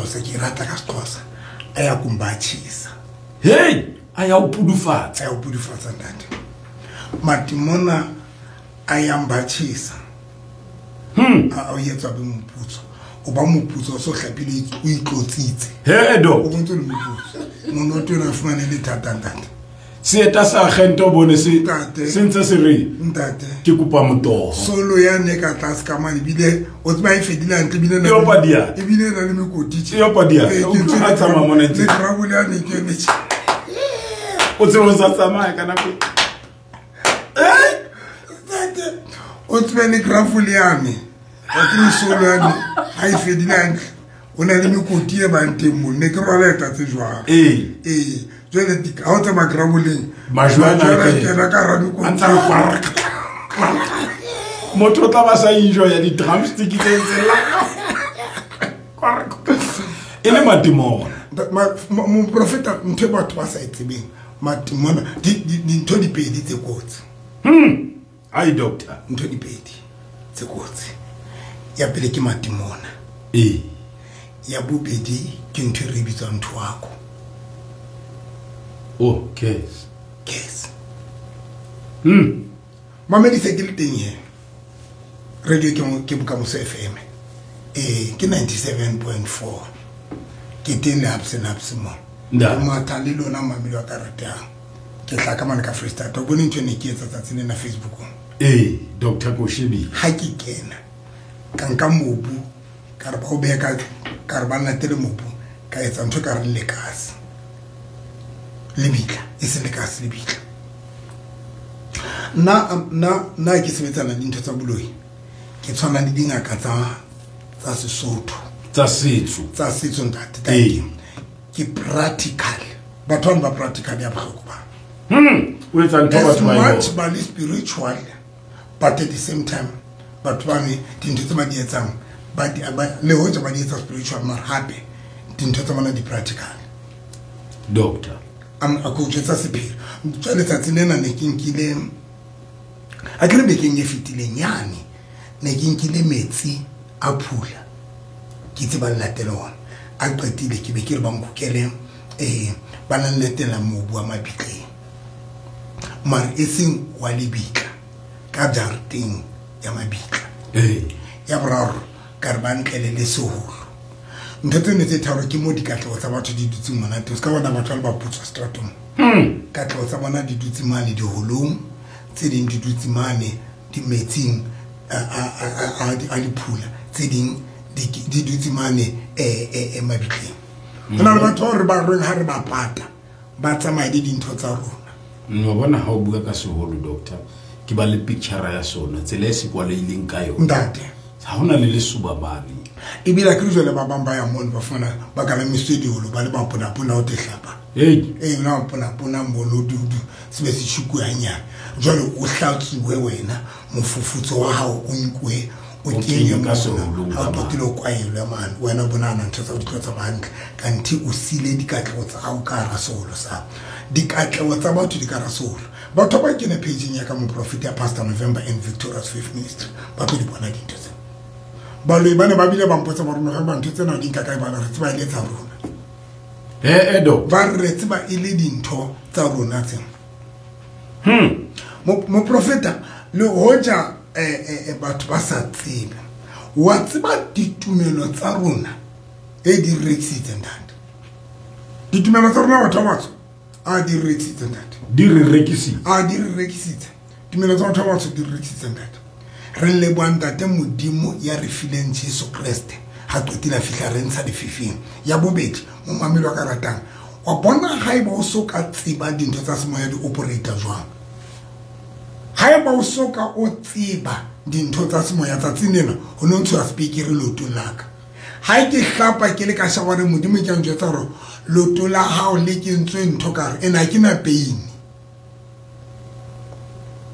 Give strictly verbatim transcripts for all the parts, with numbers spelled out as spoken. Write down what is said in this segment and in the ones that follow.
Sexhosa ke rata ka Sexhosa a ya kumbatshisa hey a ya o pudufatsa a ya o pudufatsa ntate matimona a ya mbatshisa hmm a o yetsa be moputso o ba moputso so hlapile o itlotsitse he do o bontse le moputso monoto na fumane le thata ntate seeta sa agente o bone se se ntse se re ntate ke kopa motoho solo ya ne ka tlase ka mane bile o tseba e fedile hantle bile na e bile na le mekoti e opadia o a tsamaya mona ntse le travel ya ne ke ne o tseba o sa tsamaya ka nako eh ntate o tseba le gravel ya me o ke solo ya ne ha e fedile hantle o na le mekoti e bang teng mo ne ke rwala eta tse jwang ee ee jwale ha o tsamaya graveleng majwana kena ka hara mekoti motho o tla ba sa enjoya di-drumstick tse ntseng e le matimona moprofeta ntho e batho ba sa e tsebeng matimona dintho di pedi tse kotsi ai doctor ntho di pedi tse kotsi ya pele ke matimona ee ya bobedi ke ntho e re bitswang thoako oh case case hmm mamedi se ke le teng he radio ke ke Bokamoso F M eh ke ninety-seven point four ke teng le ups and ups mo matha le lona mamedi wa ka ratang ke tla ka mane ka Freestyle o bone ntho ne ke etsa tsatsi lena Facebookong eh Doctor Koshebi ha ke kena ka nka mobu ka re ba o beha ka ka re ba latele mobu ka etsa ntho ka re lekase lebitla e se lekase lebitla nna nna nna ke sebetsana le dintho tsa boloi ke tshwana le dingaka tsa tsa Sesotho tsa setso tsa setso ntate ke practical batho ba practical ya bohloko ba hmm o etsa ntho batho ba much ba le spiritual but at the same time batho ba ne dintho tse ba di etsang ba di le hoja ba di etsa spiritual mara hape dintho tsa bona di practical doctor am a go tsa sephiri jwale tsatsi lena ne ke nkile a ke re bekeng e fetileng yane ne ke nkile metsi a phula ke itse ba latele ona a qetile ke be ke re ba nkokele eh ba nletela mobu wa mabitleng mara e seng wa lebitla ka jarateng ya mabitla eh ya boraro ka re ba ntlele le seholo ntho tse ne tse tharo ke mo dikatleho tsa batho di dutseng mona teng se ka bona batho ba le ba putswa stratong hmm katleho tsa bona di dutse mane diholong tse ding di dutse mane di metsing a a a diphula tse ding di dutse mane eh eh mabitleng hona le batho re ba reng ha re ba pata ba tsamaya le dintho tsa rona no bona ha o bua ka seholo doctor ke ba le picture ya sona tsela e se kwaleileng ka yona ntate ha hona le lesuba bane ebile ke jwale ba bang ba ya mono ba fana ba kala mesedi holo ba le ba pona pona o tehlapa hey eh na pona pona mono dudu se be se tshikuanya jwale o hlatsuwe wena mofufutso wa hao o nkwe o kenye ka seholo ha o qetile o kwaelwe mane wena bona na ntho tsa ditlo tsa hantle kanti o sile dikatleho tsa hao ka hara seholo sa dikatleho tsa batho di ka hara seholo batho ba kene page ya ka moprofeta Pastor November and Victorious Faith Ministry ba tlo di bona dintho tse baloi ba ne ba bile ba mpotsa ba rona ba ntho tsena di nka kae bana re tseba ile tsa rona eh edo ba re tseba ile dintho tsa rona tse hmm moprofeta le hoja eh eh batho ba sa tsebe wa tseba ditumelo tsa rona e di rekisitse ntate ditumelo tsa rona batho ba batho a di rekisitse ntate di re rekisitse a di re rekisitse tumelo tsa batho ba batho di re rekisitse ntate re leboha ntate Modimo ya re fileng Jesu Kreste ha qetile fihla re ntsha lefifing ya bobedi mo mamelo ka ratang wa bona ha eba o so ka tseba dintho tsa semoya di operator jwang ha eba o so ka o tseba dintho tsa semoya tsatsing lena ho no ntsho speaker loto laka ha ke hlapa ke le ka shaware Modimo ke njwetsa hore loto la hao le kentswe ntho ka re ena ke na pain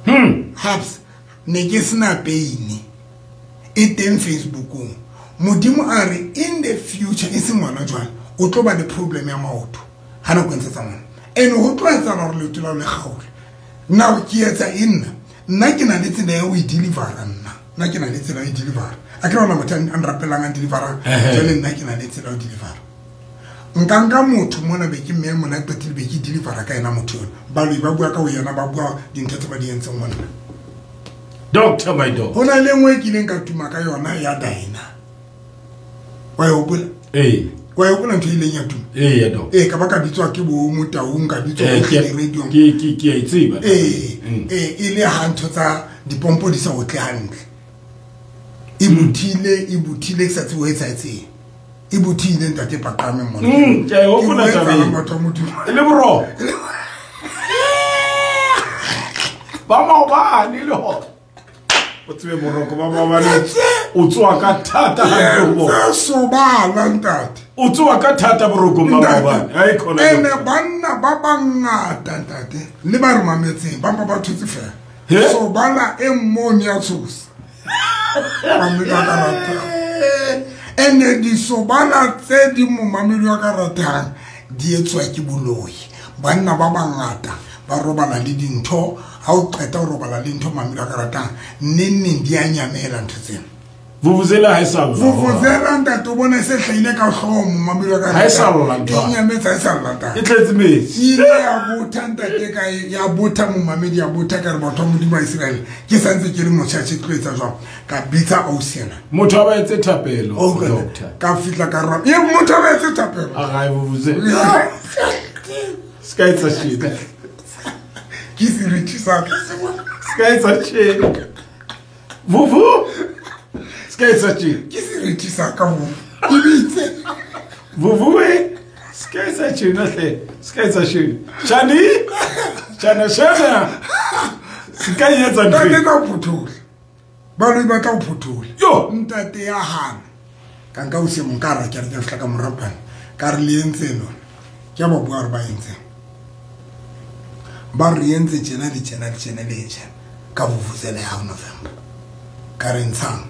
hmm haps ne ke sena pain e teng Facebookong Modimo a re in the future e seng ngwana jwale o tlo ba le problem ya maoto ha nako ntse tsa ngwana ene ho tlo etsa hore leoto la le kgaole now ke etsa inna nna ke na le tsela ya ho e deliver nna nna ke na le tsela ya ho e deliver A ke rona motho a nrapelang a delivera jwale nna ke na le tsela ho delivera. Nka nka motho mona be ke mme mona qetile be ke delivera ka yena motho yona. Baloi ba bua ka ho yena ba bua dintho tse ba di entseng mona. Doctor my doctor. Ho na le nngwe e kileng ka tuma ka yona ya Dina. Wa e hopola? Ee. Wa e hopola ntho e ileng ya tuma? Ee ya doctor. Ee ka ba ka bitswa ke bo Motaung ka bitswa Eh, ko ke radio. ke ke ke a e tseba. Ee, Mm. ee e le ha ntho tsa dipompo di sa otle hantle. E bothile, e bothile ke sa tsebe ho etsahetseng. E bothile ntate Paqame mona. Mm, ke a e hopola Ke taba eo. batho ba Modimo. E le boroko. Ba maobane le hona. O tsebe boroko ba maobane. O tsoa ka thata hantle ho bona. Tse sobala ntate. O tsoa ka thata borokong ba maobane. Hai khona. Ene banna ba bangata ntate le ba re mametseng ba mpa ba thotse fela. He? Sobala e mmone ya tshosa. Mamedi wa ka ratang. Ene disobala tse di mo mamedi wa ka ratang di etswa ke boloi. Banna ba bangata ba robala le dintho, ha o qeta ho robala le ntho mamedi wa ka ratang, neng neng di a nyamela ntho tsena. Vuvuzela ha e sa lla. Vuvuzela ntate o bona e se hlahile ka hlooho momamedi wa ka Ha e sa ratang. lla ntho. E nyametse ha e sa lla ntate. E tletse metsi. E ile ya botha ntate ka e, ya botha momamedi ya botha ka re batho ba Modimo ba Iseraele. Ke sa ntse ke le motjha tjhe, ke tlo etsa jwang? Ka bitsa ausi ena. Motho a ba etse thapelo, Oh, God. doctor. Ka fihla ka ra, e motho a ba etse thapelo. A ga e vuvuzela. Se ka etsa shit. Ke seriti sa ka. Se ka etsa shit. Vuvu. Se ka etsa shit. Ke seriti sa ka vuvu. Ke bitse. Vuvu e. Se ka etsa shit hle. Se ka etsa shit. Shani. Shana shana. Se ka etsa ntho. Ntate ka phuthola. Baloi ba tla o phuthola. Yo. Ntate ya hana. Ka nka o se mong ka ra ke re ke fihla ka morapana. Ka re le entse lona. Ke a ba bua re ba entse. Ba re entse tjena le tjena le tjena le tjena. Ka vuvuzela ya November. Ka re ntshang.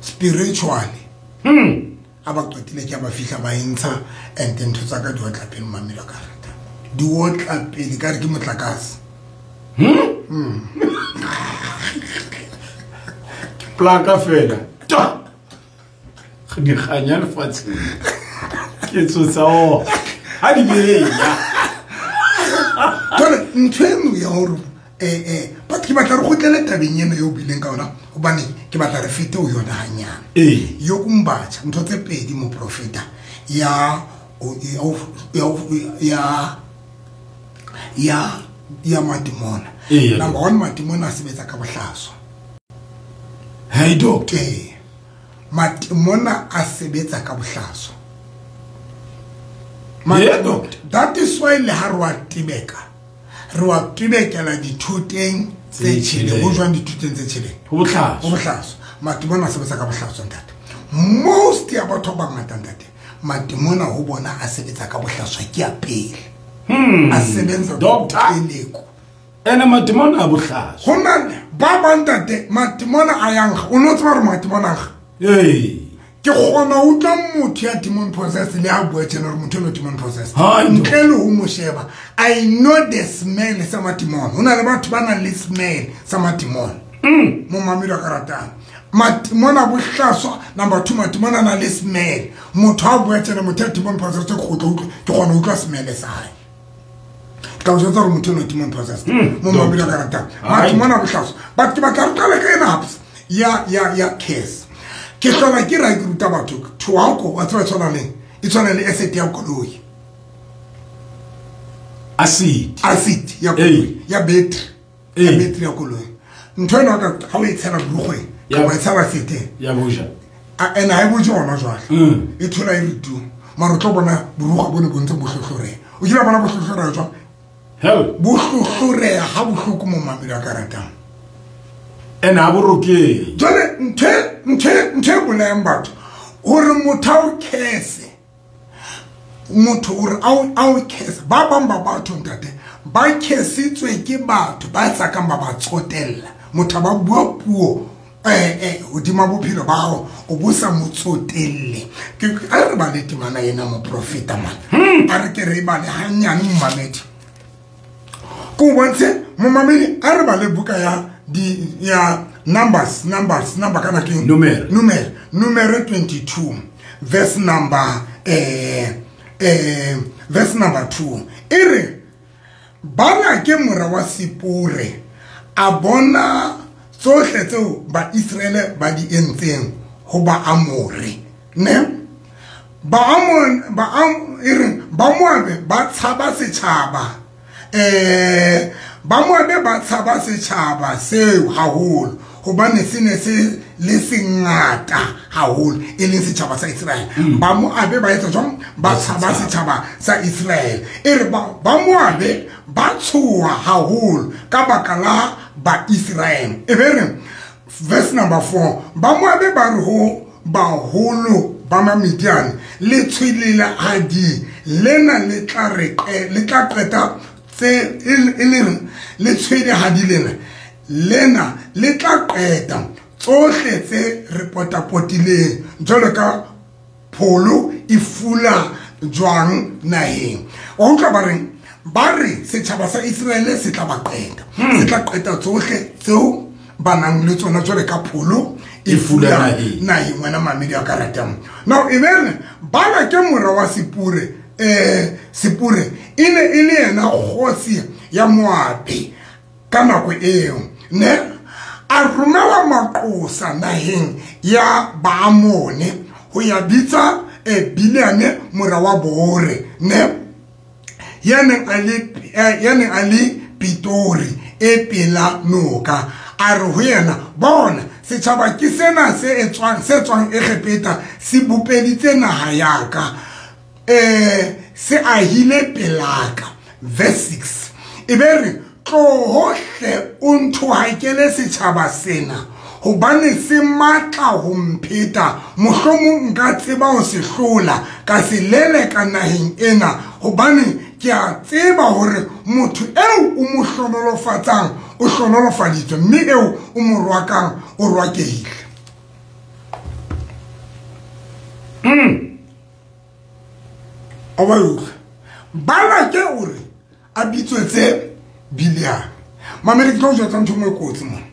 Spiritually. Hmm. A ba qetile ke a ba fihla ba entsha and ntho tsa ka di otla pele mamelo ka rata. Di otla pele ka re ke motlakase. Hmm? Hmm. Ke plaka fela. Ta. Di kganya lefatsheng. Ke tsotsa o. Ha di benya. Jwale ntho eno ya hore eh eh but ke batla re kgutlele tabeng eno eo bileng ka yona hobane ke batla re fete ho yona hanyane. Ee. Yo kumbatha ntho tse pedi moprofeta ya ya ya ya ya madimona. Ee. Number one, madimona a sebetsa ka bohlaswa. Hey doctor. Ee. Madimona a sebetsa ka bohlaswa. Yeah, doctor. That is why le ha re wa tibeka. Re wa tibekela dithoteng tse tjheleng. Ho jwang dithoteng tse tjheleng? Ho bohlaswa. Ho bohlaswa. Madimona a sebetsa ka bohlaswa ntate. Most ya batho ba bangata ntate, madimona ho bona a sebetsa ka bohlaswa ke ya pele. Hmm. A sebetsa ka Doctor. boteleko. Ene madimona a bohlaswa. Ho na ba bang ntate, madimona a yang, o no tseba hore madimona a nkga? Ee. Ke kgona ho utlwa motho ya demon possessed le ha bua tjena hore motho eno demon possessed. Hai, Ntle le ho mo sheba, I know the smell sa madimona. Ho na le batho ba nang le smell sa madimona. Mm. Mo mamedi wa ka ratang. Madimona bohlaswa, number two, madimona a na le smell. Motho ha bua tjena motho ya demon possessed ke kgotla utlwa, ke kgona ho utlwa smell sa hae. Ka o jwetsa hore motho eno demon possessed. Mm. Mo mamedi wa ka ratang. Hai. Madimona bohlaswa. But ke batla re qale ka ena hape. Ya, ya, ya case. Ke hlola ke ra ke ruta batho thoako wa tseba tshwana leng e tshwana le acid ya koloi. Acid. Acid ya koloi, Ee. ya battery. Ya Ee. battery ya koloi. Ntho ena ka ha o e tshela borukgweng, Ya. kapa o e tshela seteng. Ya boja. A ene ha e boje hona jwale. Mm. E thola e re tu. Mara o tlo bona borukgwe bo ne bo ntse bo hlohloreha. O kile wa bona bo hlohloreha jwang? Hell. Bo hlohloreha ha bohloko mo mamedi wa ka ratang. Ene ha bo rokeng. Jwale ntho ntho ntho e bolayang batho hore motho a o curse. Motho hore a o, a o curse. Ba bang ba batho ntate ba cursitswe ke batho ba sa kang ba ba tsotella. Motho ba bua puo eh eh hodima bophelo ba hao o bo sa mo tsotelle. Ke a re ba le temana ena moprofeta man. Hmm. A re ke re bale hanyane momamedi. Ko bontshe momamedi a re ba le buka ya di ya Numbers, Numbers, number kana ke Numere. Numere, Numere twenty-two, verse number eh eh verse number two. Ere bana ke mora wa Sipore a bona tsohle tseo ba Israele ba di entseng ho ba Amore, ne? Ba Amon ba Am ere ba Moabe ba tshaba setjhaba. Eh ba Moabe ba tshaba setjhaba seo haholo hobane se ne se le sengata haholo e leng setjhaba sa Israel. Ba Moabe ba etsa jwang? Ba tshaba setjhaba sa Israel. E re ba ba Moabe ba tshoha haholo ka baka la ba Israel. E be re verse number four, ba Moabe ba re ho baholo ba Mamidiane le tshwele la hadi lena le tla re le tla qeta tse e le le tshwele hadi lena lena le tla qeta tsohle tse re potapotileng jwalo ka pholo e fula jwang naheng. Wa utlwa ba reng? Ba re setjhaba sa Israele se tla ba qeta, se tla qeta tsohle tseo ba nang le tsona jwalo ka pholo e fula naheng. Wena mamedi a ka ratang. Now e be bana ke mora wa Sipure, eh Sipure e ne e le yena kgosi ya Moabe ka nako eo, ne a romela maqosa naheng ya Baamone ho ya bitsa eh Bileame mora wa Bore, ne ya neng a le ya neng a le Pitori e pela noka. A re ho yena, bona setjhaba ke sena se etswang se tswang Egepeta se bopeditse naha ya ka, eh se ahile pelaka. Verse six, e be re tlohohle o nthohakele setjhaba sena hobane se matla ho mpheta, mohlomong nka tseba ho se hlola ka se leleka naheng ena, hobane ke a tseba hore motho eo o mo hlonolofatsang o hlonolofaditswe, mme eo o mo rwakang o rwakehile. Mm. A ba utlwa? Balake o re a bitswetse Bileame. Mamedi, ke tlo jwetsa ntho e nngwe kotsi mona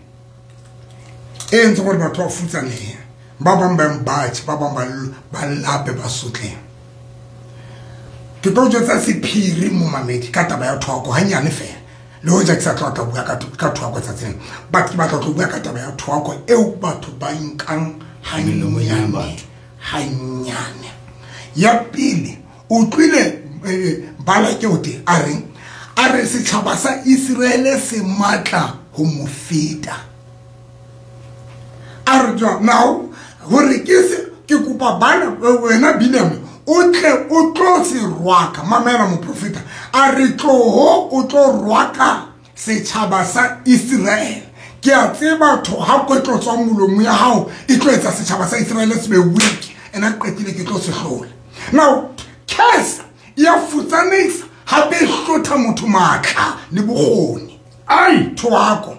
e entseng hore batho ba futsanehe, ba bang ba mbatjhe, ba bang ba lape, ba sotleng. Ke tlo jwetsa sephiri mo mamedi ka taba ya thoako hanyane fela, le hoja ke sa tlo tla bua ka ka thoako tsatsing, but ke batla tlo bua ka taba ya thoako eo batho ba nkang hanyane hanyane. Ya pele, o utlwile Balake o te a reng? A re setjhaba sa Israele se matla ho mo feta. A re jwang? Now hore ke se ke kopa bana wena Bileame o tle o tlo se rwaka. Mamela moprofeta, a re tloho o tlo rwaka setjhaba sa Israel. Ke a tseba tho ha ko tlo tswa molomo ya hao e tlo etsa setjhaba sa Israel se be weak, and a qetile ke tlo se hlola. Now curse ya futsanisa hape e hlotha motho matla le bokgoni. Ai thoako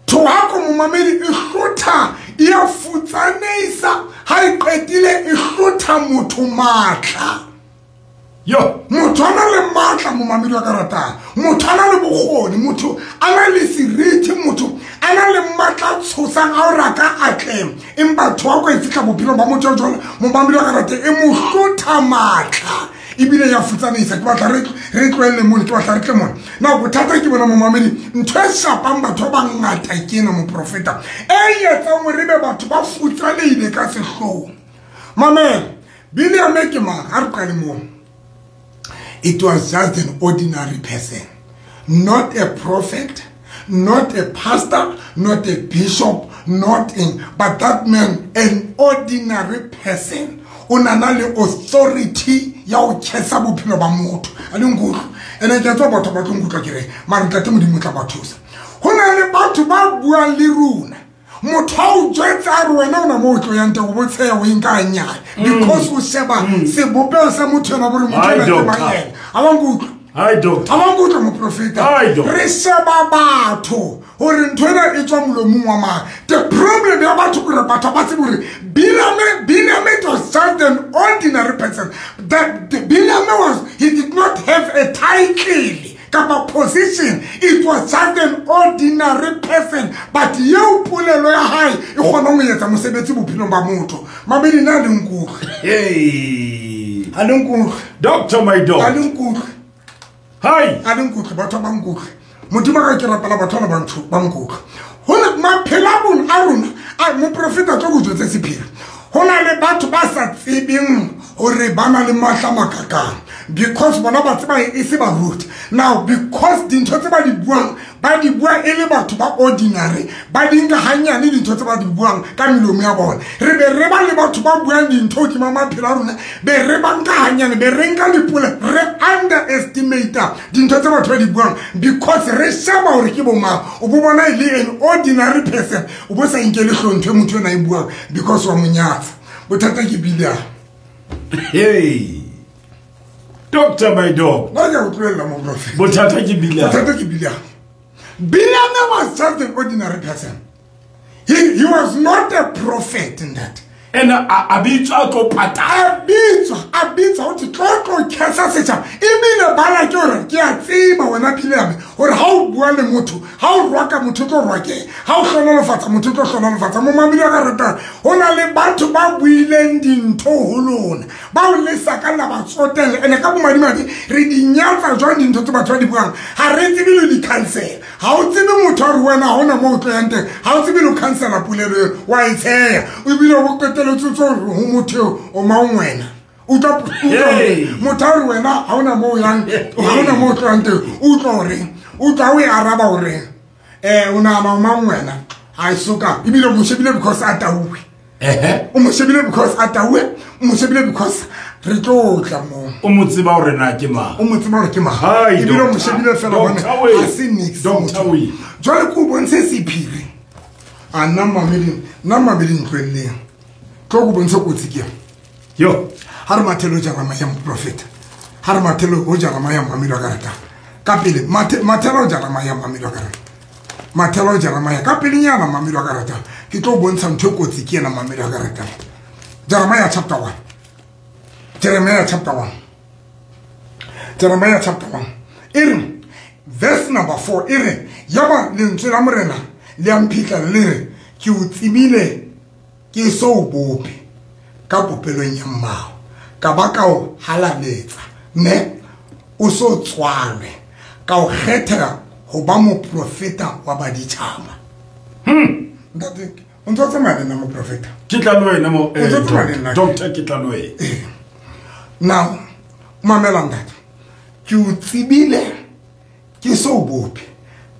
thoako momamedi e hlotha, ya futsanisa ha e qetile e hlotha motho matla. Yo, motho a na le matla momamedi wa ka ratang, motho a na le bokgoni, motho a na le seriti, motho a na le matla tshosang a hore a ka atleha, empa thoako e fihla bophelong ba motho jwalo momamedi wa ka ratang e mo hlotha matla ebile ya futsanisa. Ke batla re re tlohelle mona, ke batla re tle mona. Now bothata ke bona momamedi, ntho e shapang batho ba bangata ke ena moprofeta e etsang hore ebe batho ba futsanehile ka sehlooho. Mamela, Bileame ke mang? Ha re qale moo. It was just an ordinary person, not a prophet, not a pastor, not a bishop, not in, but that man, an ordinary person. O na na le authority ya ho kgetha bophelo ba motho. A le nkutlwe? Ene ke tswa batho ba tlo nkutlwa ke re, mara ntate Modimo o tla ba thusa. Ho na le batho ba buang le rona. Motho a o jwetsa a re wena o na mo o tlo yang teng, o bo tsheya o e nka hanyane. Because o sheba sebopeho sa motho ena bore motho ena ke mang yena. A wa nkutlwa? Hi doctor. A wa nkutlwa moprofeta? Hi doctor. Re sheba batho hore ntho ena e tswa molomong wa mang. The problem ya batho ke hore batho ba tsebe hore Bileame, Bileame was just an ordinary person. That the Bileame was, he did not have a title. Ka kapa position. It was just an ordinary person, but eo polelo ya hae e kgona ho etsa mosebetsi bophelong ba motho. Mamedi na le nkutlwe. Hey. A le nkutlwe. Doctor my dog. A le nkutlwe. Hi. A le nkutlwe batho ba nkutlwe. Modimo ka ke rapela batho ba ntho ba nkutlwe. Hona maphelo a bona a rona a moprofeta tlo go jwetse sephiri. Hona le batho ba sa tsebeng hore ba na le matla makakang because bona ba tseba e se ba ruti. Now because dintho tse ba di buang ba di bua e le batho ba ordinary, ba di nka hanyane dintho tse ba di buang ka melomo ya bona. Re be re ba le batho ba buang dintho hodima maphelo a rona, be re ba nka hanyane, be re nka dipole, re underestimate dintho tse batho ba di buang because re sheba hore ke bo mang. O bo bona e le an ordinary person, o bo sa nkele hlompho motho ena e buang because wa monyatsa. Bothata ke bile. Hey. Doctor my dog. Nna ke a utlwela moprofeta. Bothata ke bile. Bothata ke bile. Bileam was just an ordinary person. He, he was not a prophet in that. And a bitswa tlo patala. A bitswa, a bitswa ho tlo tlo kesa setjhaba. Ebile bala ke hore ke a tseba wena Bileam hore ha o bua le motho, ha o rwaka motho tlo rwake, ha o hlonolofatsa motho tlo hlonolofatsa. Momamedi wa ka ratang, ho na le batho ba buileng dintho ho lona, ba o le sa ka la ba tsotella. Ene ka bomadimabe re di nyatsa jwang dintho tse batho ba di buang? Ha re tsebe le di-cancel. Ha o tsebe motho a re wena ha hona moo o tlo yang teng, ha o tsebe le ho cancela polelo eo, wa e tsheya. Ebile o qeteletse tso ho motho o mang wena. Utlwa motho a re wena ha hona moo o yang, ha hona moo o tlo yang teng, utlwa horeng, utlwa o e araba horeng. Eh, o nahana o mang wena? Ha e soka. Ebile o mo shebile because a tauwe. Ehe. O mo shebile because a tauwe, o mo shebile because re tlo tla moo. O mo tseba hore na ke mang. O mo tseba hore ke mang. Ebile o mo shebile fela hobane ha se nix motho. Jwale ke o bontshe sephiri. A nna mamedi, nna mamedi ntlwelleng. Tlo go bontshe kotsi ke. Yo. Ha re mathelo Jeremia moprofeta. Ha re mathelo ho Jeremia mamedi wa ka rata. Ka pele mathelo Jeremia mamedi wa ka rata. Mathelo Jeremia ka pelenyana mamedi wa ka rata. Ke tlo bontsha ntho e kotsi ke ena mamedi wa ka rata. Jeremiah chapter one. Jeremiah chapter one. Jeremiah chapter one. E re verse number four e re yaba lentswe la morena le a mphitla le re ke o tsebile ke so o bope ka popelong ya mmao ka ba ka o halaletsa ne o so tswalwe ka o kgethela ho ba moprofeta wa baditjhaba. Hmm. Ntate o ntse o tsamaya le nna moprofeta. Ke tla le wena mo O ntse o tsamaya le nna. Doctor ke tla le wena. Now mamela ntate, ke o tsebile ke so o bope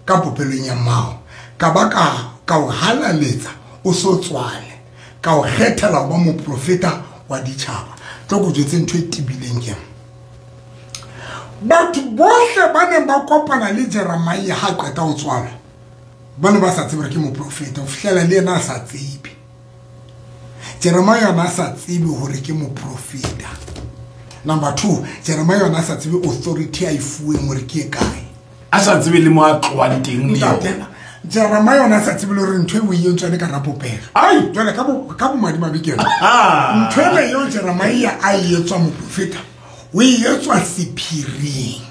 ka popelong ya mmao ka ba ka ka o halaletsa o so tswale ka o kgethela ho ba moprofeta wa ditjhaba. Tlo go jwetse ntho e tebileng ke batho bohle ba neng ba kopana le Jeremia ha qeta ho tswalwa ba ne ba sa tsebe hore ke moprofeta ho fihlela le yena a sa tsebe. Jeremia ona a sa tsebe hore ke moprofeta. Number two, Jeremia ona a sa tsebe authority a e fuweng hore ke e kae. A sa tsebe le mo a tlohang teng le yona. Jeremia ona a sa tsebe le hore ntho e o e entswe le ka rapopelo. Ai! Jwale ka bo ka bomadimabe ke ena. Ntho ena eo Jeremia a e etswa moprofeta, o e etswa sephiring.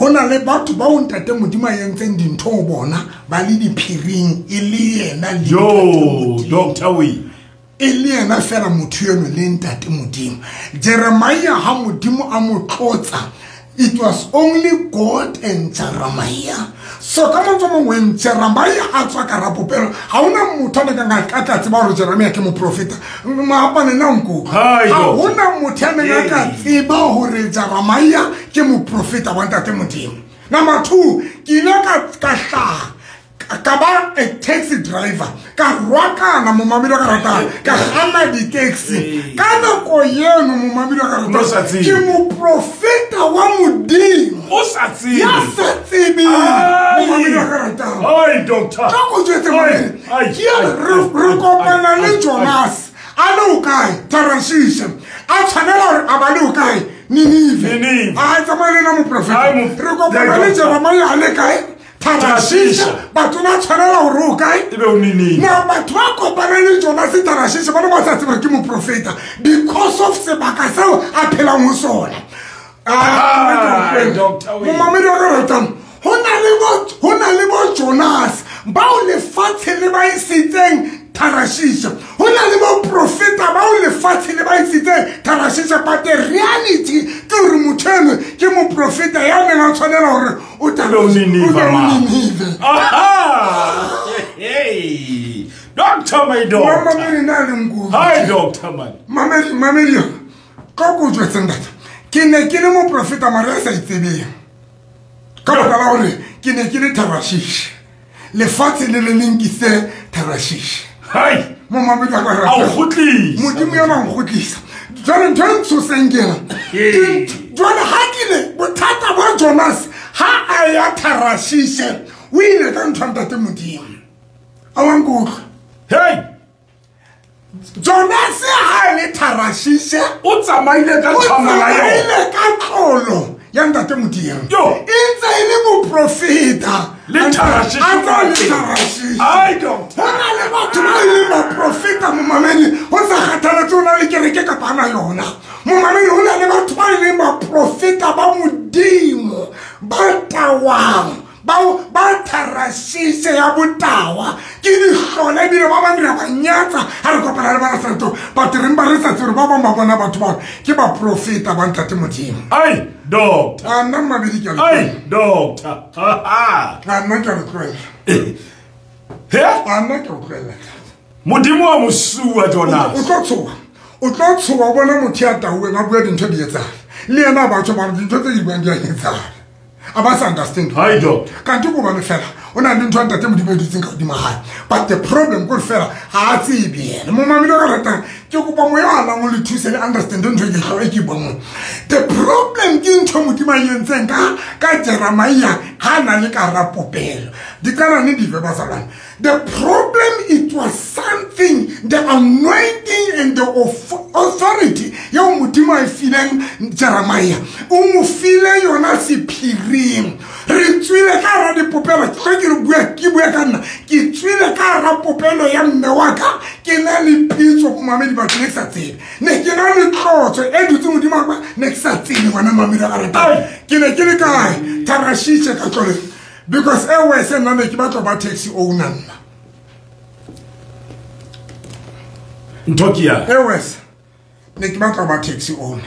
Ho na le batho ba o ntate Modimo a entseng dintho ho bona ba le diphiring e le yena le Yo, Doctor we. E le yena fela motho eno le ntate Modimo. Jeremia ha Modimo a mo tlotsa, it was only God and Jeremiah. So ka mantswe a mangwe Jeremiah a tswa ka rapopelo, ha hona motho a neng a ka tseba hore Jeremiah ke moprofeta. Maapane na nko. Ha hona motho a neng a ka tseba hore Jeremiah ke moprofeta wa ntate Modimo. Number two, ke ile ka ka hlaha ka ba a taxi driver, ka rwakana momamedi wa ka ratang, ka kganna di-taxi. Ka nako eno momamedi wa ka ratang, ke moprofeta wa Modimo. O sa tsebe. Ya sa tsebeng momamedi wa ka ratang. Ai, doctor. Ka go jwetse momamedi, ke re kopana le Jonas a le o kae Tarashishe, a tshwanela hore a ba le o kae Ninive. A tsamaya le nna moprofeta. Re kopana le Jeremia a le kae Tarashishe. Batho ba tshwanela hore o kae? Ebe o Ninive. Now batho ba kopana le Jonas Tarashishe ba ne ba sa tsebe ke moprofeta because of sebaka seo a phelang ho sona. Ah, momamedi wa ka ratang, ho na le bo ho na le bo Jonas bao lefatshe le ba isitseng Tarashisha. Ho na le bo profeta bao lefatshe le ba isitseng Tarashisha, but the reality ke hore motho eno ke moprofeta ya neng a tshwanela hore o tla Ninive. Aha! Hey! Doctor, my doctor. Mamedi na le nku. Hi, doctor man. Mamedi, mamedi. Ka go jwetseng ntate. Ke ne ke le moprofeta mara a sa itsebeng. Ka baka la hore ke ne ke le Tarashisha. Lefatshe le le lenkise Tarashisha. Hai! Momamedi wa ka A o kgutlisa. Modimo ya ba nkgutlisa. Jwale ntho e ntshoseng ke ena. Ee. Jwale ha ke le bothata ba Jonas ha a ya Tarashisha, o ile ka ntho ya ntate Modimo. A wa nkutlwa? Hey! Jonas ha le Tarashisha, o tsamaile ka o tshwanela yona. tsamaile ka tlolo ya ntate Modimo. Yo! E ntse e le moprofeta. Le Tarashisha. A ntse a le Tarashisha. Ai, doctor. Ho na le batho ba e leng baprofeta momamedi, ho sa kgathalatse ho na le kereke kapa hana yona. Momamedi, ho na le batho ba e leng baprofeta ba Modimo, ba tawang, bao ba Tarashisha ya botawa. Ke dihlola ebile ba bang re a ba nyatsa ha re kopana le bana seratong. But re mpa re sa tsebe hore ba bang ba bona batho bao ke baprofeta ba ntate Modimo. Ai, doctor. A nna mmabedi ke a le Ai, tlohela. doctor. Ha, ha. A nna ke a le tlohela. He? A nna ke a o tlohela. Modimo wa mosuwa, Jonas. O tlo tshoha. O tlo tshoha o bona motho ya tauweng a bua dintho di etsahala. Le yena a batho ba re dintho tse di buang di a etsahala. A ba sa understand. Hi, doctor. Kanti ko bane fela, o na le ntho ya ntate Modimo e dutseng ka hodima hae. But the problem ko fela, ha a tsebe yena. Momamedi wa ka ratang, ke kopa moya wa lang o le thuse le understand ntho e ke tlo e ke buang mo. The problem ke ntho Modimo a e entseng ka, ka Jeremiah ha na le ka hara popelo. Di qala ne di ve bazalwane. The problem, it was something, the anointing and the authority eo Modimo a e fileng Jeremiah. O mo file yona sephiring. Re tswile ka hara dipopelo, ke ke re bua, ke bua ka nna. Ke tswile ka hara popelo ya mme wa ka, ke na le pitso momamedi batho ne ke sa tsebe. Ne ke na le tlotso e dutseng hodimo ha ka, ne ke sa tsebe ngwana mamedi a ratang. Ke ne ke le kae? Tarashisha ka tloleng. Because e wese nna ne ke batla ba taxi owner nna. Ntho ke ya? E wese ne ke batla ba taxi owner.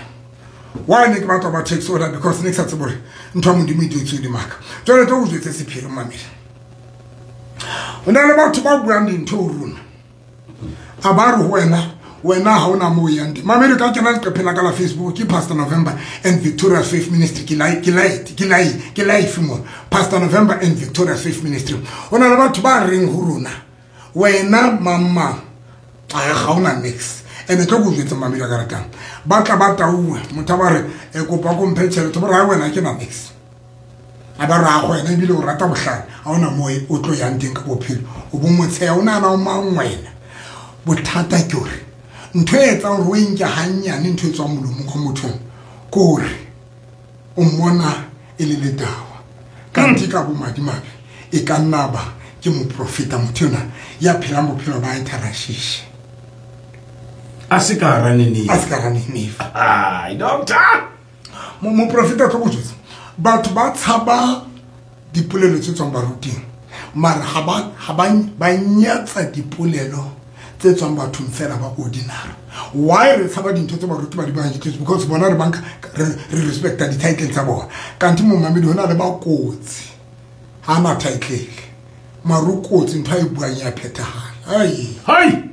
Why ne ke batla ba taxi owner? Because ne ke sa tsebe hore ntho ya Modimo e dutse hodimo ha ka. Jwale tlo go jwetse sephiri mamedi. Ho na le batho ba buang dintho ho rona. A ba re ho wena, wena ha ona moo o yang teng. Mamedi ka kena leqepheng la ka la Facebook ke Pastor November and Victoria Faith Ministry. Ke lai, ke lai, ke lai, ke live mo. Pastor November and Victoria Faith Ministry. Ho na le batho ba reng ho rona, wena mama, a ga ona mix. Ene tlo go jwetsa mamedi a ka ratang. Ba tla ba tauwe, motho a ba re, e kopa ko mphe tjhelete, ba re, ha wena ke na mix. A ba re, ha go wena ebile o rata bohlale, ha ona moo o tlo yang teng ka bophelo. O bo motsheya, o nahana o mang wena. Bothata ke hore ntho e etsang hore o e nke hannyane ntho e tswang molomong wa motho eno, ke hore o mmona e le letawa. Kanthe ka bomadimabe e ka nna ba ke moprofeta motho enwa ya phelang bophelo ba hae Tarashisha. A se ka hara Ninive. A se ka hara Ninive. Ai, doctor. Mo-, moprofeta tlo go jwetsa, batho ba tshaba dipolelo tse tswang baruting, mara ha ba, ha ba, ba nyatsa dipolelo tse tswang bathong fela ba ordinary. Why re tshaba dintho tse baruti ba di buang? Ke because bona re banka, re, re respecta di-title tsa bona. Kanthe momamedi hona le ba kotsi, ha na title, mara o kotsi, ntho a e buang ya phethahala. Ai. Hai!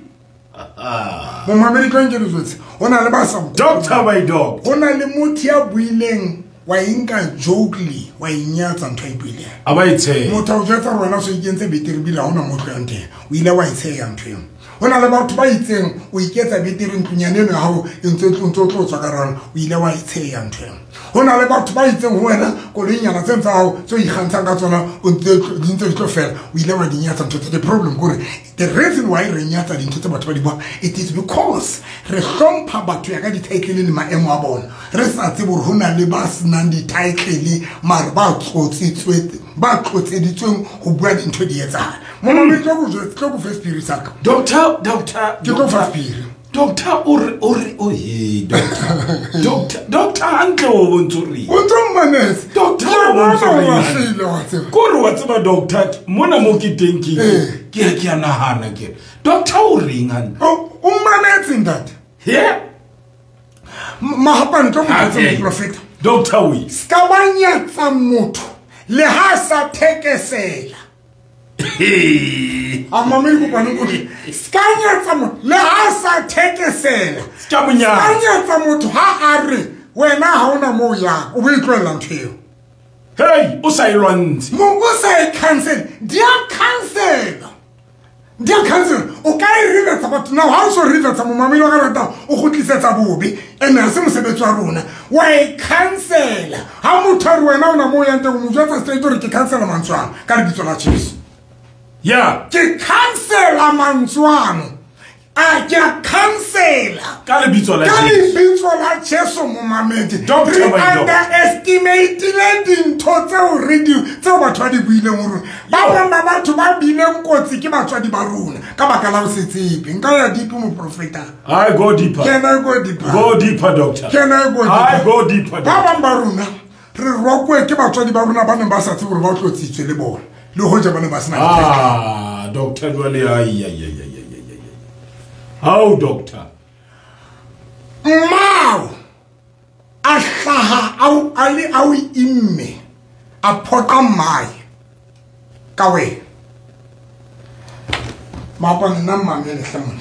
Momamedi tlo nke le jwetse, ho na le ba sa nkutlweng. Doctor my dog. Ho na le motho ya buileng, wa e nka jokely, wa e nyatsa ntho a e buileng. A ba e tsheha. Motho a o jwetsa hore wena o so ikentse betere ebile ha hona moo o tlohang teng. O ile wa e tsheha ntho eo. Ho na le batho ba itseng, o iketsa betere ntlonyana eno ya hao e ntse e tlo, ntse o tlo tswa ka hara yona, o ile wa e tsheha ntho eo. Ho na le batho ba itseng ho wena, koloinyana tseno tsa hao tse o ikgantshang ka tsona, o ntse di ntse di tlo fela, o ile wa di nyatsa ntho tse. The problem ke hore the reason why re nyatsa dintho tse batho ba di buang, it is because re hlompha batho ya ka di-title le maemo a bona. Re sa tsebe hore ho na le ba senang di-title mare ba tlotsitswe, ba tlotseditsweng ho bua dintho di etsahala. Momamedi, tlo go jwetsa, tlo go fa sephiri sa ka. Doctor, doctor, Ke tlo fa sephiri. Doctor o re o re o he doctor. Doctor doctor hantle o bontse re. O ntse mmanetse. Doctor o bontse re. Ko re wa tseba doctor mona mo ke teng ke ke ke a nahana ke. Doctor o reng hantle? O mmanetse ntate. He? Mahapane tlo mo prophet. Doctor we. Ska ba nyatsa motho le ha sa thekesela. A mamele kopane ko ska nyatsa motho le ha sa thekesela. Ska mo nyatsa. Ska nyatsa motho ha a re wena ha ona mo ya o bo itlwella ntho eo. Hey, o sa e lwantse. Mo o sa e cancel. Dia cancel. Dia cancel. O ka e reversa batho now ha o so reversa mo mamele wa ka rata o gotlisetsa bobe ene ha se mosebetsi wa rona. Wa e cancel. Ha motho a re wena ona mo yang teng o mo jwetsa straight hore ke cancela mantswe ano ka lebitso la Jesu. Yeah. Ke cancela mantswe ano. A ke a cancela. Ka lebitso la Jesu. Ka lebitso la Jesu mo mamedi. Doctor Re underestimate dintho tseo re di tseo batho ba di buileng ho rona. Ba bang ba batho ba bileng kotsi ke batswadi ba rona ka baka la ho se tsebe. Nka ya deep mo profeta. I go deeper. Can I go deeper? Go deeper doctor. Can I go deeper? I go deeper. Ba bang ba rona re rokwe ke batswadi ba rona ba neng ba sa tsebe hore ba tlotsitswe le bona. Le hoja ba ne ba sena. Ah, doctor jwale ai ai ai ai. How doctor? Mmao a hlaha au a le au imme a phoqa mmae ka wena. Maapane nna mmamele hle mona.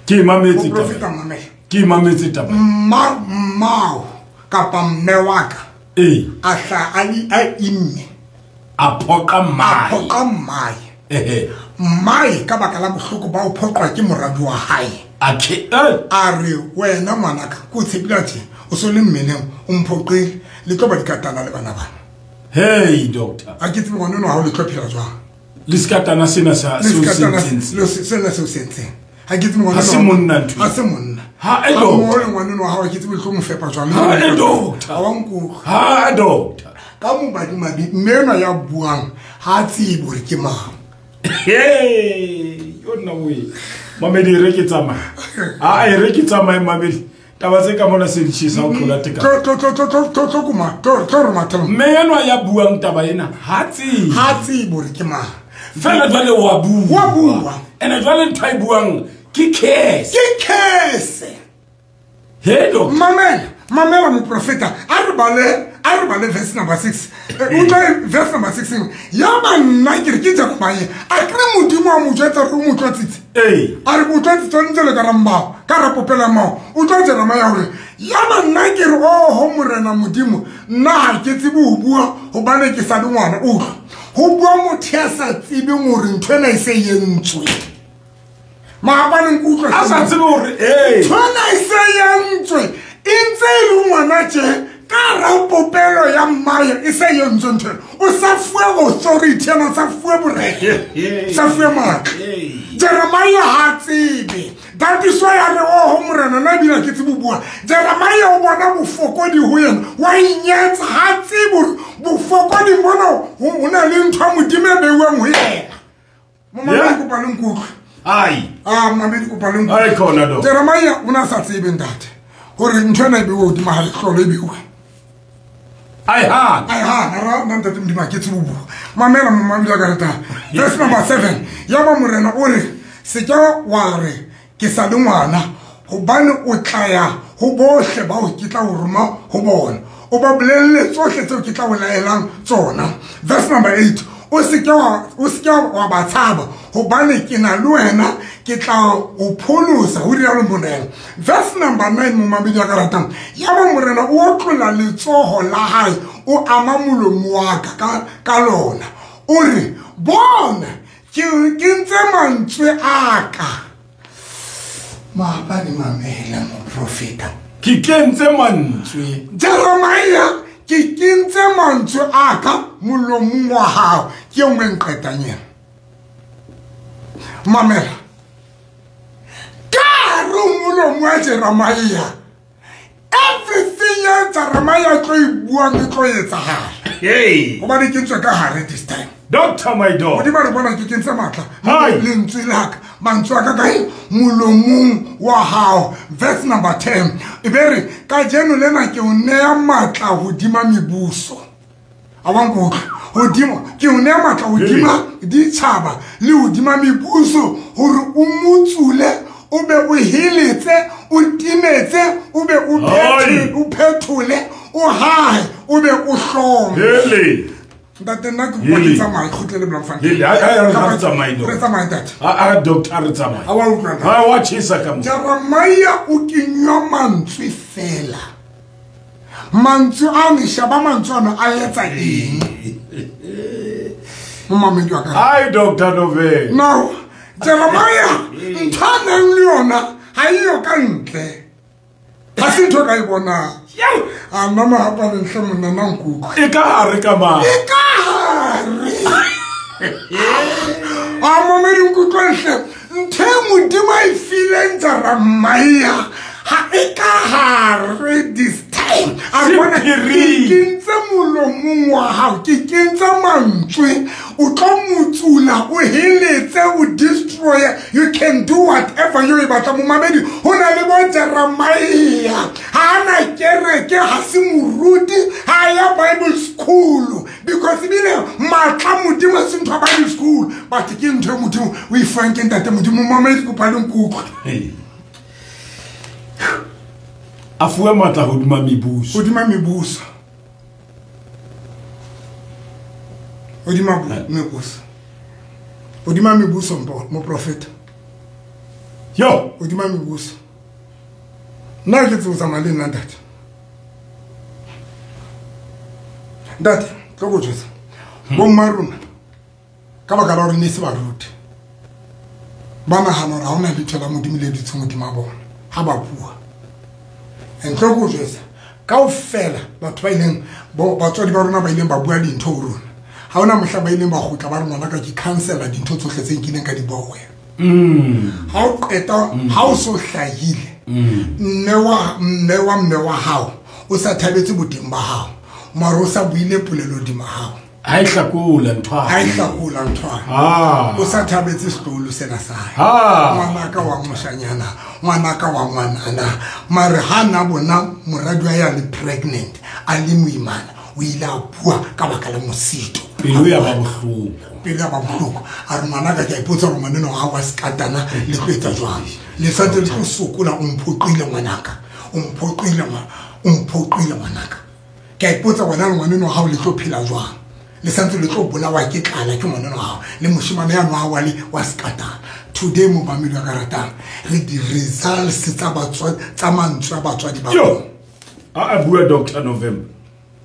Ke mametse taba. Mamele. Ke mametse taba. Mma mmao kapa mme wa ka. Eh. A hlaha a le a imme a phoqa mmae. A phoqa mmae. Eh. Mmae ka baka la bohloko ba o phoqwa ke moradi wa hae. A ke a re wena ngwanaka ke o tshepile tje o so le mmeleng o mphoqile le tlo ba dikatana le bana bana. Hey doctor. A ke tsebe ngwana eno ha o le tlo phela jwang. Le skatana sena sa se o sena se o sentseng. Ha ke tsebe ngwana. Ha se monna ntho. Ha se monna. Ha e doctor. Mo le ngwana eno ha ke tsebe le tlo mo fepa jwang. Ha e doctor. Ha wa nkutlwa. Ha doctor. Ka mo badimabe mme ena ya buang ha tsebe hore ke mang. Hey, yo nna we. Mamedi re ke tsamaya. Ah, e re ke tsamaya mamedi. Taba tse ka mona se di tjhesa o tlola teka. Tlo tlo tlo tlo tlo tlo kuma. Tlo tlo re matela. Mme enwa ya buang taba ena ha tsebe. Ha tsebe hore ke mang. Fela jwale wa bua. Wa bua. Ene jwale ntho e buang ke curse. Ke curse. Hey doctor. Mamela, mamela moprofeta. A re bale a re bale verse number six. Utlwa verse number six. Ya banna ke re ke Jeremiah. A kre Modimo a mo jwetsa hore o mo tlotsitse. Eh. A re mo tlotsitse o ntse le ka rambao, ka ra popela mao. Utlwa Jeremiah hore ya banna ke re oho Morena Modimo, nna ha ke tsebe ho bua hobane ke sa le ngwana. Utlwa. Ho bua motho ya sa tsebeng hore ntho ena e se entswe. Maabane nkutlwa. A sa tsebe hore eh. Ntho ena e se entswe. E ntse e le ngwana tje. Ka ra popelo ya mmae e se entswe ntho. O sa fuwe authority ena, o sa fuwe borena. Sa fuwe matla. Jeremiah ha tsebe. That is why a re oho Morena nna ebile ke tsebe ho bua. Jeremiah o bona bofokodi ho yena. Wa inyatsa ha tsebe hore bofokodi mona ho na le ntho ya Modimo e beuweng ho yena. Momamedi kopa le nkutlwe. Ai. Ah, mamedi kopa le nkutlwe. Ai khona do. Jeremiah o na sa tsebe ntate hore ntho ena e beuwe hodima ha lehlolo e beuwe. Ai ha. Ai ha, ra nna ntate Modimo ke tsebe ho bua. Mamela momamedi ka rata. Verse number seven. Ya ba Morena o re se ke wa re ke sa le ngwana hobane o tla ya ho bohle bao ke tla o roma ho bona. O ba bolelle tsohle tseo ke tla o laelang tsona. Verse number eight. O se ke wa o se ke wa ba tshaba hobane ke na le wena ke tla o pholosa ho rialo Morena. Verse number nine momamedi ka ratang. Ya ba Morena o otlola letsoho la hae o ama molomo wa ka ka ka lona. O re bona ke ke ntse mantswe a ka. Maabane mamela moprofeta. Ke kentse mantswe. Jeremiah ke kentse mantswe a ka molomong wa hao. Ke e nngwe nqetang ena. Mamela. Ka hare ho molomo wa Jeremiah. Everything ya Jeremiah tlo e buang e tlo etsahala. Hey. Hobane ke ntswe ka hare this time. Doctor my dog. Modimo re bona ke kentse matla. Lentswe la ka. Mantswe a ka kae molomong wa hao. Verse number ten. E be re kajeno lena ke o neya matla hodima mebuso. A wa nkutlwa? Hodimo ke o neya matla hodima ditjhaba le hodima mebuso hore o motsule, o be o heletse, o timetse, o be o phethe, o phethole, o hae, o be o hlome. Hele. Ntate nna ke kopa ke tsamaye, kgutlele Bloemfontein. Hele, a a re tsamaye Re tsamaye ntate. A a doctor re tsamaye. A wa utlwa ntate. Ha wa tjhesa ka mo. Jeremiah o kenywa mantswe fela. Mantswe a ne shaba mantswe ana a etsa eng? Momamedi wa ka. Ai Doctor November. Now Jeremiah ntho a nang le yona ha e yo ka ntle. Ha se ntho ka e bonang. A nna mahapa le ntle monna nna nkutlwe. E ka hare ka mang? E ka hare. A mamedi nkutlwe ntle. Ntho e Modimo a e fileng Jeremiah ha e ka hare this time. A bona ke kentse molomong wa hao, ke kentse mantswe, o tlo motsula, o heletse, o destroy. You can do whatever you batla. Momamedi, ho na le bo Jeremiah ha na kereke, ha se moruti, ha ya Bible school, because ebile matla Modimo se ntho ya Bible school, but ke ntho e Modimo o e fang ke ntate Modimo. Momamedi kopa le nkutlwe. A fuwe matla hodima mebuso. Hodima mebuso. Hodima mebuso. Hodima mebuso moprofeta. Yo, hodima mebuso. Nna ke tseo tsamaya le nna ntate. Ntate, tlo go jwetsa. Bo mma rona ka baka la hore ne se baruti. Ba nahana hore ha hona letho la Modimo le dutseng hodima bona ha ba bua. Ntlo go jwetsa kaofela batho ba ileng batswadi ba rona ba ileng ba bua dintho ho rona. Ha hona mohla ba ileng ba kgutla ba re ngwana ka ke cancela dintho tsohle tse nkileng ka di bua ho wena. Ha o qeta ha o so hlahile mme wa mme wa mme wa hao o sa thabetse boteng ba hao, mara o sa buile polelo hodima hao. Ha e hlakola ntho. Ha e hlakola ntho. Ah. O sa thabetse setloholo sena sa hae. Ah. Ngwanaka wa moshanyana, ngwanaka wa ngwanana. Mare ha na bona moradi wa ya le pregnant, a le moimana, o ile a bua ka baka la mosito. Pelo ya ba bohloko. Pelo ya ba bohloko. A re ngwanaka ke a ipotsa hore ngwaneno ha wa sekatana le tlo etsa jwang. Le santse le tlo sokola, o mphoqile ngwanaka. O mphoqile ngwana, o mphoqile ngwanaka. Ke a ipotsa wena le ngwaneno ha o le tlo phela jwang. Le santse le tlo bolawa ke tlala ke ngwaneno wa hao le moshemane ya nwa wa le wa sekatana. Today momamedi wa ka ratang, re di results tsa batswadi tsa mantswe a batswadi ba Yo. A a bua Doctor November.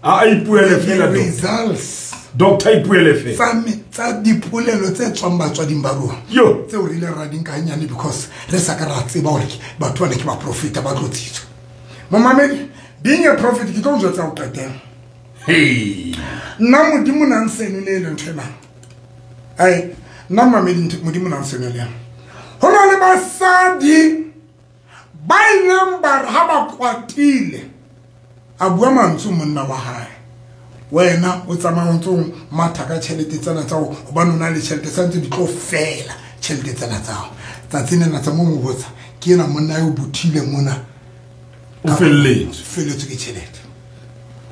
A a ipuele fela results. Doctor ipuele fela. Tsa tsa dipolelo tse tswang batswading ba rona. Yo. Tseo re ile ra di nka hanyane because re sa ka ra tseba hore batho bana ke ba profeta ba tlotsitswe. Momamedi, being a prophet ke tlo jwetsa ho qetela. Hey. Nna Modimo na nsenolele ntho ena. Ai, nna mamedi Modimo na nsenolele. Ho na le basadi ba ileng ba re ha ba kwatile, a bua mantswe monna wa hae. Wena o tsamaya o ntso matha ka tjhelete tsena tsa hao, hobane o na le tjhelete santse di tlo fela tjhelete tsena tsa hao. Tsatsing lena tsa mo mo botsa, ke ena monna yo bothile mona. O felletswe. Felletswe ke tjhelete.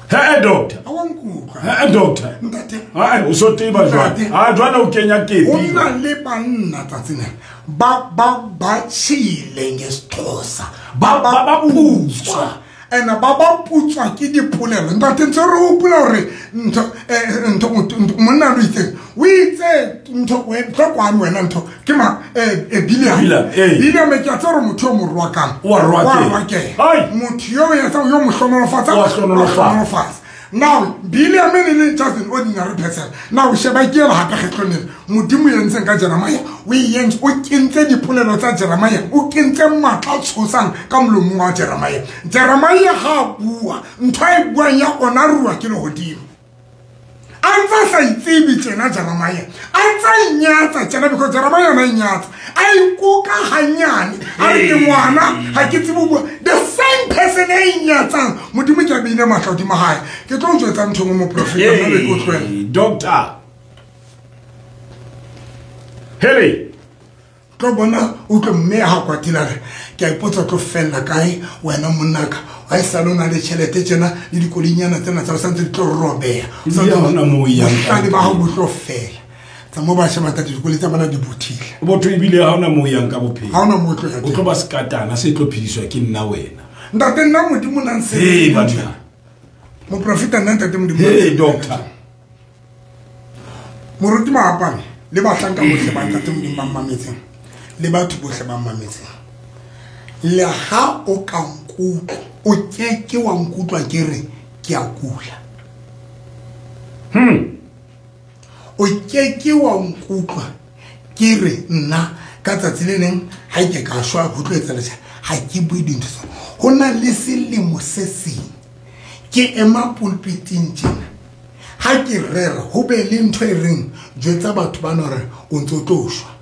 He doctor. A wa nkutlwa. He doctor. Ntate. Ha o so teba jwang? Ha jwana o kenya kepi. O na le banna tsatsing lena ba ba ba tshile ngesixhosa. Ba ba ba putswa. Ena ba ba putswa ke dipolelo. Ntate ntse re hopola hore ntho ntho monna lo itseng. O itse ntho we tlo kwano wena ntho ke ma eh Biliam. Biliam ke a tsere motho o mo rwakang. Wa rwake. Motho yo etsa yo mo hlonolofatsa. Wa hlonolofatsa. Now Biliam e le just an ordinary person. Now sheba ke ela hape kgetlong lena. Modimo yentseng ka Jeremiah, o yentse o kentse dipolelo tsa Jeremiah, o kentse matla tshosang ka molomong wa Jeremiah. Jeremiah ha bua, ntho e buang ya ona rua ke lehodimo. A ntsa sa itsebe tjena Jeremiah. A ntsa inyatsa tjena because Jeremiah na inyatsa. A ikuka hanyane, a re ke ngwana, ha ke tsebe ho bua. The same person e inyatsang, Modimo ke a beile matla hodima hae. Ke tlo jwetsa ntho mo moprofeta nna be ke o tlohela. Doctor. Hele. Tlo bona o tlo mme ha kwatile re ke a ipotsa tlo fella kae wena monnaka ha e sa lona le tjhelete tjena le dikolinyana tsena tsa santse di tlo robeha sa hona mo yang ka ba ha bo tlo fela tsa mo ba sheba tata dikoli tsa bana di bothile botho ebile ha hona mo yang ka bophelo ha hona mo tlo ya o tlo ba sekatana se tlo phediswa ke nna wena ntate nna modimo nang se hey banna moprofeta nna ntate modimo hey doctor moruti maapane le bahlanka bohle ba ntate modimo ba mmametseng le batho bohle ba mmametseng le ha o ka nkutlwa o keke wa nkutlwa ke re ke a kula hmm o keke wa nkutlwa ke re nna ka tsatsi le leng ha ke ka shwa ho tlo etsa letjha ha ke bue dintho tseo ho na le selemo se seng ke ema pulpiting tjena ha ke rera ho be le ntho e reng jwetsa batho ba no re o ntso tlo shwa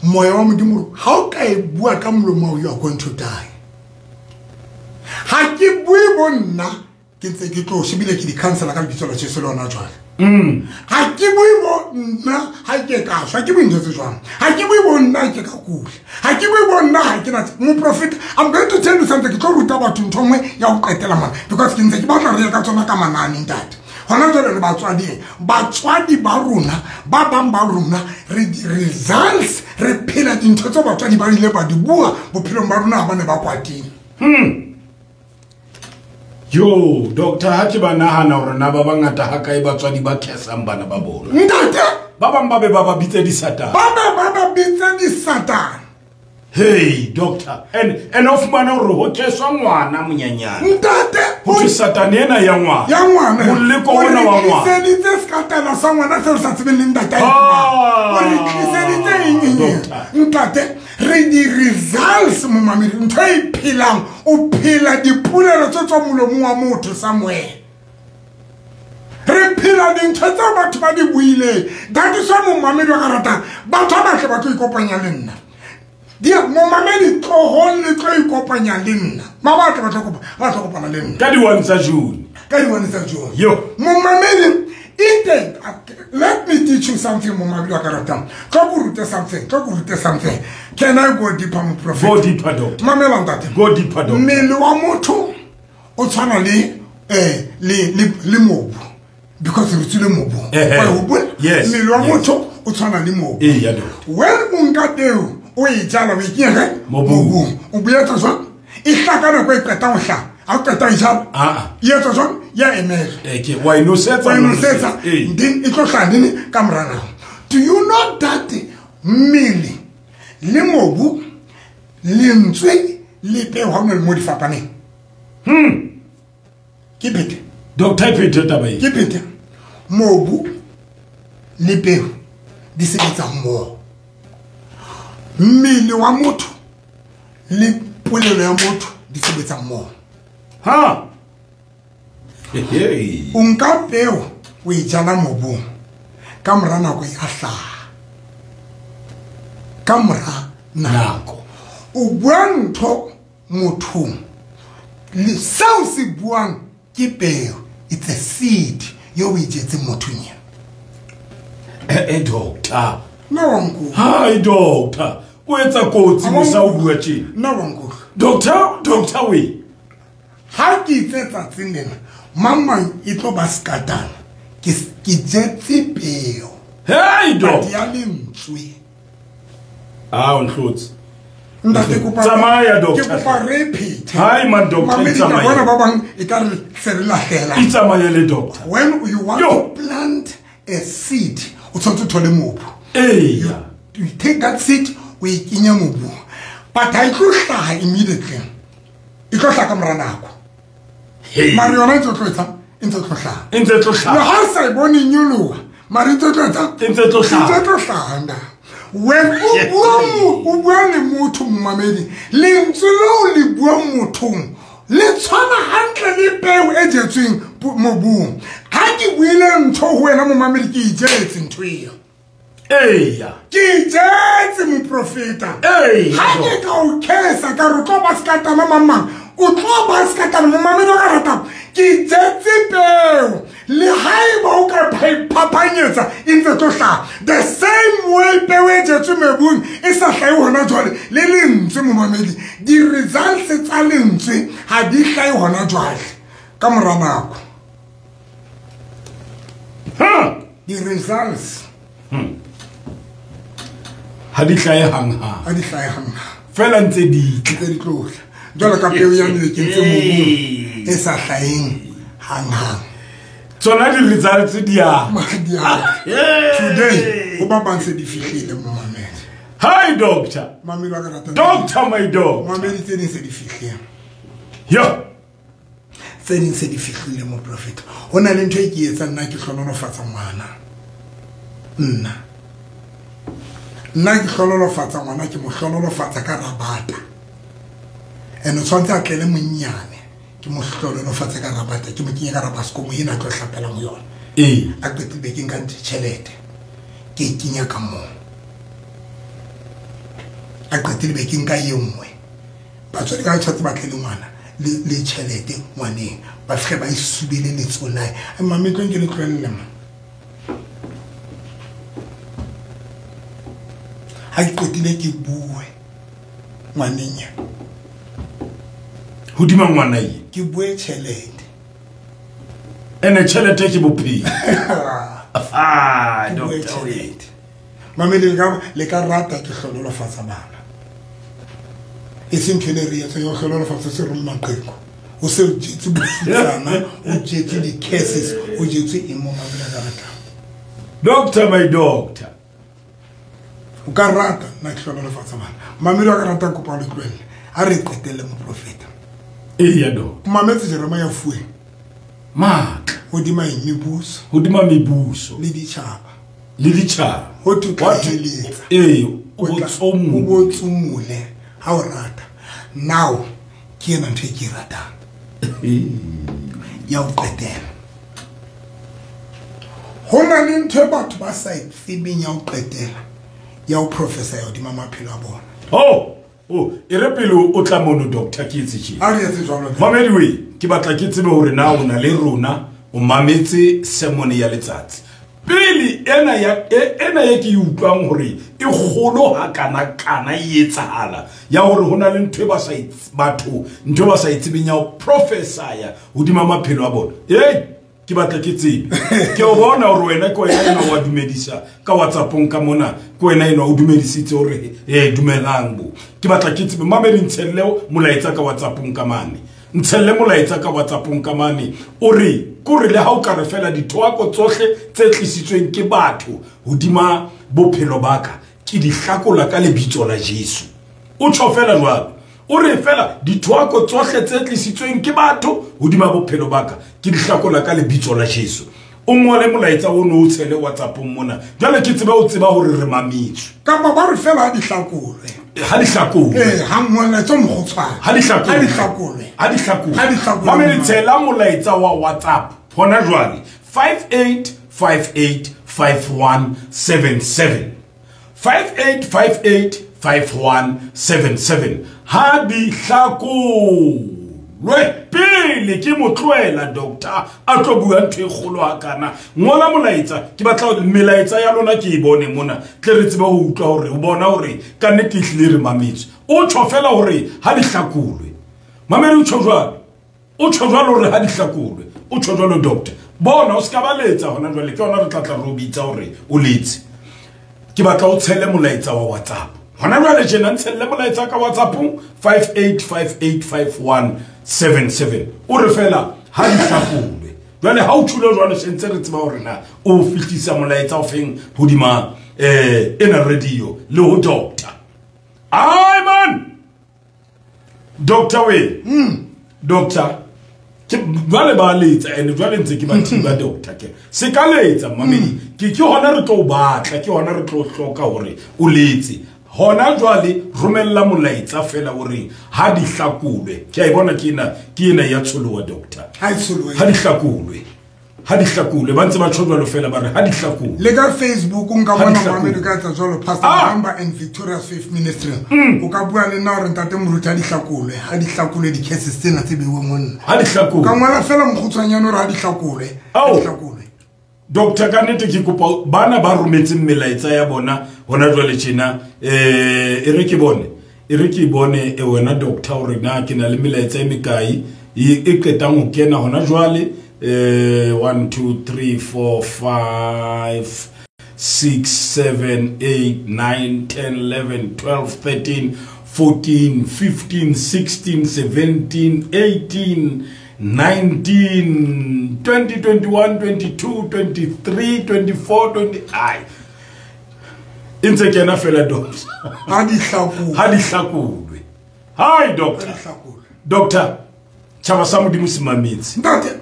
moya wa modimo ha o ka e bua ka molomo you are going to die ha ke bue bo nna ke ntse ke tlo shebile ke di cancela ka lebitso la Jesu le hona jwale mm ha ke bue bo nna ha ke ka shwa ke bue ntho tse jwang ha ke bue bo nna ke ka kula ha ke bue bo nna ha ke na moprofeta I'm going to tell you something ke tlo ruta batho ntho nngwe ya ho qetela mana because ke ntse ke batla re ya ka tsona ka manane ntate hona jwale re batswadi batswadi ba rona ba bang ba rona re results re phela dintho tse batswadi ba ile ba di bua bophelong ba rona ha ba ne ba kwatile hmm yo doctor ha ke ba nahana hore na ba bangata ha kae batswadi ba khesang bana ba bona ntate ba bang ba be ba ba bitse disatane ba ba ba ba bitse disatane hey doctor and and of mana hore ho kheswa ngwana monyanyana ntate ho thwe satane ena ya ngwana ya ngwana moleko ona wa ngwana tliseditse sekatana sa ngwana seo sa tsebeng le ntate o re tliseditse eng eng ntate re di results momamedi ntho e phelang o phela dipolelo tse tswa molomong wa motho somewhere re phela dintho tseo batho ba di buileng that is why momamedi wa ka ratang batho ba batle ba tlo ikopanya le nna dia momamedi tlohong le tlo ikopanya le nna ba batla ba tlo kopa ba tlo kopana le nna ka di one tsa June ka di one tsa June yo momamedi ite let me teach you something momamedi wa ka ratang tlo go rute something tlo go rute something can I go deeper mo prophet go deeper doctor mamela ntate go deeper doctor mmele wa motho o tshwana le eh le le mobu because re tswile mobu wa hopola mmele wa motho o tshwana le mobu eh ya doctor when o nka peo o e jala o e kenya kae mobung o boetsa jwang e hlaka ka nako e qetang ho hlaha ha o qeta e jala ah e etsa jwang ya emela eh ke wa e nosetsa wa e nosetsa then e tlo hlaha nini ka mora nako do you know that mmele le mobu lentswe le peo ha o na le mo di fapaneng hmm ke phete doctor phete taba e ke phete mobu le peo di sebetsa mmoho mmele wa motho le polelo ya motho di sebetsa mmoho ha hey o nka peo o e jala mobung ka mora nako e a hlaha ka mora nako o bua ntho mothong le seo se buang ke peo it's a seed yo o e jetseng mothong ena eh eh doctor nna wa nkutlwa hi doctor o etsa kotsi mosa o bua tjena nna wa nkutlwa doctor doctor we ha ke itse tsatsing lena mang mang e tlo ba sekatana ke ke jetse peo hey doctor ya lentswe ah o ntlotse ntate kopa tsamaya doctor ke kopa re phete hi man doctor tsamaya bona ba bang e ka re se re lahlela itsamaye le doctor when you want Yo. to plant a seed o tshwanetse o thole mobu eh you, you take that seed o e kenya mobu but ha e tlo hlaha immediately e tlo hlaha ka mora nako mare yona e ntse tlo etsa e ntse tlo hlaha e ntse tlo hlaha le ha o sa e bone nyoloha mare e ntse tlo etsa e ntse tlo hlaha e ntse tlo hlaha nna when o bua o bua le motho momamedi lentswe leo le bua mothong le tshwana hantle le peo e jetsweng mobung ha ke buile ntho ho wena momamedi ke ijetse ntho eo eya ke ijetse moprofeta eya ha ke ka o khesa ka re tlo ba sekatana mamang o tlo ba sekatana momamedi o ka ratang ke ijetse peo le haeba o ka iphapanyetsa e ntse tlo hlaha. The same way peo e jetswe mobung e sa hlahe hona jwale, le lentswe momamedi, di-results tsa lentswe ha di hlahe hona jwale ka mora nako. Di-results ha di hlahe hanghang, ha di hlahe hanghang, fela ntse di tla, ntse di tlohla. Jwalo ka peo ya ne ke ntse mobung e sa hlaheng hanghang. Tsona di-results di a today ho ba bang se di fihlile momamedi. Hi doctor. Mamedi wa ka rata. Doctor my dog. Mamedi tse ding se di fihlile. Yo. Tse ding se di fihlile mo prophet. Ho na le ntho e ke etsang nna ke hlonolofatsa ngwana. Nna. Nna ke hlonolofatsa ngwana, ke mo hlonolofatsa ka rabata. Ene tshwantse a tlele monnyane. Ke mo hlonolofatsa ka rabata, ke mo kenye ka rabaskomo ena a tlo hlapelang ho yona. Ee. A qetile be ke nka tjhelete. Ke e kenya ka moo. A qetile be ke nka e nngwe. Batswadi ka tshwantse ba tle le ngwana le le tjhelete ngwaneng. Ba fihle ba e subele letsoho la hae. Mame tlo nke le tlohelle ma. Ha ke qetile ke bue ngwaneng ya. Hodima ngwana ye. Ke bue tjhelete. Ene tjhelete ke bophelo. Ah, doctor. Mame le ka le ka rata ke hlonolofatsa bana. E seng ntho e re etsa yo hlonolofatsa se reng maqheko. O se o jetse bofutsana, o jetse di-curses, o jetse eng mo mame le ka rata. Doctor my doctor. O ka rata nna ke hlonolofatsa bana. Mame le ka rata kopa le tlohelle. A re qetelle moprofeta. Eya doctor. Mametse Jeremiah fuwe. Matla. Hodima eng mebuso. Hodima mebuso. Le ditjhaba. Le ditjhaba. Ho tloheletsa. Ee, o botsomole. O botsomole ha o rata. Now ke ena ntho e ke e ratang. Ya ho qetela. Ho na le ntho e batho ba sa e tsebeng ya ho qetela. Ya ho professor ya hodima maphelo a bona. Oh, oh, e re pele o tla mono doctor ke etse tje. A re etse jwalo. Mamedi we, ke batla ke tsebe hore na o na le rona o mametse sermon ya letsatsi. Pele ena ya ena ye ke utlwang hore e kgolo ha kana kana e etsahala ya hore hona le ntho e ba sa batho ntho ba sa itsebeng ya ho prophesy hodima maphelo a bona. Hey, ke batla ke tsebe. Ke o bona hore wena ke wena ena wa dumedisa ka WhatsAppong ka mona, ke wena ena o dumedisitse hore eh dumelang bo. Ke batla ke tsebe mamedi ntshelle molaetsa ka WhatsAppong ka mane. Ntshelle molaetsa ka WhatsAppong ka mane o re kore le ha o ka re fela dithoako tsohle tse tlisitsweng ke batho hodima bophelo ba ka ke di hlakola ka lebitso la Jesu. O tjho fela jwalo. O re fela dithoako tsohle tse tlisitsweng ke batho hodima bophelo ba ka ke di hlakola ka lebitso la Jesu. O ngole molaetsa o no o tshele WhatsAppong mona. Jwale ke tseba o tseba hore re mametswe. Kapa ba re fela ha di hlakolwe. Ha di hlakolwe. Eh, ha molaetsa o mokgutshwane. Ha di hlakolwe. Ha di hlakolwe. Ha di hlakolwe. Ha di hlakolwe. Mamedi tshela molaetsa wa WhatsApp hona jwale five eight five eight five one seven seven. five eight five eight five one seven seven. Ha di hlakolwe pele ke motloela doctor a tlo bua ntho e kgolo ha kana. Ngola molaetsa ke batla melaetsa ya lona ke e bone mona tle re tsebe ho utlwa hore o bona hore ka nnete ehlile re mametswe. O tjho fela hore ha di hlakolwe. Mamedi o tjho jwalo. O tjho jwalo hore ha di hlakolwe. O tjho jwalo doctor. Bona o ska ba letsa hona jwale ke hona re tla tla re o bitsa hore o letse. Ke batla o tshele molaetsa wa WhatsApp. Hona jwale tjena ntshelle molaetsa ka WhatsAppong five eight five eight five one seven seven. O re fela ha di hlakolwe. Jwale ha o tjhule jwale sentse re tseba hore na o fihlisa molaetsa o feng hodima eh ena radio le ho doctor. Ai man. Doctor we. Mm. Doctor ke jwale ba letsa ene jwale ntse ke ba thiba doctor ke. Se ka letsa mamedi. Ke ke hona re tlo batla, ke hona re tlo hloka hore o letse. Hona jwale romella molaetsa fela hore ha di hlakolwe. Ke a e bona ke ena ke ena ya tsholowa doctor. Ha e tsholowe. Ha di hlakolwe. Ha di hlakolwe ba ntse ba tjho jwalo fela ba re ha di hlakolwe. Le ka Facebook o nka Ha di bona hlakolwe. Mamedi ka etsa jwalo Pastor Ah. Mamba and Victoria's Faith Ministry. Mm. O ka bua le nna hore ntate Moruti ha di hlakolwe, ha di hlakolwe di-cases tsena tse beuweng ho nna. Ha di hlakolwe. Ka ngola fela mokgutshwanyane hore ha di hlakolwe, ha Ao. di hlakolwe. Doctor ka nnete ke kopa bana ba rometseng melaetsa ya bona hona jwale tjena eh e re ke bone e re ke bone e wena doctor hore na ke na le melaetsa e mekae e qetang ho kena hona jwale eh one two three four five six seven eight nine ten eleven twelve thirteen fourteen fifteen sixteen seventeen eighteen nineteen twenty twenty-one twenty-two twenty-three twenty-four twenty ai ntse kena fela doctor ha di hlakolwe ha di hlakolwe hi doctor doctor tjhaba sa Modimo se mametse ntate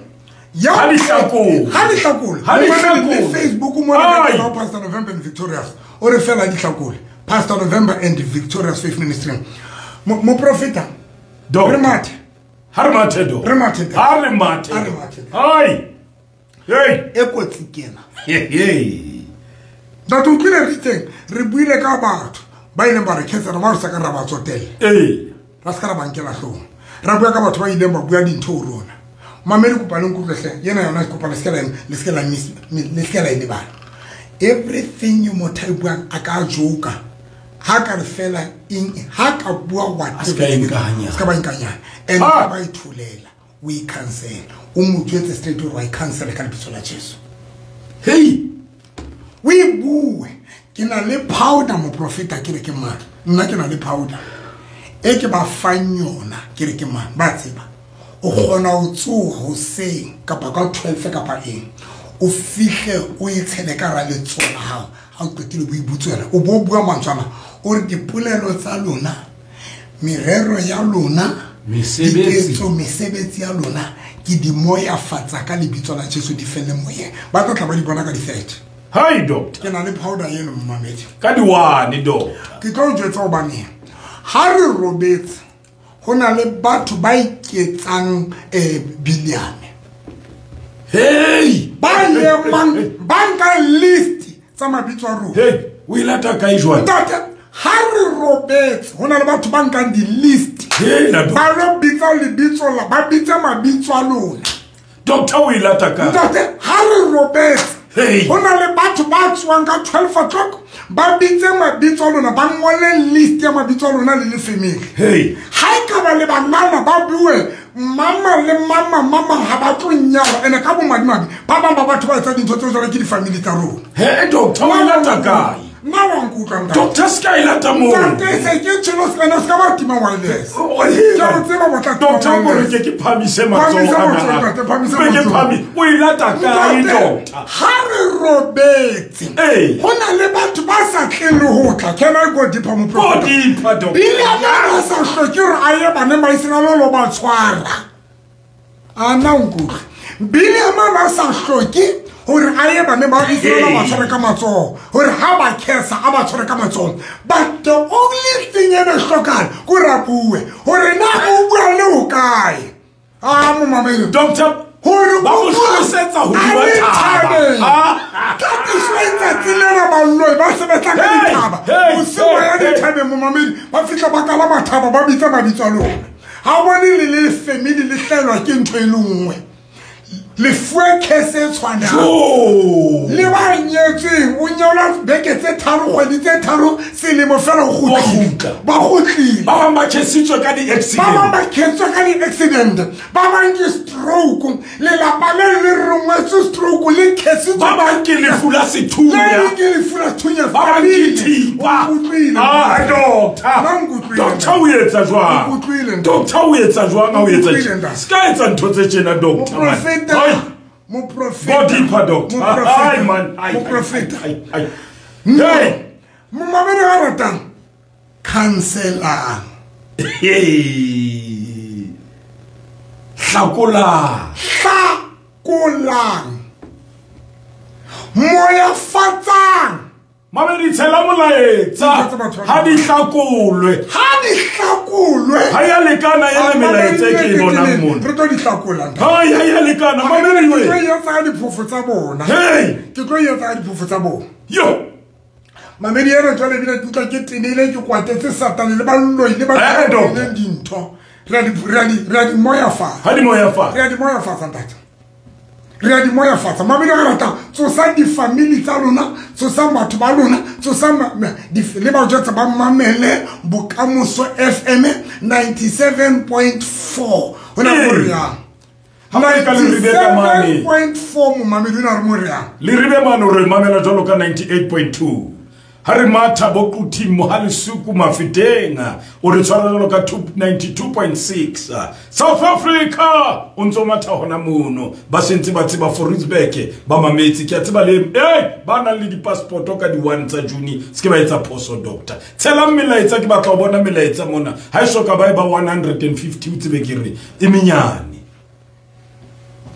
ya ha di hlakolwe ha di hlakolwe ha di hlakolwe Facebook mo na ka Pastor November and Victorious o re fela di hlakolwe Pastor November and Victorious Faith Ministry mo profeta doctor re mathe ha re mathe do re mathe ha re mathe ha re mathe hai hey e kotsi kena hey ntate o tlile re teng re buile ka batho ba ileng ba re khetsa ba re sa ka ra ba tsotella eh ra se ka ra ba nkela hloohong ra bua ka batho ba ileng ba bua dintho ho rona mamedi kopa le nkutlwe yena yona kopa le se la le se la miss le se la e lebala everything you motho buang a ka joka ha ka re fela eng ha ka bua what se ka inkanya se ka ba inkanya and ba ithulela we cancel o mo jwetse straight hore wa cancel ka lebitso la Jesu hey we bue ke na le powder mo profeta ke re ke mang nna ke na le powder e ke ba fang yona ke re ke mang ba tseba o kgona ho tsoha hoseng kapa ka twelve kapa eng o fihle o e tshele ka ra letsoho la hao ha o qetile bo ibutswela o bo bua mantswana o re dipolelo tsa lona merero ya lona mesebetsi mesebetsi ya lona ke di moya fatsa ka lebitso la Jesu di felle moyeng ba tla tla ba di bona ka di-thirty hi doctor ke na le powder eno mmamedi ka di one doctor ke tlo jwetsa hobane ha re robetse ho na le batho ba iketsang eh biliame hey ba lemang ba nka list tsa mabitso a rona hey o ilata kae jwale ntate ha re robetse ho na le batho ba nkang di-list hey la ba lo bitsa lebitso la ba bitsa mabitso a lona doctor o ilata kae ntate ha re robetse hey ho na le batho ba tswang ka twelve o'clock ba bitse mabitso a lona ba ngole list ya mabitso a lona le le family hey ha e ka ba le banana ba bue mama le mama mama ha ba tlo nyala ene ka bomadimabe ba bang ba batho ba etsa dintho tse jwalo ke di-family tsa rona hey doctor o ilata kae nna wa nkutlwa ntate doctor se ka ilata moo ntate se ke tshelo se kana se ka ba tima wireless ke a tseba botla doctor o re ke ke phamise matsoho ana ke phami o ilata kae doctor ha re robetse ho na le batho ba sa tleng le ho tla can I go deeper mo go deeper doctor bile ba sa hloke hore a ye bana ba Israel lo ba tshwara ana nkutlwa bile ba sa hloke hore a ye bana ba Israel ba tshware ka matsoho hore ha ba kesa a ba tshware ka matsoho but the only thing e be hlokang ke re bue hore na o bua le ho kae a mo mamele doctor hore ba mo hlosetsa hodima thaba ka tsoetsa tsilena baloi ba sebetsa ka dithaba bosiu ba ya dithabeng mo mamele ba fihla ba kala mathaba ba bitsa mabitso a lona ha bone le le family le hlaelwa ke ntho e le nngwe le fuwe case e tshwanang le ba nyetsweng o nyalwa beke tse tharo kgwedi tse tharo selemo fela o kgutla ba kgutlile ba bang ba chesitswe ka di-accident ba bang ba chesitswe ka di-accident ba bang ke stroke lelapa le le rongwetswe stroke le chesitswe ba bang ke lefu la sethunya le ke lefu la sethunya ba bang ke thipa ah doctor doctor o etsa jwang doctor o etsa jwang ha o etsa se ka etsa ntho tse tjena doctor man Mo profeta. Go deeper, doctor. Ai man, ai. Mo profeta. Ai ai. Hey, mo mamedi ga ratang. Cancelang. Hey. Hlakolang. Hlakolang. Moya fatsang. Mamedi tshela molaetsa. Ha di hlakolwe. Ha di hlakolwe. Ha ya lekana e le melaetsa ke e bonang mona. Re tlo di hlakola. Ha ya ya lekana mamedi we. Ke tlo etsa ka diphofo tsa bona. Hey, ke tlo etsa ka diphofo tsa bona. Yo. Mamedi ena jwale ebile ke utlwa ke tenile ke kwatetse Satane le baloi le ba leng dintho. Re a di re a di re a di moya fa. Ha di moya fa. Re a di moya fa ntate. Re a di moyafatsa. Mamedi re rata tsosa di-family tsa lona, tsosa batho ba lona, tsosa le ba jwetsa ba mamele Bokamoso F M ninety-seven point four. Ho na ho re yang? ninety-seven point four momamedi o na re mo re yang? Le ribe mane re mamela jwalo ka ninety-eight point two. Ha re matha bo Quthing Mohalesuku Mafeteng o re tshwara jwalo ka ninety-two point six. South Africa o ntso matha hona mono ba sentse ba tseba Forisburg ba mametse ke a tseba le eh ba nang le di-passport ka di one tsa June se ke ba etsa phoso doctor. Tshelang melaetsa ke batla ho bona melaetsa mona ha e soka ba e ba one hundred and fifty o tsebe ke re e menyane.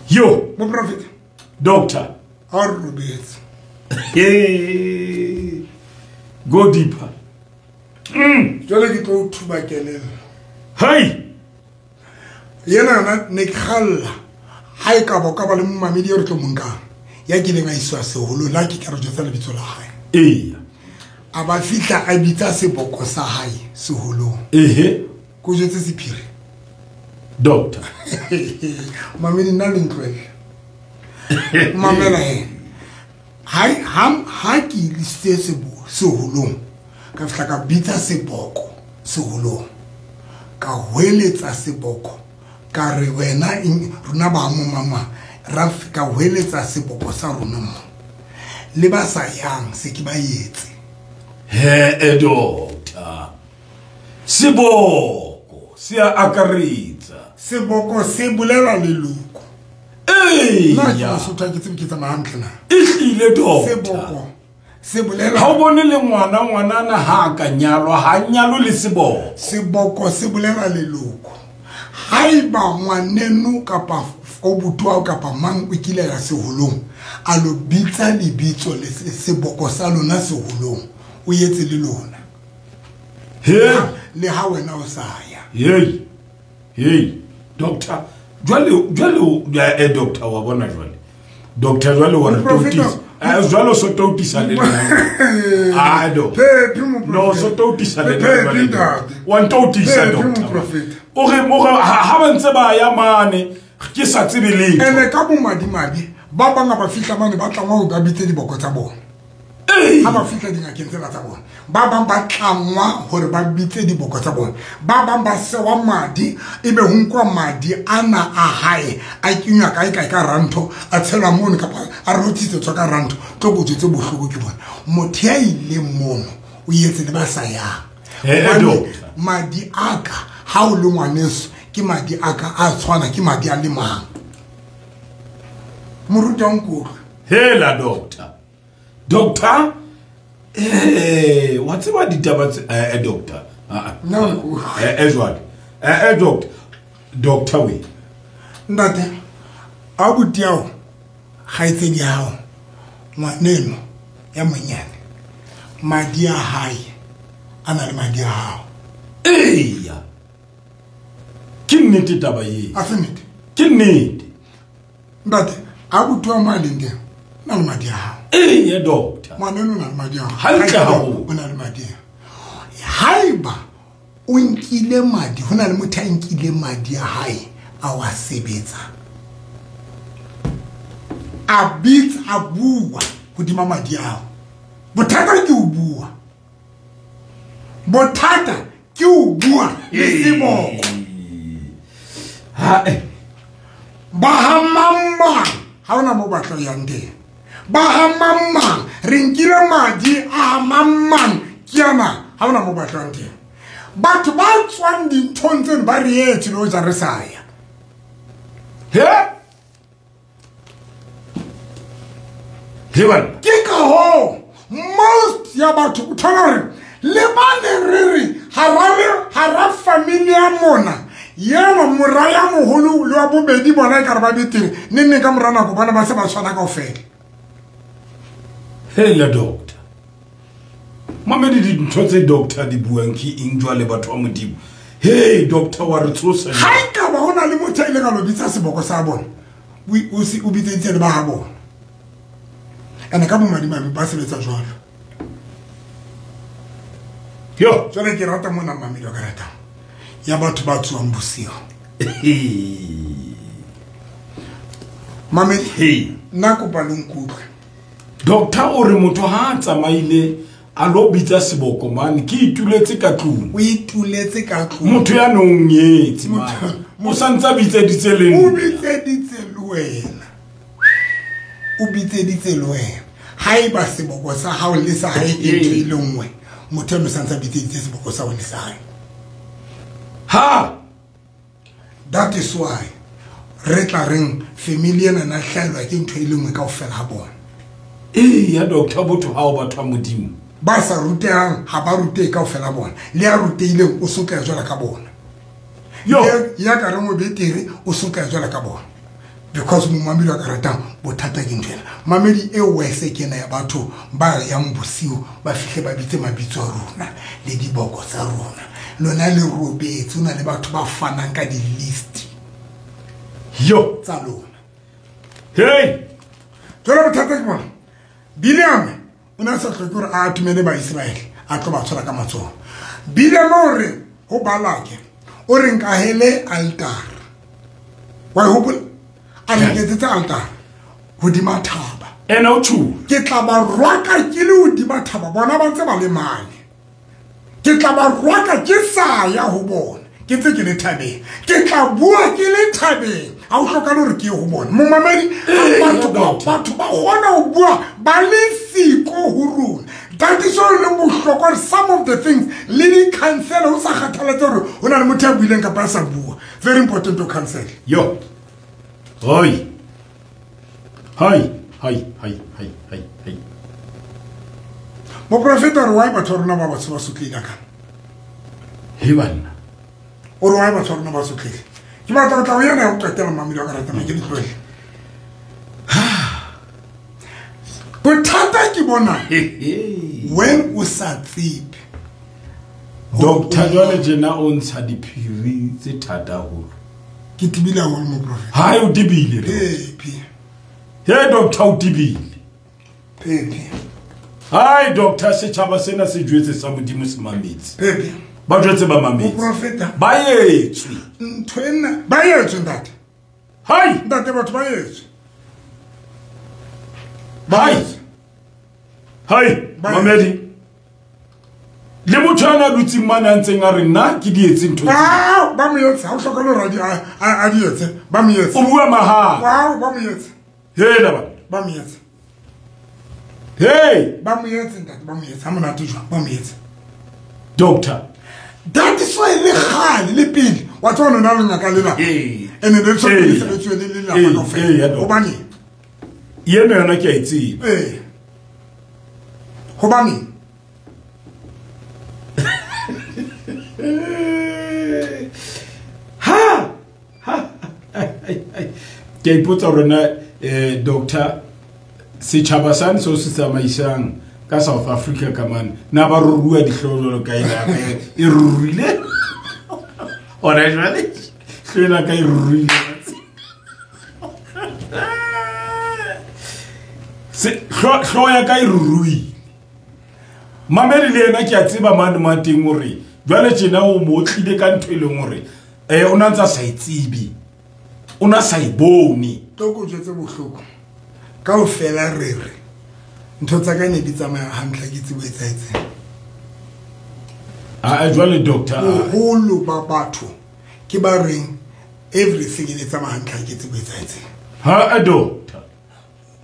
Yo moprofeta doctor ha re robetse. Eh go deeper. Mm. Jwale ke tlo thuba kelello. Hey. Yena yona ne ke kgalla ha e ka ba ka ba le momamedi e re tlo mo nkang ya kileng a iswa seholo la ke ka re jwetsa lebitso la hae. Eya. A ba fihla a bitsa seboko sa hae seholong. Ehe. Ko jwetse sephiri. Doctor. Mamedi nna le ntlohelle. Mamela he. Ha ha ha ke isitse seboko seholong ka fihla ka bitsa seboko seholong ka hweletsa seboko ka re wena rona ba mo mama ra ka hweletsa seboko sa rona mo le ba sa yang se ke ba etse he e doctor seboko se a akaretsa seboko se bolela leloko eh nna ke mosotho ke tsebe ke tsamaya hantle na e hlile doctor seboko se bolela ha o bone le ngwana ngwanana ha ka nyalwa ha nyalo le seboko seboko se bolela leloko haeba ngwaneno kapa o butwa kapa mang o kile ya seholong a lo bitsa lebitso le seboko sa lona seholong o yetse le lona he le ha wena o sa ya hey hey doctor jwale jwale eh doctor wa bona jwale doctor jwale wa re totisa eh jwalo so totisa le nna ah do no so totisa le nna wa ntotisa doctor o re mo ha ba ntse ba ya mane ke sa tsebe letho ene ka bomadimabe ba banga ba fihla mane ba tlangwa ho ba bitse diboko tsa bona ha ba fihla dingakeng tsena tsa bona ba bang ba tlangwa hore ba bitse diboko tsa bona ba bang ba sewa madi ebe ho nkwa madi ana a hae a kenywa kae kae ka rantho a tshelwa mono kapa a rothitsetswa ka rantho tlo bojetse bohloko ke bona motho ya ileng mono o yetse le ba sa yang madi a ka ha o le ngwaneso ke madi a ka a tshwana ke madi a le mang moruti wa nkutlwe hela doctor doctor eh wa tseba ditaba tse eh doctor ah no eh eh jwale eh eh doctor doctor we ntate a buti yao kgaitsedi ya hao ngwaneno ya monyane madi a hae a na le madi a hao eya ke nnete taba ye a se nnete ke nnete ntate a buti wa mo a leng teng na le madi a hao eya doctor ngwaneno o na le madi a hao hantle haholo o na le madi a haeba o nkile madi ho na le motho a nkile madi a hae a wa sebetsa a bitsa a bua hodima madi ao bothata ke o bua bothata ke o bua le seboko ha eh ba ha mamang ha ona mo batla yang teng ba ha mamang re nkile madi a mamang ke ana ha ona mo batlang teng batho ba tswang dinthong tseno ba re etse le ho ja re sa ya he he bana ke ka hoo most ya batho o thola hore le bane re re hara hara family ya mona yena mora ya moholo le wa bobedi bona e ka re ba betere ne nne ka mora nako bona ba se ba tshwana kaofela hela doctor mamedi dintho tse doctor di buang ke eng jwale batho ba modimo hey doctor wa re tshosa ha e ka ba hona le motho a ile ka lo bitsa seboko sa bona o se o bitsentse le ba ha bona ene ka bomadimabe ba sebetsa jwalo yo jwale ke rata mona mamedi wa ka ratang ya batho ba tswang bosigo Mamedi nna kopa le nkutlwe. Doctor o re motho ha a tsamaile a lo bitsa seboko mane ke ituletse ka tlung. O ituletse ka tlung. Motho ya nong nyetse mane. O santsa bitseditse le nna. O bitseditse le wena. O bitseditse le wena. Haeba seboko sa hao le sa hae ke ntho e le nngwe, motho eno santsa bitseditse seboko sa hao le sa hae. Ha! That is why re tla reng family ena na hlaelwa ke ntho e le nngwe kaofela ha bona. Eh ya doctor botho ha o batho ba Modimo. Ba sa rutehang ha ba rutehe kaofela bona. Le ya rutehileng o sotleha jwalo ka bona. Yo ya ka reng o betere o sotleha jwalo ka bona. Because momamedi wa ka ratang bothata ke ntho ena. Mamedi e wese ke ena ya batho ba yang bosiu ba fihle ba bitse mabitso a rona le diboko tsa rona. Lona le robetse o na le batho ba fanang ka di-list. Yo tsa lona. Hey! Jwale bothata ke bona. Bileame o ne a sa hloke hore a atumele Baiseraele a tlo ba tshwara ka matsoho. Bileame o re ho Balake o re nkahele altara. Wa e hopola? A re nketsetse altara hodima thaba. Ena o tjho. Ke tla ba rwaka ke le hodima thaba bona ba ntse ba le mane. Ke tla ba rwaka ke sa ya ho bona. Ke ntse ke le thabeng. Ke tla bua ke le thabeng. Ha o hlokahale hore ke ye ho bona. Momamedi batho ba batho ba kgona ho bua ba le siko ho rona. That is all le bohlokwa some of the things le di cancel ho sa kgathalatse hore ho na le motho ya buileng kapa a sa bua. Very important to cancel. Yo. Hoi. Hoi, hoi, hoi, hoi, hoi, hoi. Moprofeta re why batho ba rona ba batsho ba sotlehile ka? He banna. O re why batho ba rona ba sotlehile? Ke batla ho tla ho yena ya ho qetela mamedi wa ka ratang ke ditlohele. Bothata ke bona when o sa tsebe. Doctor jwale tjena o ntsha diphiri tse thata haholo. Ke tibile haholo moprofeta. Hai o tibile re. Pepe. He doctor o tibile. Pepe. Hai doctor setjhaba sena se jwetse sa Modimo se mametse. Pepe. Ba jwetse ba mametse. Moprofeta. Ba etswe. Ntho ena ba etswe ntate. Hai ntate batho ba etswe. Hai. Hai mamedi. Le motho ana dutseng mane a ntseng a re nna ke di etse ntho tse. Wow, ba mo etse, ha o hlokahale hore a di a di etse, ba mo etse. O bua mahala. Wow, ba mo etse. Hela ba. Ba mo etse. Hey, ba mo etse ntate, ba mo etse. Ha monate jwang, ba mo etse. Doctor. That is why le kgale le pele wa tswa nona le ngaka le la. Ene le tshwanetse le sebetswe le le lapa kaofela. Hobane yena yona ke a e tseba. Eh. Hobane ha ha ke ipotsa hore na eh doctor setjhaba sane seo se tsamaisang ka South Africa ka mane na ba rurua dihlooho jwalo ka ena e ruruile ora jwale hlwela ka e ruruile se hlooho ya ka e ruruile. Mamedi le yena ke a tseba mane ma teng hore jwale tjena o mo tlile ka ntho e leng hore eh o na ntsa sa e tsebe, o na sa e bone. Tlo ko jwetse bohloko kaofela re re ntho tsa ka ne di tsamaya hantle ke tsebo etsahetseng. A jwale doctor boholo ba batho ke ba reng everything e tsamaya hantle ke tsebo etsahetseng. Ha a doctor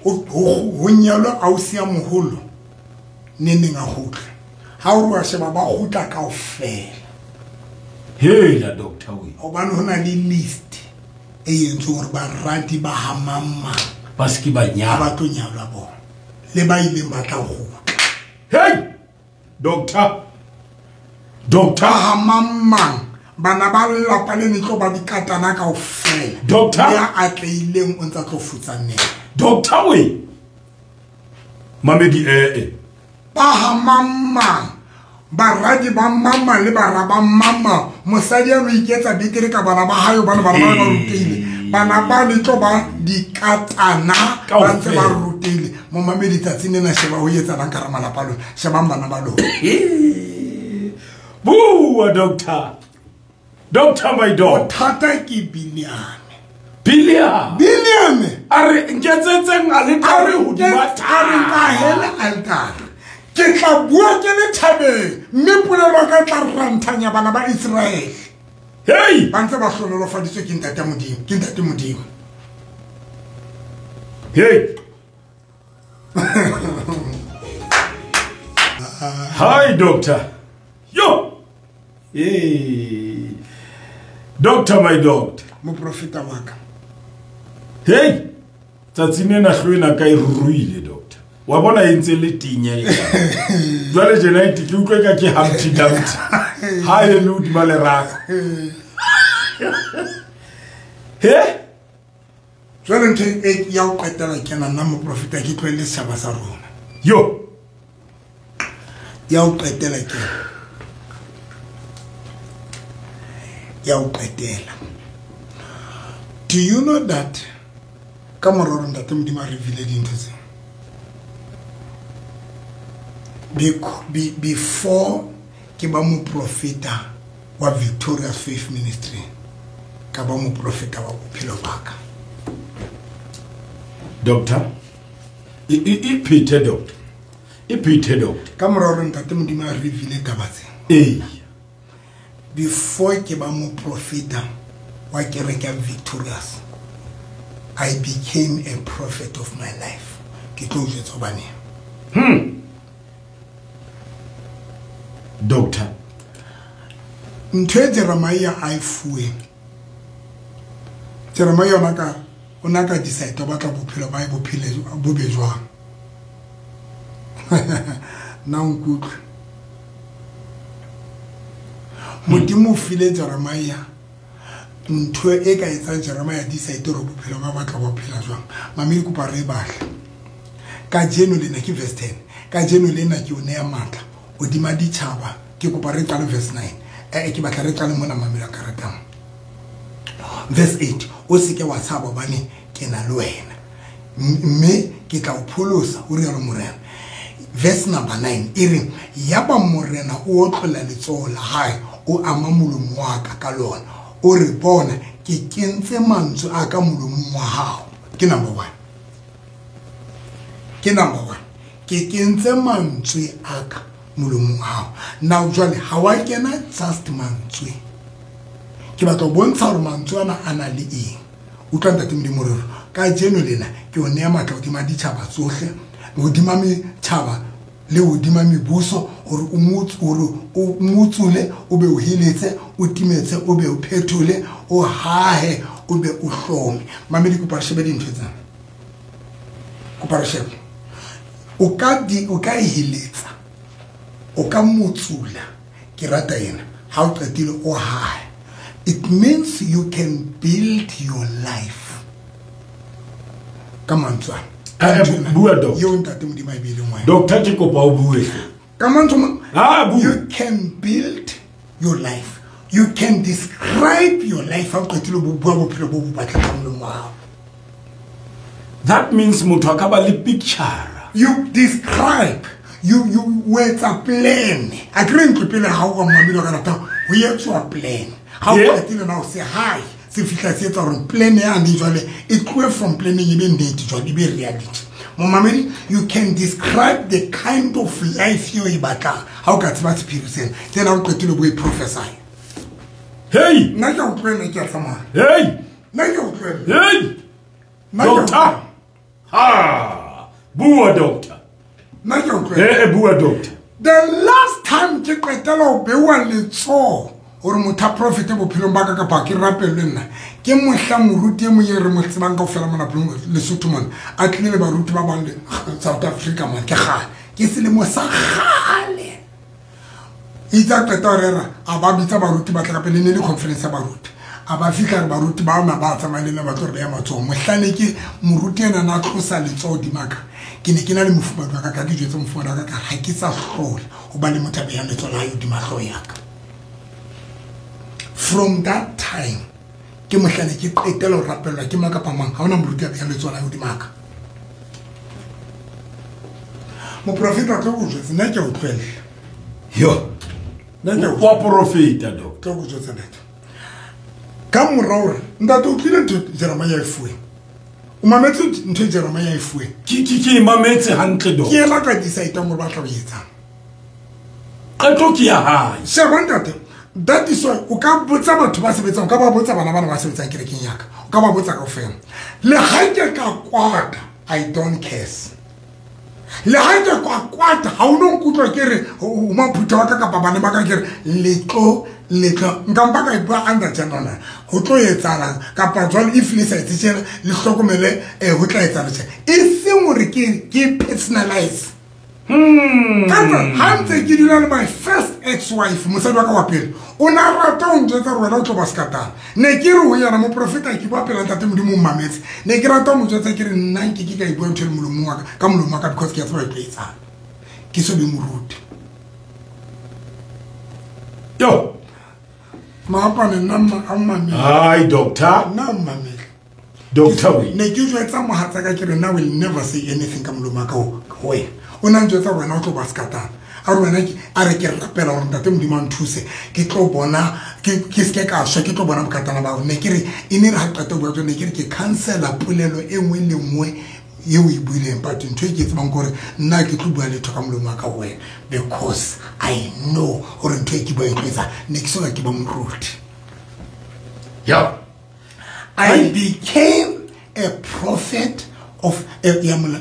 ho nyalwa ausi ya moholo neneng a kgutla. Ha o re wa sheba ba kgutla kaofela. Hela doctor we. Hobane ho na le list e entsweng hore barati ba ha mang ba se ke ba nyalwa. Ba tlo nyalwa bona. Le ba ileng ba tla kgutla. Hey doctor. Doctor ha mang bana ba lelapa le ne tlo ba dikatana kaofela. Doctor ya atlehileng o ntsa tlo futsanela. Doctor we. Mamedi eh eh. Ba ha mang baradi ba mama le bara ba mama mosadi a no iketsa betere ka bana ba hae bana bana ba ba rutehile bana ba le tlo ba dikatana ba ntse ba rutehile. Momamedi tsatsi lena sheba ho etsalang ka malapa a lona, shebang bana ba lona. Bua doctor. Doctor my dog. Bothata ke Bileame. Bileame. Bileame. A re nketsetseng aletare hodima a re nkahele altare. Ke tla bua ke le thabeng mme polelo ka tla ranthanya bana ba Israel. Hey! Ba ntse ba hlonolofaditswe ke Ntate Modimo, ke Ntate Modimo. Hey! Hi, doctor. Yo! Hey! Doctor, my doctor. Moprofeta wa ka. Hey! Tsatsing lena hlo ena ka e ruruile, doctor. Wa bona e ntse le tinya e. Jwale jena e ke utlwe ka ke Humpty Dumpty. Ha e le hodima leraka. He? Jwale ntho e ya ho qetela kena nna moprofeta ke tlohelle setjhaba sa rona. Yo! Ya ho qetela kena. Ya ho qetela. Do you know that ka mora hore Ntate Modimo a reveal dintho tseo? Before ke ba moprofeta wa Victorious Faith Ministry, ka ba moprofeta wa bophelo ba ka. Doctor, e e phethe doctor. E phethe doctor. Ka mora hore Ntate Modimo a reveal taba tse. Eh. Before ke ba moprofeta wa kereke ya Victorious, I became a prophet of my life. Ke tlo jwetsa hobane. Hmm. Doctor. Ntho e Jeremiah a e fuweng. Jeremiah ona ka o na ka decide o batla bophelo ba e bophele bo be jwang. Na o nkutlwe. Modimo o file Jeremiah ntho e ka etsang Jeremiah decide hore bophelo ba batla bo phela jwang. Mamedi kopa re batle. Kajeno lena ke verse ten. Kajeno lena ke o neya matla hodima ditjhaba. Ke kopa re qale verse nine. Eh ke batla re qale mona mamedi a ka ratang. Verse eight. O seke wa tshaba hobane ke na le wena. Mme ke tla o pholosa, o rialo Morena. Verse number nine e re yaba Morena o otlolla letsoho la hae o ama molomo wa ka ka lona. O re bona ke kentse mantswe a ka molomong wa hao. Ke number one. Ke number one. Ke kentse mantswe a ka molomong wa hao. Now jwale ha wa kena just mantswe. Ke batla ho bontsha hore mantswe ana a na le eng. Utlwa Ntate Modimo re kajeno lena ke o neya matla hodima ditjhaba tsohle, hodima metjhaba le hodima mebuso, hore o motse hore o motsule, o be o heletse, o timetse, o be o phethole, o hahe, o be o hlome. Mamedi kopa re shebe dintho tsena. Kopa re shebe. O ka di o ka heletsa. O ka motsula. Ke rata ena. Ha o qetile o hahe. It means you can build your life. Ka mantswe ana. Bua doctor. Yo Ntate Modimo a e beileng wena. Doctor ke kopa o bue. Ka mantswe ah bua. You can build your life. You can describe your life. Ha o qetile bo bua bophelo bo bo batlang ka molomo wa hao. That means motho a ka ba le picture. You describe. You you etsa plan. A ke re ntlo pele ha o ka mamelo ka rata ho etswa plan. Ha o qetile na o se hi. Se fihla se etsa hore plan ya ane jwale e tlohe from planning e be nnete jwale e be reality. Momamedi, you can describe the kind of life you e batlang. Ha o ka tseba sephiri sena, then ha o qetile bo e prophesy. Hey! Nna ke a o tlohella ke a tsamaya. Hey! Nna ke a o tlohella. Hey! Doctor! Ha! Bua doctor. Nna ke a o tlohella. Eh, bua doctor. The last time ke qetela ho bewa letsoho hore motho a profete bophelong ba ka kapa ke rapellwe nna, ke mohla moruti e mong e re mo tsebang kaofela mona Lesotho mona, a tlile le baruti ba bang le South Africa mona, ke kgale, ke selemo sa kgale. Itse a qeta ho rera, a ba bitsa baruti ba tla ka pele, ne le conference ya baruti. A ba fihla re baruti ba ona ba tsamaya le nna ba tlo re beha matsoho. Mohlane ke moruti ena na tlosa letsoho hodima ka. Ke ne ke na le mofumahadi wa ka, ka ke jwetse mofumahadi wa ka ka ha ke sa hlola ho ba le motho a behang letsoho la hae hodima hlooho ya ka. From that time, ke mohlane ke qetela ho rapellwa ke mang kapa mang, ha hona moruti a behang letsoho la hae hodima ka. Moprofeta tlo go jwetsa, nna ke a o tlohella. Yo. Nna ke a o Wa profeta, doctor. Tlo go jwetsa ntate. Ka mora hore ntate o tlile ntho Jeremiah e fuwe. O mametse ntho Jeremiah e fuwe. Ke ke ke mametse hantle do. Ke ela ka decide hore ba tla o etsang. Qeto ke ya hae. Sheba ntate, that is why o ka botsa batho ba sebetsang, o ka ba botsa bana bana ba sebetsang kerekeng ya ka. O ka ba botsa kaofela. Le ha ke ka kwata, I don't care. Le ha ke kwa kwata, ha o no nkutlwa ke re o maphutha wa ka kapa bana ba ka ke re letlo letlo nka mpa ka e bua under general ho tlo etsahalang kapa jwale if le sa etse tjena le hlokomele eh ho tla etsahala tjena e seng hore ke ke personalize. Hmm. Ka ha ntse ke dula le my first ex-wife mosadi wa ka wa pele o na rata ho njwetsa hore wena o tlo ba sekatana. Ne ke re ho yena moprofeta ke bua pela ntate Modimo o mmametse. Ne ke rata ho mo jwetsa ke re nna nke ke ka e bua ntho e le molomong wa ka ka molomo wa ka because ke a tseba e tlo etsahala. Ke so be moruti. Yo. Maapane nna a mmamele. Hi doctor. Nna mmamele. Doctor we. Ne ke jwetsa mohatsa ka ke re nna will never say anything ka molomo wa ka ho wena. O na njwetsa wena o tlo ba sekatana. A re wena ke a re ke rapela hore ntate Modimo a nthuse ke tlo bona ke ke se ka shwa ke tlo bona bokatana ba ne ke re e ne re ha qeta bua tsone ke re ke cancela polelo e nngwe le nngwe eo e buileng but ntho e ke tsebang gore nna ke tlo bua letho ka molomo wa ka wena because I know hore ntho e ke bua e tlo etsa ne ke soka ke ba moruti. Yeah. I became a prophet of ya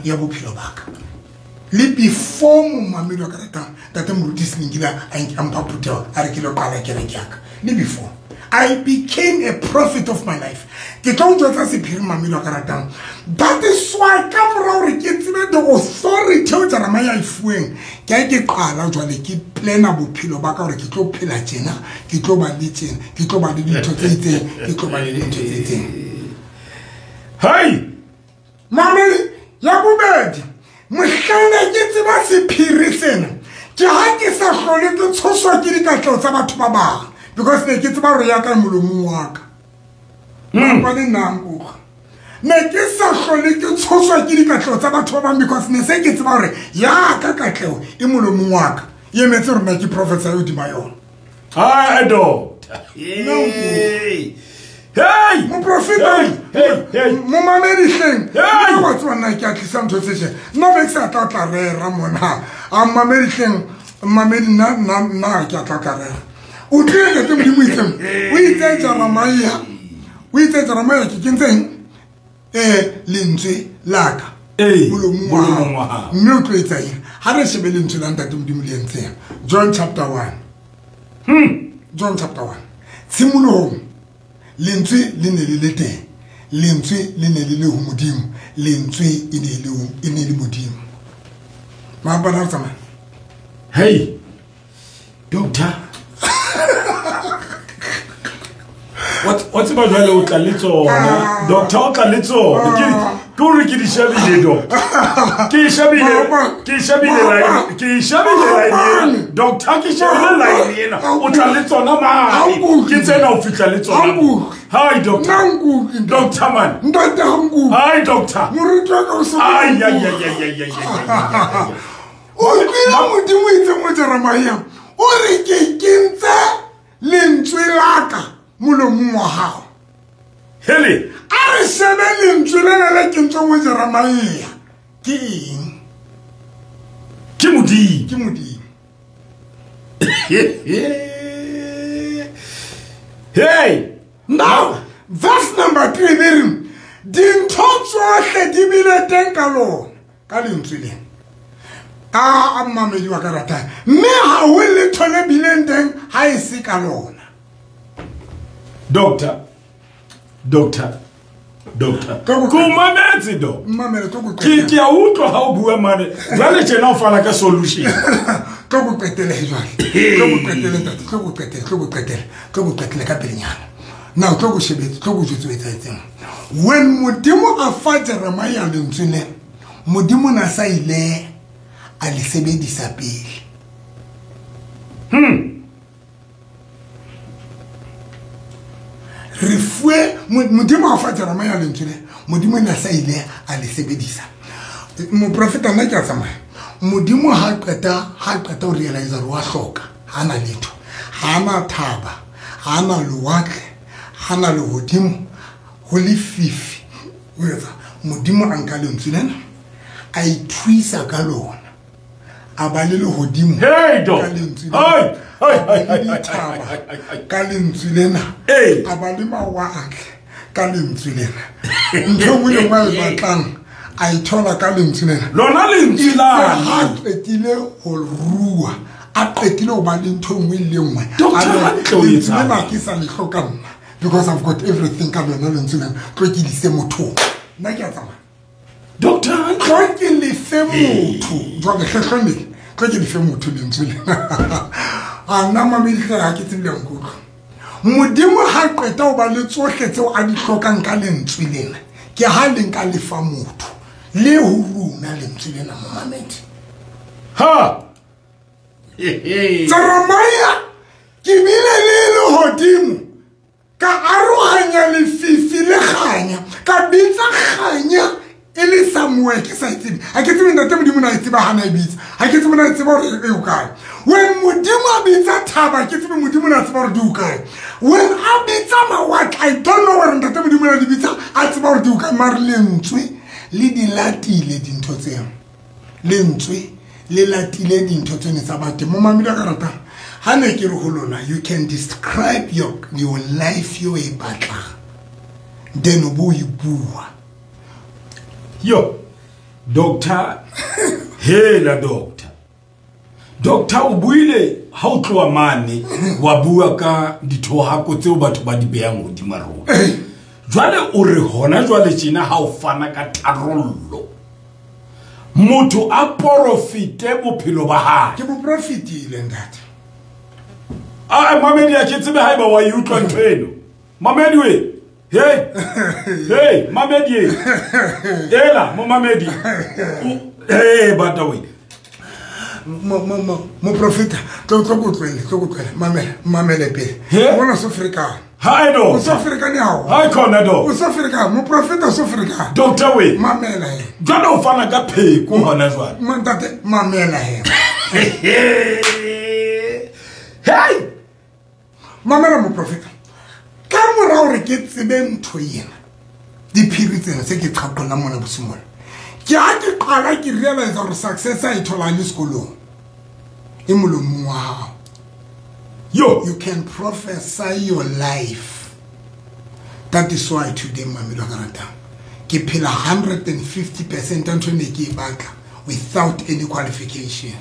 ya bophelo ba ka. Le before momamedi wa ka ratang ntate Moruti Selengile a mpha phuthego a re ke lo qala kereke ya ka. Le before I became a prophet of my life. Ke tlo o jwetsa sephiri mamedi wa ka ratang. That is why ka mora hore ke tsebe the authority eo Jeremiah e fuweng ke a ke qala jwale ke plana bophelo ba ka hore ke tlo phela tjena, ke tlo ba le tjena, ke tlo ba le dintho tse itseng, ke tlo ba le dintho tse itseng. Hey! Mamedi ya bobedi mohlanka ke tseba sephiri sena ke ha ke sa hlole ke tshoswa ke dikatleho tsa batho ba bang because ne ke tseba hore ya ka molomong wa ka. Mapane nna nkutlwa. Ne ke sa hlole ke tshoswa ke dikatleho tsa batho ba bang because ne se ke tseba hore ya ka katleho e molomong wa ka. E emetse hore nna ke professor eo hodima yona. Hi doctor. Hey. Hey! Moprofeta, hey, hey. Momamedi hleng. Nna wa tseba nna ke a tlisa ntho tse tjena. Nna be ke sa tla tla rera mona. A mamedi hleng, mamedi nna nna nna ke a tla tla rera. O tlile ntate Modimo itseng. O itse Jeremiah. O itse Jeremiah ke kentseng eh lentswe la ka. Eh, molomong wa hao. Mme o tlo etsa eng? Ha re shebe lentswe la ntate Modimo le entseng. John chapter one. Hmm. John chapter one. Tshimolohong lentswe le ne le le teng. Lentswe le ne le le ho Modimo. Lentswe e ne le e ne le Modimo. Maapana re tsamaya. Hey. Doctor. What what tseba jwale o tla le tsona. Doctor o tla le tsona. Ke ke hore ke di shebile doctor. Ke shebile ke shebile line ke shebile line. Doctor ke shebile line ena. O tla le tsona mane. Ke tsena o fihla le tsona. Hi doctor. Doctor man. Ntate ha nkutlwe. Hi doctor. Moruti wa ka o se. Ai ai ai ai ai ai. O tlile Modimo itse mo Jeremiah. O re ke kentse lentswe la ka molomong wa hao. Hele. A re shebe lentswe lena le kentsweng ho Jeremiah. Ke eng? Ke Modimo. Ke Modimo. Hey! Now, verse number three be re dintho tsohle di bile teng ka lona ka lentswe lena. A a mamedi wa ka ratang. Mme ha ho letho le bileng teng ha e se ka lona. Doctor. Doctor. Doctor. Ko mametse do. Mamele tlo go Ke ke a utlwa ha o bua mane. Jwale tjena o fana ka solution. Tlo go qetele jwale. Tlo go qetele ntate, tlo go qetele, tlo go qetele, tlo go qetele ka pelenyana. Now tlo go shebetse, tlo go jwetse o etsahetseng. When Modimo a fa Jeremiah lentswe le, Modimo na sa ile a le sebedisa pele. Hmm. Re fuwe Modimo a fa Jeremiah lentswe le, Modimo na sa ile a le sebedisa. Moprofeta nna ke a tsamaya. Modimo ha qeta ha qeta ho realize hore wa hloka, ha na letho, ha na thaba, ha na lewatle, Hana lehodimo ho lefifi o etsa modimo a nka lentswe lena a ithuisa ka lona a ba le lehodimo ka lentswe lena ka lentswe lena a ba le mawatle ka lentswe lena ntho e nngwe le nngwe a e batlang a e thola ka lentswe lena lona lentswe la ha qetile ho rua a qetile ho ba le ntho e nngwe le nngwe lentswe lena ke sa le hloka nna because I've got everything ka lona lentswe lena tlo ke lise motho nna ke a tsamaya doctor tlo ke lefe motho jwale hlehlomele tlo ke lefe motho lentswe lena a nna mamedi ha ke tsebile nkutlwa modimo ha qeta ho ba le tsohle tseo a di hlokang ka lentswe lena ke ha le nka lefa motho le ho rona lentswe lena momamedi ha Jeremiah ke bile le lehodimo ka arohanya lefifi le kganya ka bitsa kganya e le somewhere ke sa itsebe ha ke tsebe ntate modimo na e tseba hana e bitsa ha ke tsebe na e tseba hore e o kae when modimo a bitsa thaba ke tsebe modimo na tseba hore di o kae when a bitsa mawatle I don't know hore ntate modimo na di bitsa a tseba hore di o kae mare lentswe le di latile dintho tseo lentswe le latile dintho tsene tsa batho mo mamedi a ka ratang ha ne ke re ho lona you can describe your your life yo e batlang then o bo e bua yo doctor hela doctor doctor o buile ha o tloa mane wa bua ka dithohako tseo batho ba di behang hodima rona jwale o re hona jwale tjena ha o fana ka tharollo motho a porofite bophelo ba hae ke bo profitile ntate a mamedi a ke tsebe haeba wa e utlwa ntho eno mamedi we hey hey mamedi ela mo mamedi hey bata we mo mo mo mo profita tlo tlo go tlwele tlo go tlwele mamela mamele pele bona so Afrika hi do o so Afrika ni hao hi khona do o so Afrika mo profita so Afrika doctor we mamela he jwale o fana ka pheko hona jwale mantate mamela he hey mamela mo profita ka mora hore ke tsebe ntho ena diphiri tsena tse ke qhaqolla mona bosimola ke ha ke qala ke realize hore success a e thola le sekolong e molomong wa hao yo you can prophesy your life that is why today mamelo ka ratang ke phela one hundred fifty percent ntho ne ke e batla without any qualification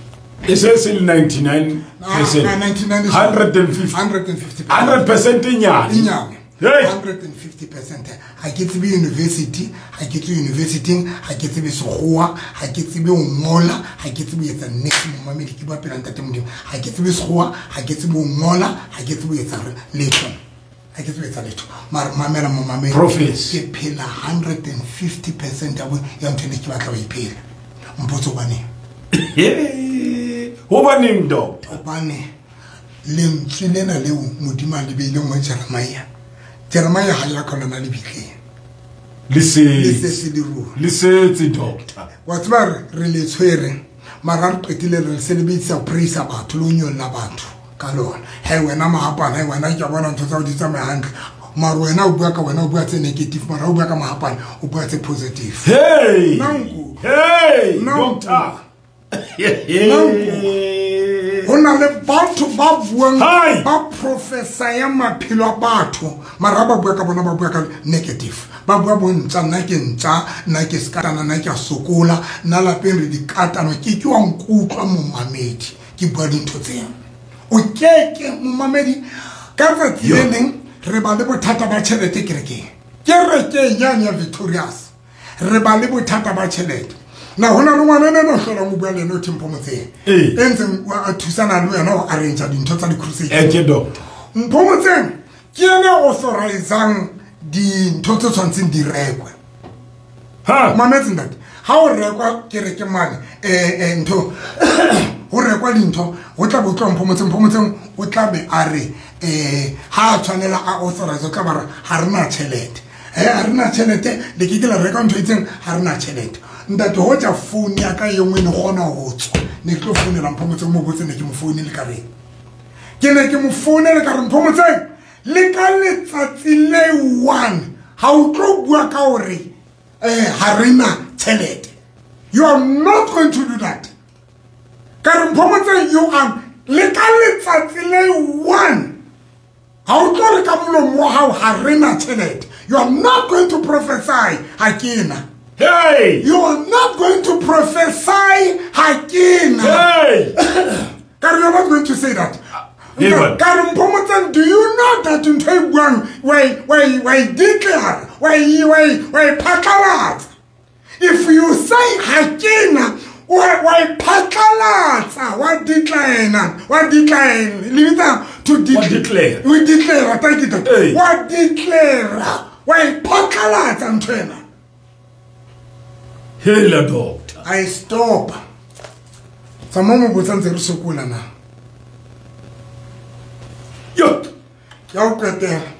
e se se ninety-nine percent one hundred fifty one hundred percent e nyane one hundred fifty percent ha ke tsebe university ha ke tswe university ha ke tsebe sekgowa ha ke tsebe ho ngola ha ke tsebe etsa next momamedi ke ba pela ntate modimo ha ke tsebe sekgowa ha ke tsebe ho ngola ha ke tsebe etsa letho ha ke tsebe etsa letho mara mamela momamedi ke phela one hundred fifty percent ya ya ntho ne ke batla ho iphela mpotso hobane hobaneng doctor hobane lentswe lena leo modimo a le beileng ho Jeremiah Jeremiah ha ya khona na le bitleng le se se le ruri le setse doctor wa tseba re le tshwere mara re qetile re se le bitsa praise batho le nyolla batho ka lona he wena mahapana he wena ke bona ntho tsa o di tsamaya hantle mara wena o bua ka wena o bua tse negative mara o bua ka mahapana o bua tse positive hey nanku hey doctor ho na le batho ba buang ba professor maphelo a batho mara ba bua ka bona ba bua ka negative ba bua bontsa nna ke ntsa nna ke skatana nna ke a sokola nna lapeng re dikatano ke ke wa nkutlwa momamedi ke bua dintho tseo o keke momamedi ka tsatsi le leng re ba le bothata ba tjhelete kerekeng kerekeng yane ya Victorious re ba le bothata ba tjhelete na hona le ngwana ena no hlolang o bua le ena o Mpho Motseng e ntseng a thusana le wena ho arrange dintho tsa di-crusade e ke doctor Mpho Motseng ke ena authorizang dintho tse tshwantseng di rekwe ha mametse ntate ha o rekwa kereke mane eh eh ntho ho rekwa dintho ho tla bo tlo Mpho Motseng Mpho Motseng o tla be a re eh ha tshwanela a authorize o tla ba re ha rena tjhelete eh ha rena tjhelete le ke ke la reka ntho itseng ha rena tjhelete ntate ho tja phone ya ka engwe ne kgona ho tswa ne ke tlo founela Mpho Motseng mo botse ne ke mo founele ka reng ke ne ke mo founele ka re Mpho Motseng Le ka letsatsi le one ha o tlo bua ka hore eh ha re na tjhelete. You are not going to do that. Ka re Mphomotseng, you are le ka letsatsi le one ha o tlo re ka molomo wa hao ha re na tjhelete. You are not going to prophesy ha ke na. Hey! You are not going to prophesy ha ke na. Hey! Ka re, you are not going to say that. Ka re Mphomotseng, do you know that ntho e buang wa wa wa declare wa wa wa phatlalatsa? If you say ha ke na, wa wa phatlalatsa, wa declare, wa declare, le bitsa to declare. We declare, thank you. Wa declare, wa phatlalatsa ntho ena. Hela doctor. I stop. Tsamaya mo botsa ntse re sokola na. Yo. Ya o qetela.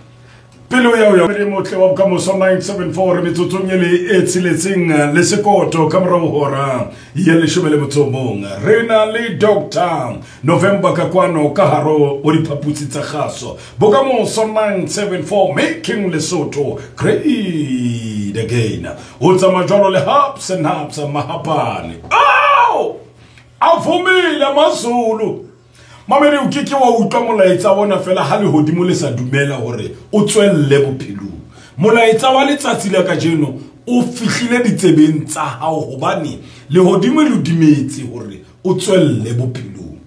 Pelo ya o re motle wa bokamoso nine seven four re metsotsong e le e tsheletseng le sekoto ka morao hora ya leshome le motso o mong. Re na le Doctor November ka kwano ka haro o diphaputsi tsa kgaso. Bokamoso nine seven four making Lesotho great again. O tsamaya jwalo le haps and haps mahapane. Au! A vumile Mazulu. Mamedi o keke wa utlwa molaetsa ona fela ha lehodimo le sa dumela hore o tswelle bophelong. Molaetsa wa letsatsi la kajeno o fihlile ditsebeng tsa hao hobane lehodimo le dumetse hore o tswelle bophelong.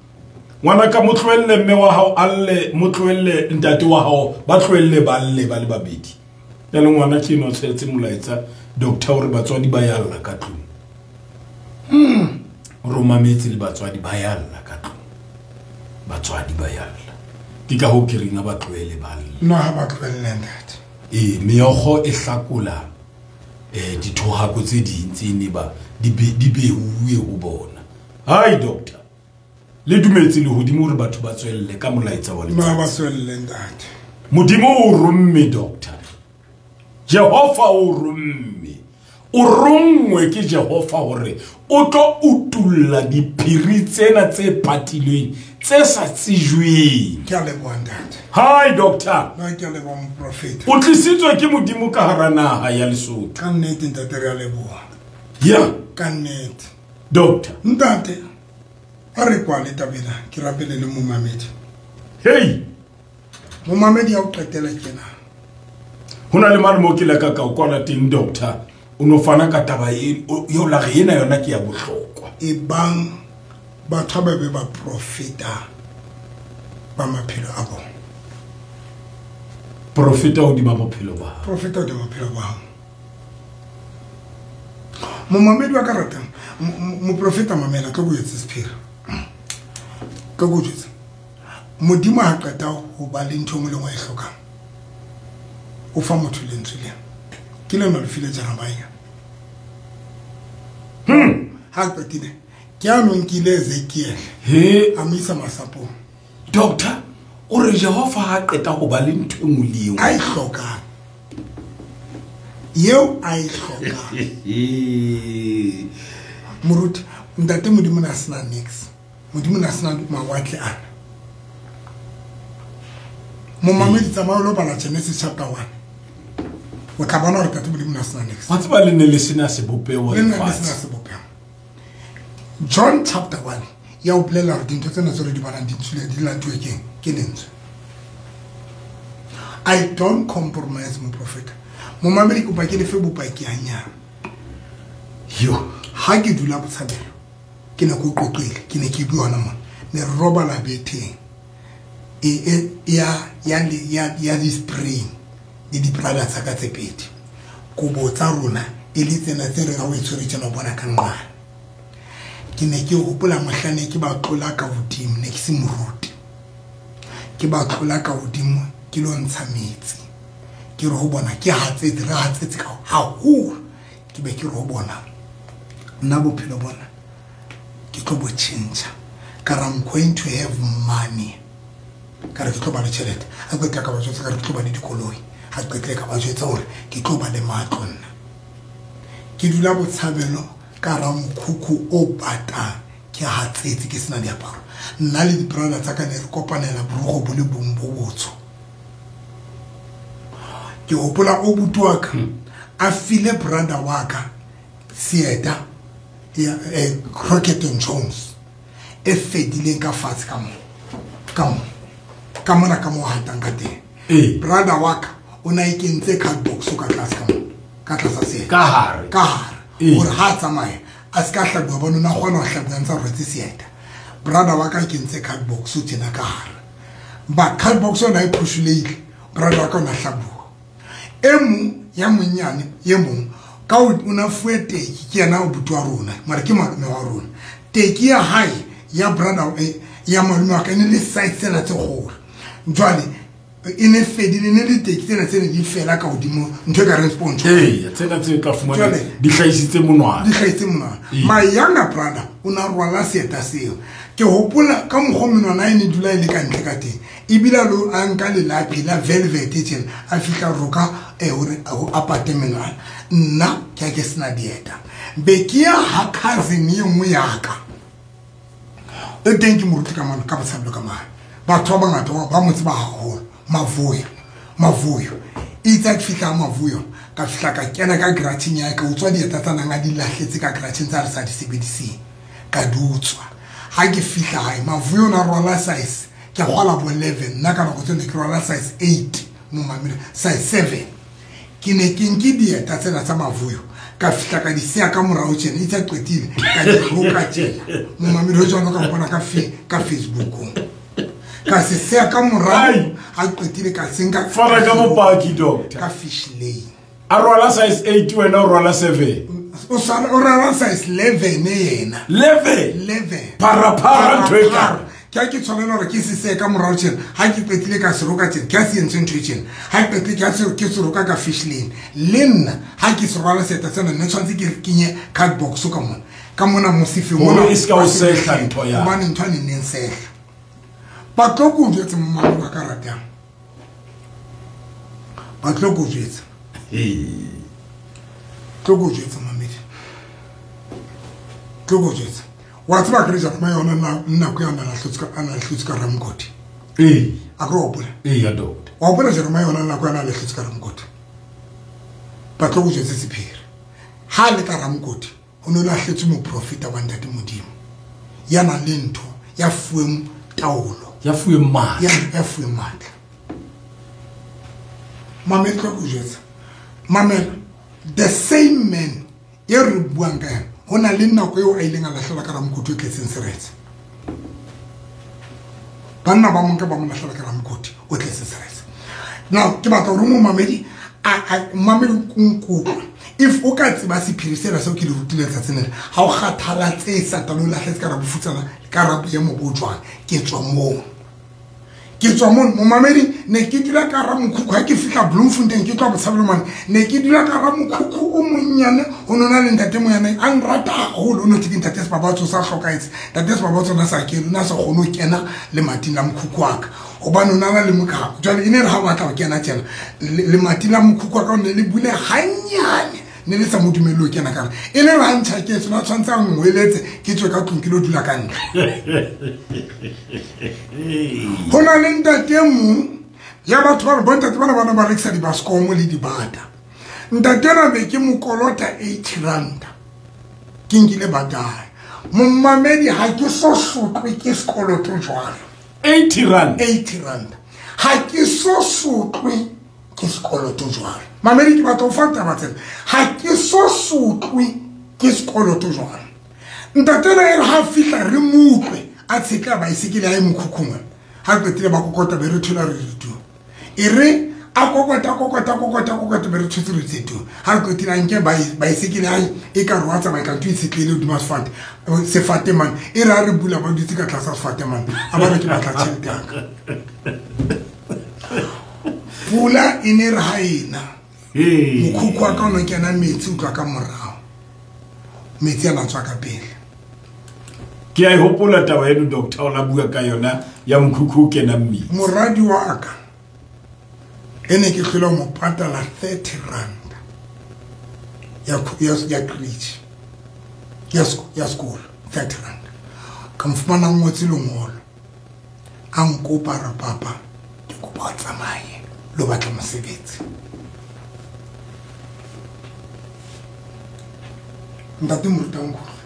Ngwana ka mo tlohelle mme wa hao a lle, mo tlohelle ntate wa hao, ba tlohelle ba lle ba le babedi. Ya le ngwana ke eno tshwetse molaetsa doctor hore batswadi ba ya lla ka tlung. Hmm. Romametse le batswadi ba ya lla ka tlung. Batswadi ba ya lla. Ke ka ho ke reng ba tlohele ba lle. No ha ba tlohelle ntate. Eh meokgo e hlakola eh dithohako tse ding tse ne ba di di behuwe ho bona. Hai doctor. Le dumetse le hodimo hore batho ba tswelle ka molaetsa wa letsatsi. No ba tswelle ntate. Modimo o romme doctor. Jehova o romme. O rongwe ke Jehova hore o tlo utulla diphiri tsena tse patilweng tse sa tsejweng. Ke a leboha ntate. Hi doctor. Nna ke a leboha moprofeta. O tlisitswe ke Modimo ka hara naha ya Lesotho. Ka nnete ntate re a leboha. Ya. Ka nnete. Doctor. Ntate, a re kwale taba ena, ke rapele le momamedi. Hey. Momamedi ya o qetela kena. Ho na le mane mo ke la ka ka o kwala teng doctor. O no fana ka taba e eo la re ena yona ke ya bohlokwa. E bang batho ba be ba profeta ba maphelo a bona. Profeta hodima bophelo ba hao. Profeta hodima bophelo ba hao. Momamedi wa ka ratang, moprofeta mamela ka go etse sephiri. Ka go jwetsa. Modimo ha qeta ho ba le ntho e nngwe le nngwe e hlokang. O fa motho lentswe lena. Ke lona le file Jeremiah. Hmm. Ha qetile. Ke a nkile Ezekiel. He, a mo isa masapong. Doctor, o re Jehova ha qeta ho ba le ntho e nngwe le e nngwe. A e hlokang. Eo a e hlokang. Moruti, ntate Modimo na sena nix. Modimo na sena mawatle ana. Momamedi tsamaya o lo bala Genesis chapter one. O tla bona hore ntate Modimo na sena nix. Wa tseba le ne le sena sebopeho Le ne le sena sebopeho. John chapter one ya o bolela hore dintho tsena tse re di bonang di tswile di latuwe keng ke lentswe. I don't compromise moprofeta. Momamedi kopa ke lefe bopaki hanyane. Yo, ha ke dula Botshabelo ke ne ke qoqile, ke ne ke bua hona mona. Ne re robala betheng. E e ya ya ya ya di spring le di brother tsa ka tse pedi. Kobo tsa rona e le tsena tse re ga o e tshwere tjena o bona ka nqane. Ke ne ke hopola mohlane ke ba tlola ka hodimo, ne ke se moruti. Ke ba tlola ka hodimo ke lo ntsha metsi. Ke re ho bona ke hatsetse, re hatsetse ka haholo. Ke be ke re ho bona nna bophelo bona ke tlo bo tjhentjha. Ka re I'm going to have money. Ka re ke tlo ba le tjhelete. Ha qetla ka ba jwetsa ka re ke tlo ba le dikoloi. Ha qetla ka ba jwetsa hore ke tlo ba le matlo nna. Ke dula Botshabelo ka ra mokhukhu o batang, ke hatsetse ke sena diaparo. Nna le di-brother tsa ka ne re kopanela borogo bo le bong bo botsho. Ke hopola o buti wa ka a file brother wa ka seeta ya eh, Crockett and Jones e fedileng ka fatshe ka mo ka mo ka mona ka mo hatang ka teng. Ee. Brother wa ka o na e kentse card box ka tlase ka mo ka tlasa seeta Ka hare. Ka hare. Ee. Hore ha a tsamaya a se ka hlabuwa bone o na kgona ho hlabuwa ntse a rwetse seeta. Brother wa ka kentse card box tjena ka hare. Ba card box yona e phushulehile, brother wa ka o na hlabuwa. E mong ya monyane e mong ka o na fuwe teki ke yena o buti wa rona mara ke malome wa rona. Teki ya hae ya brother eh, ya malome wa ka e ne le size tsena tse kgolo. Jwale e ne fedile, ne le teki tsena tse ne di fela ka hodimo ntho e ka reng sponge. Ee, tsena tse tla fumana Jwale, di hlahisitse monwana. Di hlahisitse monwana. Ee. My younger brother o na rwala seeta seo. Ke hopola ka mokgwa menwana e ne dula e le ka ntle ka teng. Ebile a lo a nka lelapi la velvet tjena a fihla roka eh hore a pate menwana. Nna ke a ke sena dieta. Be ke ya ha cousin e nngwe ya ka. E teng ke moruti ka mane ka botshabelo ka mane. Batho ba bangata ba mo tseba haholo. Mavuyo, Mavuyo. Itse ke fihla Mavuyo, ka fihla ka kena ka gratching ya ka utswa dieta tsa nang a di lahletse ka gratching tsa re sa di sebediseng. Ka di utswa. Ha ke fihla hae, Mavuyo na rwala size. Ke kgwala bo eleven, nna ka nako tseo ne ke rwala size eight, mo mamele, size seven. Ke ne ke nke dieta tsena tsa Mavuyo. Ka fihla ka di siya ka morao tjena, itse qetile, ka di roka tjena. Mo mamele ho jwalo ka mpona ka fe-, ka Facebookong. Ka se siya ka morao, Ai. ha qetile ka se nka Fana ka bopaki, doctor. Ka fish lane. A rwala size eight wena o rwala seven. O swana o rwala size eleven yena. eleven? eleven. Para para ntho e Para, ka. Ke a ke tshwanela hore ke se siye ka morao tjena. Ha ke qetile ka se roka tjena, ke a se entse ntho e tjena. Ha ke qetile ke a se, ke se roka ka fish lane. Le nna ha ke se rwala seeta sena, nne tshwanetse ke kenye card box ka mona. Ka mona mosifeng Hore mona e se ka o sehla ntho ya. Hobane ntho e neng sehla. Ba tlo ko jwetse mmamedi wa ka ratang. Ba tlo ko jwetsa. Ee. Tlo ko jwetsa mamedi. Tlo ko jwetsa. Wa tseba ke re jana ma yona na nako ya na lahlotse ka, a na lahlotse ka Ramokoti. Ee. A ke re hopola? Ee, ya doctor. Wa hopola Jeremiah yona nako ya na lahlotse ka Ramokoti. Ba tlo ko jwetse sephiri. Ha le ka Ramokoti, ho no lahletswe moprofeta wa Ntate Modimo. Ya nang le ntho ya fuweng taolo. Ya fuweng matla. Ya, ya fuweng matla. Mamela tlo ko jwetsa. Mamela, the same man e re buang ka yena, ho na le nako eo a ileng a lahlela ka Ramokoti o tletseng seretse. Banna ba monka ba mo lahlela ka Ramokoti o tletseng seretse. Now ke batla hore momamedi a, a mamedi nkutlwe. If o ka tseba sephiri sena seo ke le rutileng tsatsing lena, ha o kgathalatse Satane o lahletse ka rabofutsana ka rabo ya mobo jwang, ke tswa moo. Ke tswa moo, momamedi, ne ke dula ka hara mokhukhu ha ke fihla Bloemfontein, ke tloha Botshabelo mane, ne ke dula ka hara mokhukhu o monnyane, ho nona le ntate monyane a nrata haholo, o no thwe ke ntate Sebabatso sa hlokahetse. Ntate Sebabatso o na sa kene, o na sa kgone ho kena lemating la mokhukhu wa ka, hobane o na na le mokhaba. Jwale e ne re ha o batla ho kena tjena, le-, lemati la mokhukhu wa ka o ne le bule hanyane, ne le sa mo dumelle ho kena ka hare. E le re ha ntjhaketse, o na tshwanetse a nngweletse, ke tswe ka tlung ke lo dula ka ntle. Ho na le ntate e mong ya batho ba re bontate bana bana ba rekisa dibaskomo le dibata. Ntate ena be ke mo kolota eighty rand. Ke nkile bata hae. Momamedi ha ke so sotlwe ke sekoloto jwalo. eighty rand. eighty rand. Ha ke so sotlwe ke sekoloto jwalo. Mamedi ke batla ho fa taba tsena. Ha ke so sotlwe ke sekoloto jwalo. Ntate ena e re ha fihla re mo utlwe a tshetla baesekele ya e mokhukhung. Ha qetile ba kokota be re thola re re tu. E re a kokota, kokota, kokota, kokota be re thotse re tse tu. Ha qetile a nke baesekele ya e ka re wa tsamaya ka ntho e tshetlehile hodima sefate. Sefate mane. E re ha re bula ba dutse ka tlasa sefate mane. A ba re ke batla tjhelete ya ka. Pula e ne re ha ena. Ee. Mokhukhu wa ka o no kena metsi o tloha ka morao. Metsi a na tswa ka pele. Ke a e hopola taba eno, doctor, o la bua ka yona ya mokhukhu o kenang metsi. Moradi wa ka e ne ke hlole ho mo patala thirty rand ya khu-, ya, ya creche, ya sek-, ya sekolo, thirty rand. Ka mo fumana ngotse lengolo, a nkopa re papa, ke kopa o tsamaye lo batla mosebetsi. Ntate moruti nkutlwe.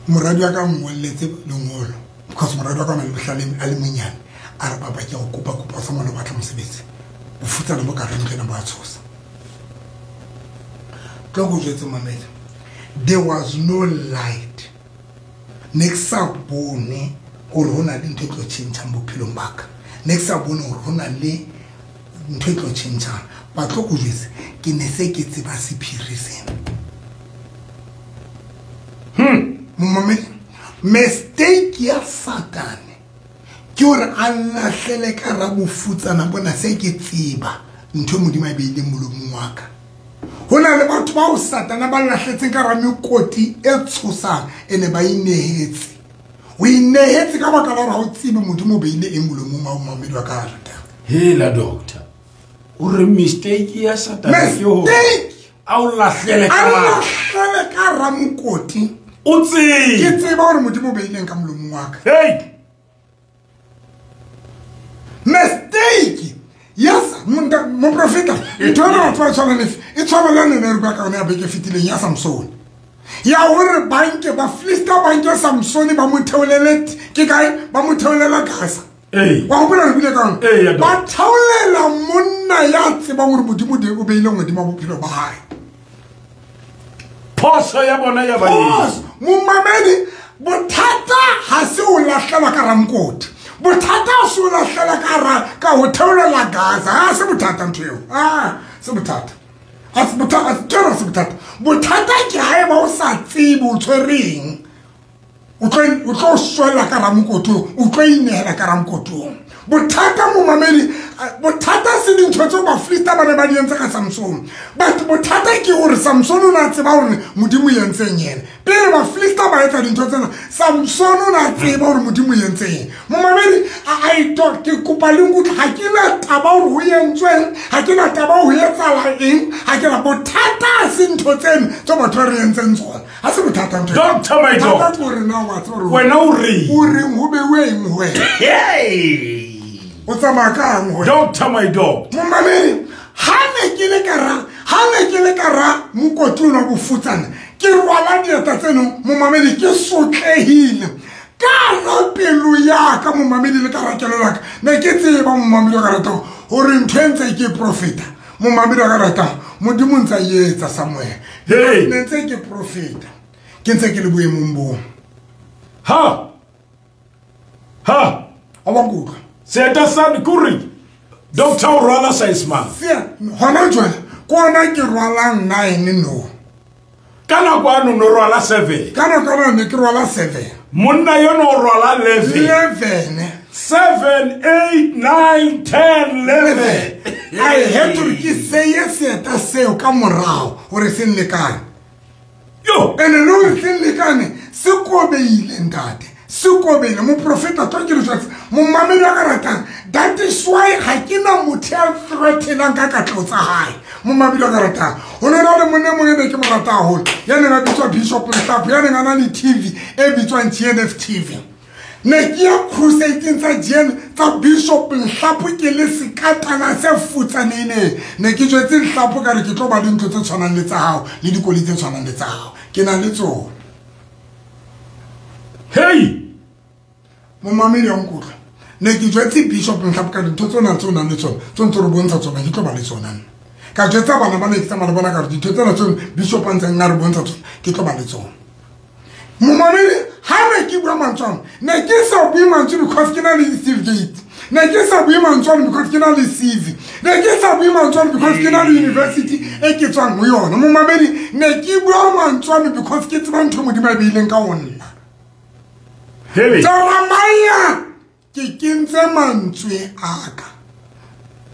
Moradi wa ka ngolletse lengolo because moradi wa ka le bohlale a le monyane a re papa ke go kopa kopa sa mona batla mosebetsi bofutsana bo ka re ntlena ba tshosa tlo go jwetse mamela. There was no light. Ne ke sa bone hore ho na le ntho e tlo tjhentjhang bophelong ba ka. Ne ke sa bone hore ho na le ntho e tlo tjhentjhang. Ba tlo go jwetse ke ne se ke tseba sephiri sena. Hmm. Momamedi, mistake ya Satane ke hore a lahlele ka ra bofutsana bona se ke tseba ntho Modimo a e beileng molomong wa ka. Ho na le batho bao Satane ba lahletseng ka ra mekoti e tshosang ene ba inehetse. O inehetse ka baka la hore ha o tsebe Modimo o beile eng molomong wa momamedi wa ka rata. Hela doctor, o re mistake ya Satane ke hore a o lahlele ka ra lahlele ka ra mokoti. O tsebe ke tseba hore Modimo o beileng ka molomong wa ka. Hey! Mistake. Yes, mo profeta. Ntho ena batho ba tshwana le e tshwana le ne re bua ka yona ya beke fetileng ya Samson. Ya hore banke ba Filista banke Samson ba mo theolele ke kae ba mo theolela Gaza. Ee. Wa hopola re buile ka yona? Ee, ba theolela monna ya tsebang hore Modimo o beile Modimo bophelo ba hae. Phoso ya bona ya ba eng? Momamedi, bothata ha se o lahlela ka ramokoti. Bothata se o lahlela ka ra ka ho theolela Gaza. Ha se bothata ntho eo. Ah, se bothata. Ha se bothata, tshwara se bothata. Bothata ke haeba o sa tsebe o tshwereng. O tlo o tlo swela ka ramokoti, o tlo inehela ka ramokotong. Bothata momamedi, bothata se dintho tseo Bafilista ba ne ba di entse ka Samson. But bothata ke hore Samson o na tseba hore Modimo o entseng yena. Pele Bafilista ba etsa dintho tsena, Samson o na tseba hore Modimo o entseng. Momamedi, I don't ke kopa le nkutlwe, ha ke na taba hore ho entsweng, ha ke na taba ho etsahala eng, ha ke na bothata se ntho tseno tse batho ba re entseng tsona. Ha se bothata ntho. Doctor my doctor. Hore na wa tseba hore wena o reng? O reng ho beuwe eng ho wena? Hey! O tsamaya kang ho wena? Doctor my doctor. Momamedi, ha ne ke le ka ra, ha ne ke le ka ra mokoti ona bofutsana, ke rwala dieta tseno, momamedi, ke sotlehile. Ka ra pelo ya ka momamedi le ka ra kelello ya ka. Ne ke tseba momamedi wa ka ratang hore ntho e ntse ke profeta. Momamedi wa ka ratang, Modimo ntse a etsa somewhere. Hey! Ne ntse ke profeta. Ke ntse ke le boemong boo. Ha! Ha! A wa nkutlwa? Seeta sa kuri. Doctor o rwala size mang? Sia, hona jwale ke ona ke rwalang nine no. Ka nako ano no rwala seven. Ka nako ano ne ke rwala seven. Monna yeno o rwala eleven. eleven. seven, eight, nine, ten, eleven. I had to ke seye seeta seo ka morao hore se nlekane. Yo, ene le hore se nlekane se kobeile ntate. Se kobele moprofeta tlo ke le jwetse momamedi wa ka ratang. That is why ha ke na motho ya threatenang ka katleho tsa hae. Momamedi wa ka ratang, ho ne na le monna e mong e ne ke mo rata haholo, ya neng a bitswa Bishop Nhlapo, ya neng a na le T V e bitswang G N F T V. Ne ke ya crusading tsa G N tsa Bishop Nhlapo ke le sekatana se futsanehileng. Ne ke jwetse Nhlapo ka re ke tlo ba le ntho tse tshwanang le tsa hao le dikoloi tse tshwanang le tsa hao. Ke na le tsona. Hey! Momamedi wa nkutlwa. Ne ke jwetse Bishop Nhlapo ka dintho tsona tse o nang le tsona, tse ntse re bontsha tsona, ke tlo ba le tsona nna. Ka jwetsa bana ba ne ke tsamaya le bona ka re dintho tsena tseo Bishop a ntseng a re bontsha tsona, ke tlo ba le tsona. Momamedi, ha ne ke bua mantswe ano, ne ke sa bue mantswe because ke na le certificate. Ne ke sa bue mantswe ano because ke na le C V. Ne ke sa bue mantswe ano because ke na le university e ke tswang ho yona. Momamedi, ne ke bua mantswe ano because ke tseba ntho Modimo a e beileng ka ho nna. Hey. Jeremiah, ke kentse mantswe a ka.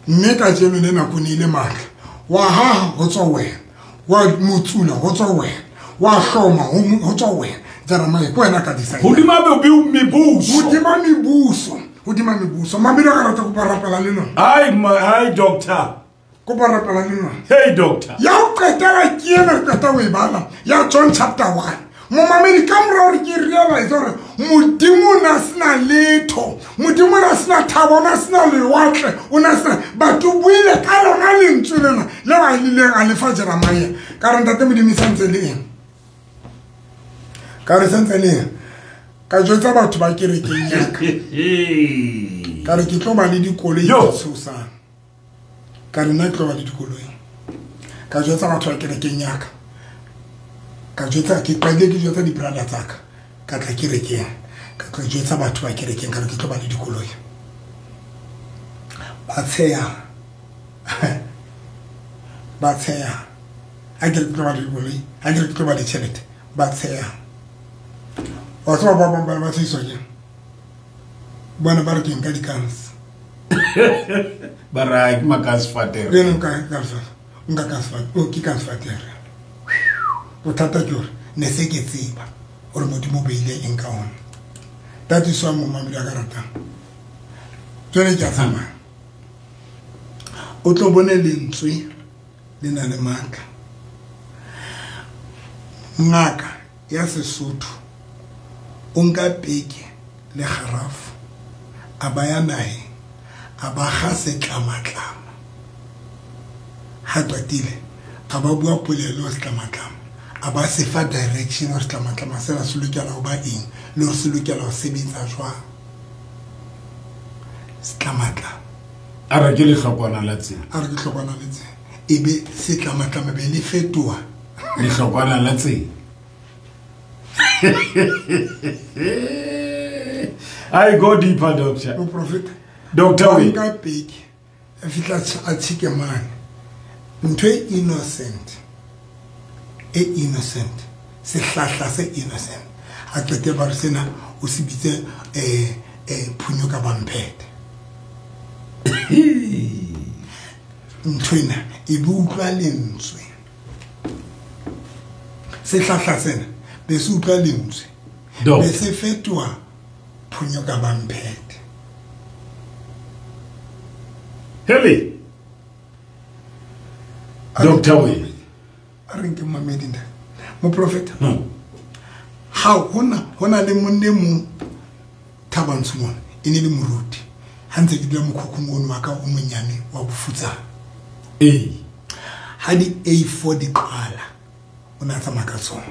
Mme kajeno le nako ne ile matla. Wa haha ho tswa wena, wa motsula ho tswa wena, wa hloma ho tswa wena. Jeremiah ke wena ka decide. Hodima mebuso. Hodima mebuso. Hodima mebuso. Mamedi wa ka rata kopa rapela le lona. Ai, ai doctor. Kopa rapela le lona. Hey doctor. Ya ho qetela ke ena re qeta ho e bala ya John chapter one. Momamedi ka mora hore ke realize hore Modimo o na sena letho, Modimo o na sena thabo, o na sena lewatle, o na sena batho buile ka lona lentswe lena le ba ileng a lefa Jeremiah. Ka re ntate Modimo e santse le eng? Ka re santse le eng? Ka jwetsa batho ba kerekeng ya ka. Ka re ke tlo ba le dikoloi tse tshosang. Ka re nna ke tlo ba le dikoloi. Ka jwetsa batho ba kerekeng ya ka. Ka jwetsa ke qadile ke jwetsa di-brother tsa ka. Ka tla kerekeng. Ka tla jwetsa batho ba kerekeng ka re ke tlo ba le dikoloi. Ba tsheya. Ba tsheya. Ha ke re ke tlo ba le dikoloi, ha ke re ke tlo ba le tjhelete, ba tsheya. Wa tseba ba bang ba ba tshehiswa ke eng? Bona ba re ke nka di-guns. Ba re ke makasfatere. Le nka ka nka kasfatere. O ke kasfatere. Bothata ke hore ne se ke tseba hore Modimo o beile eng ka ona. Tatiso ya momamedi a ka ratang. Jwale ke a tsamaya. O tlo bone lentswe le na le matla. Ngaka ya Sesotho o nka peke le kgarafu a ba ya naheng a ba kga setlamatlama. Ha qetile a ba bua polelo setlamatlama, a ba se fa direction hore setlamatlama sena se lokela ho ba eng le hore se lokela ho sebetsa jwang. Setlamatlama a re ke lehlokwana la tsela, a re ke hlokwana la tsela, ebe setlamatlama be le fetoha lehlokwana la tsela. I go deeper, doctor. O prophet. Doctor, we. Nka peke a fihla a tshike mane. Ntho e innocent. E innocent. Sehlahla se innocent. A qete ba re sena o se bitse eh eh phunyo ka bamphethe. Ntho ena e be utlwa lentswe. Sehlahla sena be se utlwa lentswe. Be se fetoha phunyo ka bamphethe. Hele. Doctor we. A re nke mamedi nda. Mo prophet. Ha hona hona le monne mo Thabantsho mona e ne le moruti. Ha ntse ke dula mokhukhung ono wa ka o monyane wa bofutsana. Eh. Ha di A four di qala o na tsamaya ka tsona.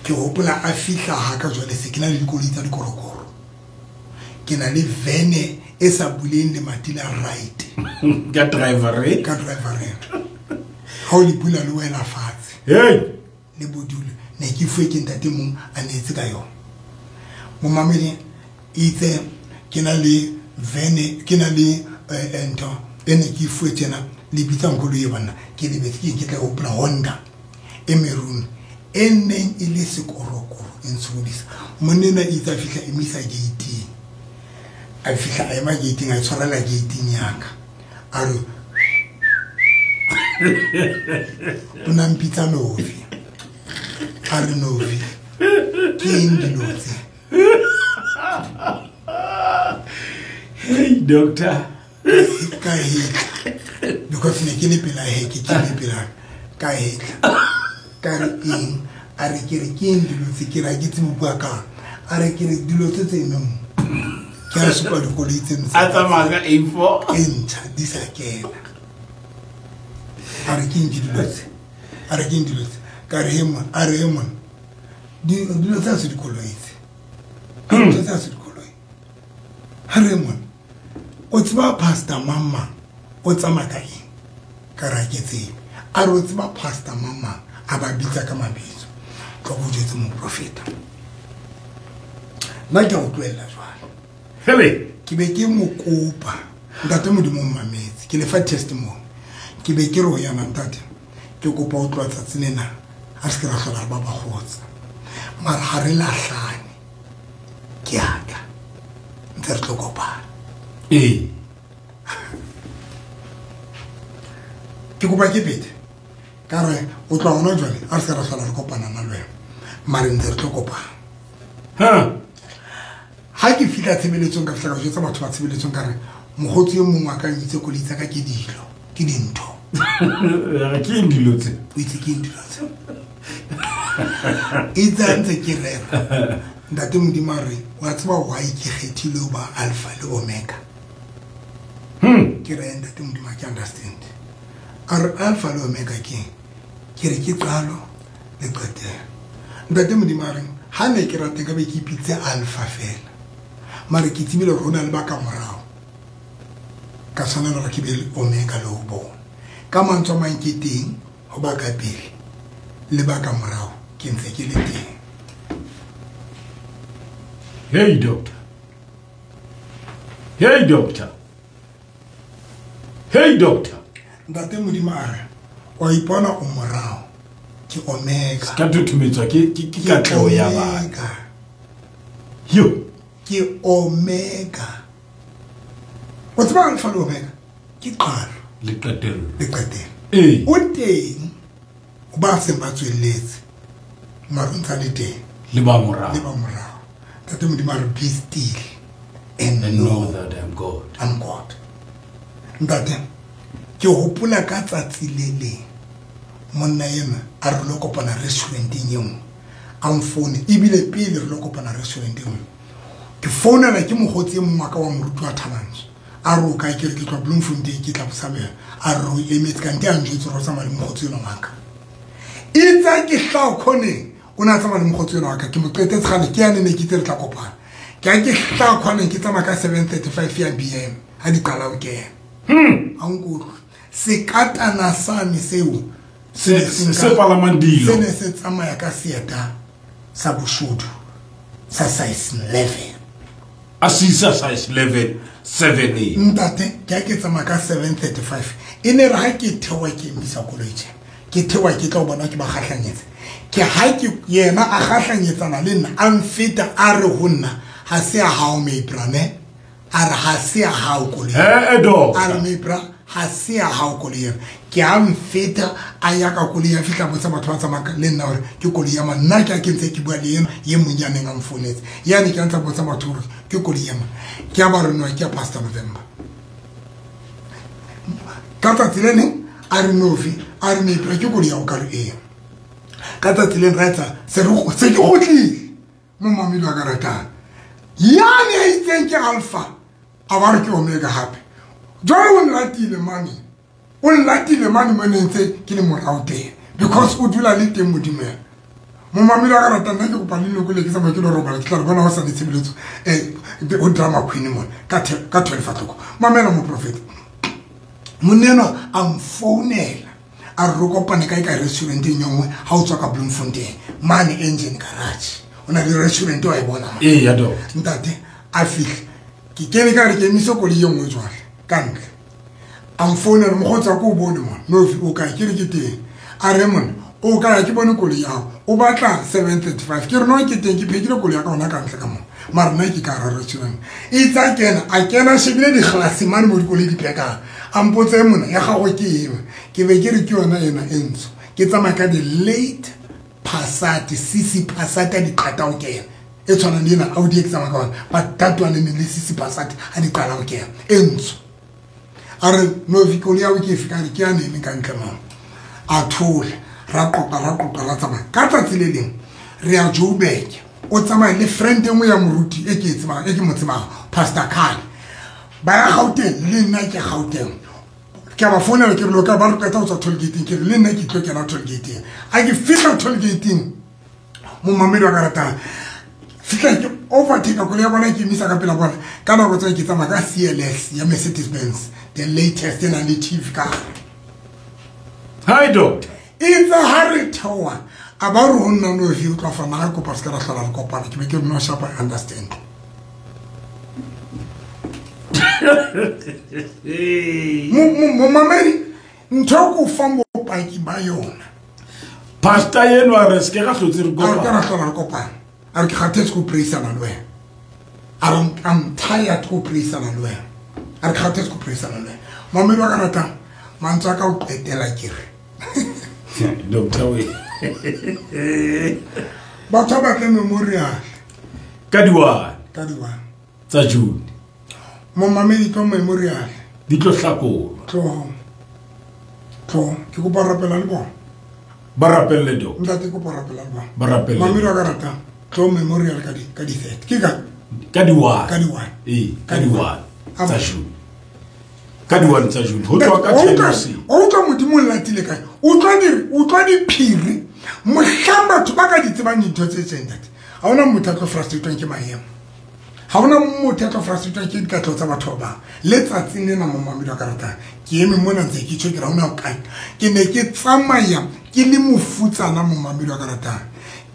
Ke hopola a fihla ha ka jwale se ke na le dikoloi tsa dikorokoro. Ke na le vene e sa buleng lemati la right. Ka driver e? Ka driver e. Ha o le bula le wela fatshe. Hey! Le bodule. Ne ke fuwe ke ntate mong a neetse ka yona. Momamedi itse ke na le vene, ke na le ntho e ne ke fuwe tjena le bitsa nkolo e banna ke lebetse ke ke tla hopola Honda e maroon e neng e le sekorokoro e ntshodisa. Monna itse a fihla emisa gate. A fihla a ema gate a tshwarela gate ya ka. A re o na mpitsa Novi. A re Novi ke eng dilo tse? Hey doctor. Ka hetla. Because ne ke le pela heke ke le pela ka hetla. Ka re eng? A re ke re ke eng dilo tse ke ra ke tsebe bua ka. A re ke re dilo tse tse emeng mo. Ke a supa dikoloi tse ntse. A tsamaya ka A four. E ntjha di sa kena. A re ke eng dilo tse? A re ke eng dilo tse? Ka re he mon, a re he mon. Dilo tse ha se dikoloi tse. Dilo tse ha se dikoloi. Ha re mon. O tseba pastor mama o tsamaya ka eng? Ka re ha ke tsebe. A re o tseba pastor mama a ba bitsa ka mabitso. Tlo go jwetse moprofeta. Nna ke a o tlohella jwale. Hele. Ke be ke mo kopa. Ntate Modimo o mmametse. Ke le fa testimony. Ke be ke re ho yena ntate. Ke kopa o tloha tsatsi lena. Ha se ke ra hlola re ba bakgotsa. Mara ha re lahlane. Ke a tla. Ntse re tlo kopana. Eh. Ke kopa ke pete. Ka re o tloha hona jwale ha re se ra hlola re kopana nna le wena. Mara ntse re tlo kopana. Ha. Ha ke fihla tshebeletsong ka fihla ka jwetsa batho ba tshebeletsong ka re mokgotsi e mong wa ka o itse koloi tsa ka ke dilo, ke dintho. Re ke eng dilo tse? O itse ke eng dilo tse? Itse a ntse ke rera ntate Modimo a re wa tseba why ke kgethile ho ba alpha le omega. Hmm. Ke re ntate Modimo ke understand. A re alpha le omega ke ke re ke qalo le qetelo. Ntate Modimo a re ha ne ke rate ka be ke ipitse alpha fela. Mare ke tsebile hore ho na le ba ka morao. Ka tshwanela hore ke be le omega le ho bona. Ka mantswe a mang ke teng ho ba ka pele le ba ka morao ke ntse ke le teng. Hey doctor. Hey doctor. Hey doctor. Ntate Modimo a re wa ipona o morao ke omega. Ka thuthumetswa ke ke ke katleho ya baka. Yo ke omega. O tseba alpha le omega ke qalo le qetelo. Le qetelo. Eh. O teng o ba seng ba tswelletse. Mara o ntsa le teng. Le ba morao. Le ba morao. Ntate Modimo a re be still and, and know that I'm God. I'm God. Ntate ke hopola ka tsatsi le leng monna ena a re lo kopana restauranteng e nngwe a mfoune ebile pele re lo kopana restauranteng e nngwe ke founela ke mokgotsi e mongwe wa ka wa moruti wa Thabantsho a re o kae ke re ke tloha Bloemfontein ke tla Botshabelo a re o emetse kante a njwetse hore o tsamaya le mokgotsi enwa wa ka. Itse ke hlaha khoneng o ne a tsamaya le mokgotsi enwa wa ka ke mo qetetse kgale ke yane ne ke itse re tla kopana. Ke ha ke hlaha khoneng ke tsamaya ka seven thirty-five ya B M ha di qala ho kena. Hmm. A nkutlwe sekatana sane seo se se palamang dilo se ne se tsamaya ka seeta sa boshodu sa size eleven. A sisa size eleven seven eight. Ntate ke ha ke tsamaya ka seven thirty-five e ne re ha ke theoha ke emisa koloi tje ke theoha ke tla o bona ke ba kgahlanyetsa ke ha ke yena a kgahlanyetsana le nna a mfeta a re ho nna ha se a hao meibra ne a re ha se a hao koloi eh doctor a re meibra ha se a hao koloi ke a mfeta a ya ka koloi ya fihla botsa batho ba tsamaya le nna hore ke koloi ya mang nna ke a ke ntse ke bua le yena ye mong ya neng a mfonetse yane ke a ntsa botsa batho hore ke koloi ya mang ke a ba re no ke a Pastor November ka tsatsi le leng a re nofi a re meibra ke koloi ya ho ka re ee ka tsatsi le ra etsa se re se ke kgutlile mo mamelo a ka ratang yane a itseng ke alpha a ba re ke omega hape jwale o nlatile mane o nlatile mane mo ne ntse ke le morao teng because o dula le teng Modimo ya mo mamelo a ka ratang nna ke kopa le loko le ke tsamaya ke lo robala ke tla re bona ho sa le tshebeletso eh o drama queen mona ka ka twelve o'clock mamela moprofeta monna a mfounela a re kopane kae ka restauranteng e nngwe ha o tswa ka Bloemfontein mane engine garage o na le restaurant wa e bona ee ya doctor ntate a fihle ke kene ka re ke emise koloi e nngwe jwale ka ntle a mfounela mokgotsi wa ko o bone mona nofi o kae ke re ke teng a re mona o kae ke bone koloi ya hao o batla seven thirty-five ke re no ke teng ke phekile koloi ya ka hona ka ntle ka mona mara nna ke ka hara restaurant itse a kena a kena a shebile dikgalase mane mo dikoloi di phekang a mpotse mona ya gagwe ke eng ke be ke re ke yona ena e ntsho ke tsamaya ka di-late Passat C C Passat a di qeta ho kena e tshwanang le ena Audi e ke tsamaya ka yona but that one e ne le C C Passat a di qala ho kena e ntsho a re nofi koloi ya hao ke efe ka re ke yane e emeng ka ntle mona a thola ra qoqa ra qoqa ra tsamaya ka tsatsi le leng re ya Joburg o tsamaya le friend e nngwe ya moruti e ke e tsebang e ke mo tsebang Pastor Khan ba ya Gauteng le nna ke Gauteng ke a ba founela ke re lo ka ba re qeta ho tswa toll gate-eng ke re le nna ke tlo kena toll gate-eng a ke fihla toll gate-eng momamedi wa ka ratang fihla ke overtake koloi ya bona ke emisa ka pela bona ka nako tseo ke tsamaya ka C L S ya Mercedes Benz the latest e nang le T V ka hare. Hi doctor itse ha re theoha a ba re ho nna no fi o tla fana ka kopa se ka ra hlola re kopana ke be ke no sharp I understand momamedi ntho e ko fang bopaki ba yona pastor enwa re se ke ra hlotse re a re ke kopana ra hlola re kopana a re ke kgathetse ko preisana le wena a re I'm tired ko preisana le wena a re ke kgathetse ko preisana le wena mamedi wa ka ratang mantswe a ka o qetela ke re doctor we batho ba batle memorial ka di-one ka di-one tsa June momamedi tlo memorial di tlo hlakolwa tlo tlo ke kopa rapela le bona Ba rapelle do. Ntate kopo rapela ba. Ba rapelle. Mamelo ka rata. Tlo memorial ka di ka di thirty. Ke ka ka di one. Ka di one. Eh, ka di one. Tsa June. Ka di one tsa June. Ho tloha ka ten hoseng. O utlwa Modimo o latile kae? O utlwa di o utlwa diphiri. Mohlang batho ba ka di tsebang dintho tse tjeng ntate. Ha hona motho a tlo frustrate'wang ke maemo. Ha hona motho a tlo frustrate'wang ke dikatlo tsa batho ba bang. Letsatsing lena momamedi wa ka ratang. Ke eme mona ntse ke tjho ke ra hona o kae. Ke ne ke tsamaya ke le mofutsana momamedi wa ka ratang.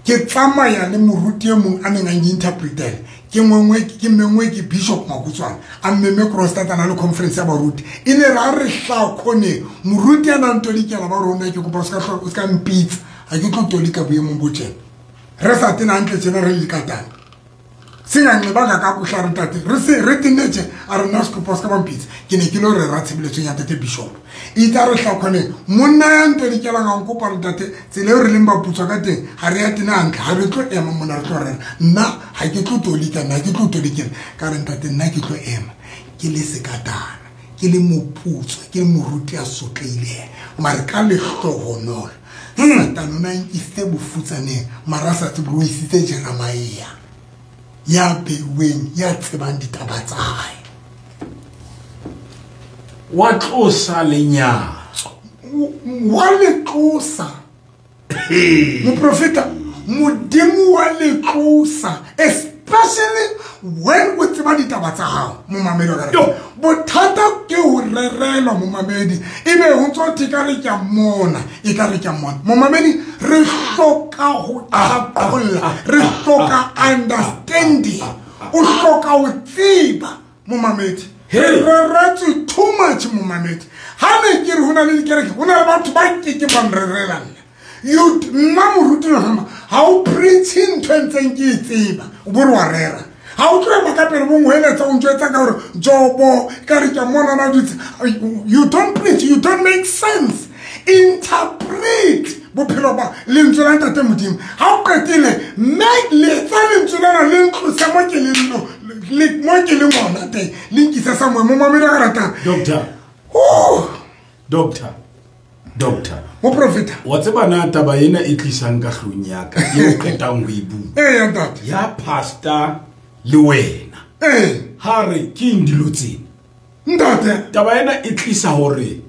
Ke tsamaya le moruti e mong a neng a interpretela. Ke mongwe ke mengwe ke Bishop Makutswana a mmeme Kroonstad a na le conference ya baruti. E ne ra re hla khone moruti a nang tolikela ba rona ke kopa o ska o ska mpitsa. Ha ke tlo tolika boemong bo tjena. Re sa tena hantle tjena re likatana. Singanxibanga kakuhle a re ntate re se re tenne tje a re nna se kopa o ska ba mpitsa. Ke ne ke lo rera tshebeletsong ya ntate Bishop. Itse a re hla khone monna ya ntolikelang a nkopa re ntate tsela eo re leng ba putswa ka teng ha re ya tena hantle ha re tlo ema mona re tlo rera. Nna ha ke tlo tolika nna ke tlo tolikela ka re ntate nna ke tlo ema ke le sekatana ke le moputswa ke le moruti a sotlehileng mare ka lehlohonolo Satane o na nkisitse bofutsaneng mara a sa tsebe o isitse Jeremia ya beuweng ya tsebang ditaba tsa hae. Wa tlosa lenyatso. Wa le tlosa. Moprofeta Modimo wa le tlosa especially when o tseba ditaba tsa hao momamedi wa ka rata. Bothata ke ho rerelwa momamedi ebe ho ntso thwe ka re ke a mona e ka re ke a mona momamedi re hloka ho qhaqholla re hloka understanding o hloka ho tseba momamedi. Re reretswe too much momamedi. Ha ne ke re ho na le dikereke ho na le batho ba kekeng ba nrerela nna. You nna moruti nna ha o preach ntho e ntseng ke e tseba o bo re wa rera. Ha o tlo ema ka pele bo ngweletsa o ntjwetsa ka hore Jobo ka re ke mona na dutse. You don't preach, you don't make sense. Interpret bophelo ba lentswe la ntate Modimo. Ha o qetile make letsa lentswe lena le ntlose mo ke leng le mo ke leng hona teng le nkise somewhere momamedi wa ka ratang. Doctor. Oh, Doctor. Doctor. Moprofeta. Wa tseba na taba ena e tlisang ka hlong ya ka e o qetang ho e bua. Eh ntate. Ya pastor le wena. Eh. Ha re ke eng dilo tsena? Ntate. Taba ena e tlisa hore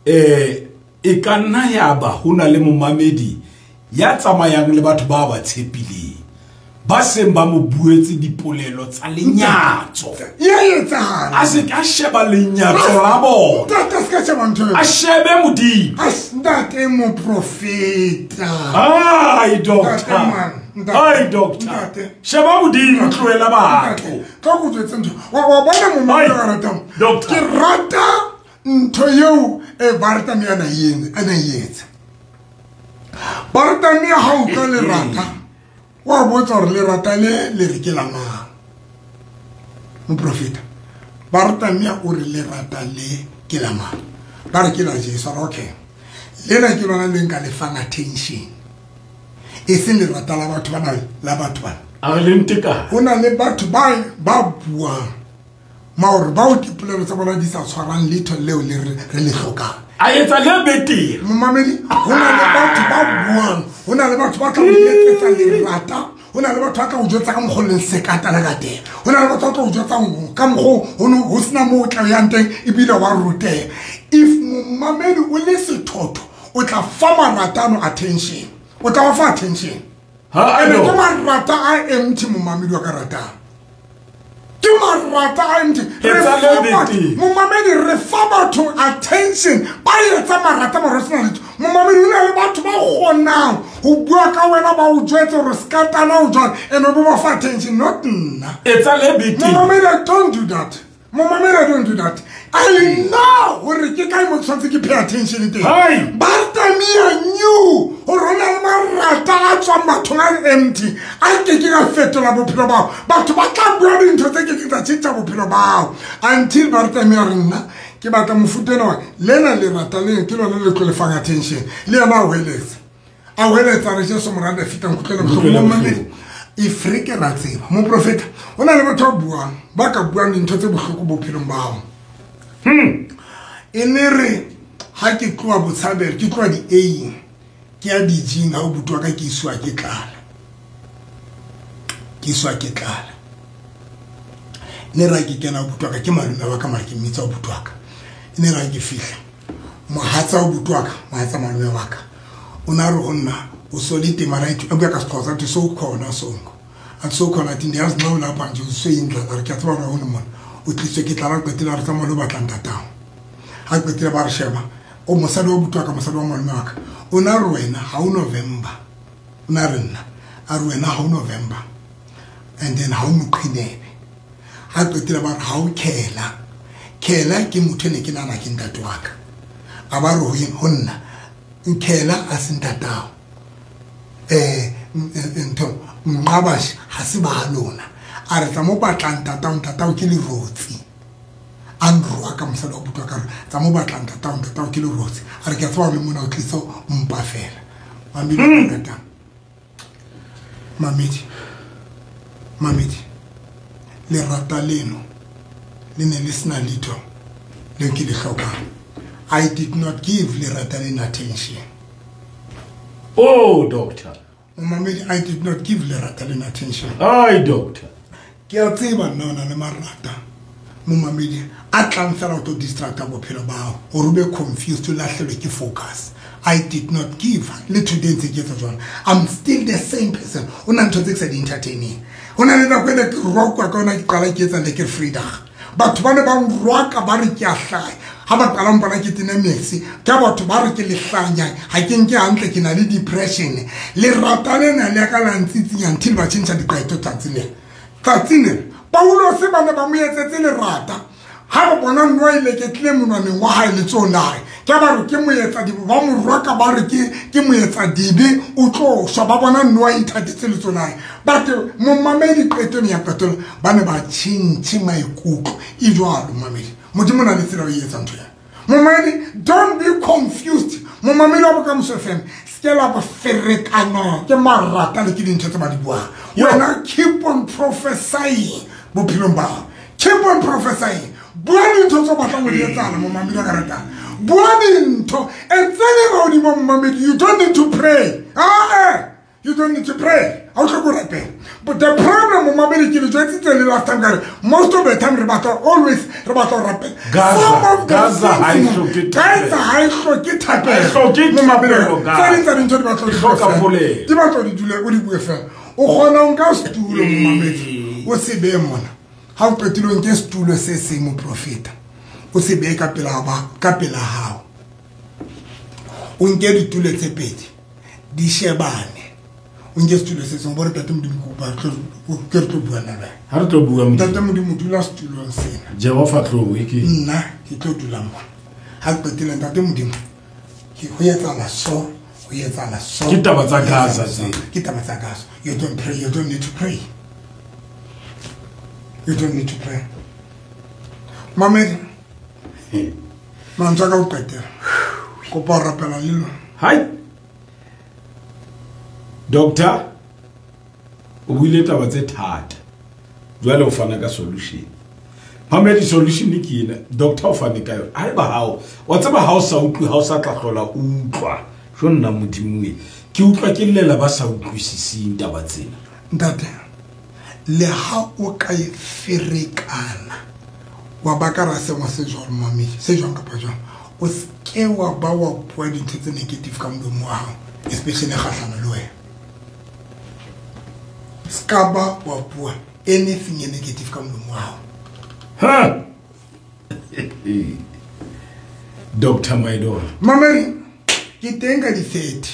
eh e ka nna ya ba ho na le momamedi ya tsamayang le batho ba ba tshepileng. Ba seng ba mo buetse dipolelo tsa lenyatso. Ya etsahala. A se ka sheba lenyatso la bona. Ntate se ka sheba ntho eo. A shebe Modimo. A ntate moprofeta. Ai doctor. Ai doctor. Sheba Modimo tlohela batho. Tlo go jwetse ntho. Wa wa bona momamedi wa ratang. Doctor. Ke rata ntho eo e Bartamia na yeng a na etsa. Bartamia ha o ka lerata wa botsa hore lerata le le re ke la mang. Moprofeta Bartamia o re lerata le ke la mang. Ba re ke la Jesu. Okay. Lena ke lona le nka le fang attention. E seng lerata la batho bana la batho bana. A re le nteka. Ho na le batho ba ba buang maore bao dipolelo tsa bona di sa tshwarang letho leo le re le hlokang. A etsa le betere. Momamedi ho na le batho ba buang, ho na le batho ba tla o etsetsa lerata, ho na le batho ba tla o jwetsa ka mokgwa o leng sekatana ka teng, ho na le batho ba tla o jwetsa ka mokgwa ho no ho sena moo o tla yang teng ebile wa ruteha. If momamedi o le sethotho o tla fa maratano attention, o tla wa fa attention. Ha a ke marata a empty momamedi wa ka ratang. Ke marata a empty. Momamedi re fa batho attention ba etsa marata mara sena letho. Momamedi o na le batho ba kgonang ho bua ka wena ba o jwetse hore sekatana o jwang and o bo ba fa attention not nna. Etsa le betere. Momamedi don't do that. Momamedi don't do that. I know hore ke kae mo tshwanetse ke pay attention teng. Bartamia knew hore ho na le marata a tswang bathong a empty a ke ke ka fetola bophelo bao. Batho ba tla bua dintho tse ke ke tsa tjhentjha bophelo bao until Bartamia re nna ke batla mofuta ena wa lena lerata le ke lona le tlo le fang attention. Le yena a hweletsa. A hweletsa re Jesu morena feta nkutlwele bohloko. Momamedi if re ke ra tseba moprofeta ho na le batho ba buang ba ka buang dintho tse bohloko bophelong ba hao. Hmm. E ne re ha ke tloha Botshabelo ke tloha di-A-ing Ke ya dijing ha o butwa ka ke iswa ke tlala. Ke iswa ke tlala. Ne ra ke kena butwa ka ke malome wa ka mara ke mmitsa o butwa ka. Ne ra ke fihla. Mohatsa o butwa ka, mohatsa malome wa ka. O na re ho nna o solite mara ithu a bua ka Sexhosa athi so khona songo. Athi so khona athi ndiyazi nxa ulapha nje useyindlala re ke a tseba hore o le mona. O tliswe ke tlala qetela re tsamaya lo batla ntatao. Ha qetela ba re sheba o mosadi wa butwa ka mosadi wa malome wa ka. O na re wena ha o November. O na re nna a re wena ha o November. And then ha o Moqhinebe. Ha qetela ba re ha o Khela. Khela ke motho ne ke nana ke ntate wa ka. A ba re ho eng ho nna Nkhela a se ntatao. Eh ntho Nqabashi ha se ba lona. A re tsa mo batla ntatao ntatao ke lerotsi. A nroa ka mosadi wa butwa ka re tsa mo batla ntatao ntatao ke lerotsi. A re ke a tseba le mona o tlisa mpa fela. Mamedi ntatao. Mamedi. Mamedi. Lerata leno le ne le sena letho le ke le hlokang. I did not give lerata leno attention. Oh, doctor. Mamedi, I did not give lerata leno attention. Ai, doctor. Ke a tseba nna o na le marata. Momamedi a tlang fela ho tlo distracta bophelo ba hao hore o be confused o lahlelwe ke focus. I did not give. Le today ntse ke etsa jwalo. I'm still the same person. O na ntho tse ke sa di entertaining. Ho na le nako e ne ke rokwa ka yona ke qala ke etsa le ke freedag. Batho ba ne ba nroka ba re ke a hlaya. Ha ba qala mpona ke tene mexi, ke batho ba re ke lehlanya, ha ke nke hantle ke na le depression. Lerata lena le ka la ntsitsinya until ba tjhentjha diqeto tsatsi lena. Tsatsi lena Paulo se ba ne ba mo etsetse lerata. Ha ba bona nwa ile ke tle monwaneng wa hae letsohong la hae. Ke ba re ke moetsa dibe, ba mo roka ba re ke ke moetsa dibe o tlo shwa ba bona nwa ithatetse letsohong la hae. But momamedi qetong ya qetelo ba ne ba tjhentjhe maikutlo. E jwalo momamedi. Modimo na le tsela o e etsa ntho ya. Momamedi, don't be confused. Momamedi wa Bokamoso F M, se ke la ba ferekana ke marata le ke dintho tse ba di buang. Wena keep on prophesying bophelong ba hao. Keep on prophesying. Bua dintho tse o batlang ho di etsahala momamedi wa ka ratang. Bua dintho. And tsene ka hodimo momamedi, you don't need to pray. Ah, eh. You don't need to pray. Ha o hloke ho rapela. But the problem momamedi ke le jwetsitse le last time ka re most of the time re batla always re batla ho rapela. Some of the Gaza ha e hloke thapelo. Gaza ha e hloke thapelo. Ha e hloke thapelo, Gaza. Tse ding tsa dintho di batla ho di E hloka bue fela. polelo. Di batla ho di dule o di bue fela. O kgona ho nka setulo momamedi. O se behe mona. Ha o qetile o nke setulo se seng moprofeta. O se behe ka pela ba ka pela hao. O nke ditulo tse pedi di shebane. O nke setulo se seng bo re Ntate Modimo ke kopa re tlo ke re tlo bua nna le wena. Ha re tlo bua Modimo. Ntate Modimo dula setulong sena. Jehova tlo e ke. Nna ke tlo dula mona. Ha ke qetile Ntate Modimo ke ho etsahala so, ho etsahala so. Ke taba tsa Gaza Ho etsahala so. tse. Ke taba tsa Gaza. You don't pray, you don't need to pray. You don't need to pray. Mamedi. Mantswe a ka ho qetela. Kopa ho rapela le lona. Hai. Doctor, o buile taba tse thata. Jwale o fana ka solution. Mamedi solution ke ena. Doctor o fane ka yona. Haeba hao, wa tseba ha o sa utlwe, ha o sa tla hlola o utlwa. Jo nna Modimo e. Ke utlwa ke llela ba sa utlwisising taba tsena. Ntate, le ha o ka e ferekana wa ba ka ra sengwe se jwalo mamedi, se jwang kapa jwang, o se ke wa ba wa bua dintho tse negative ka molomo wa hao, especially kgahlano le wena. Se ka ba wa bua anything e negative ka molomo wa hao. Ha! Doctor Maidoro. Mamedi, ke teng ka di-thirty.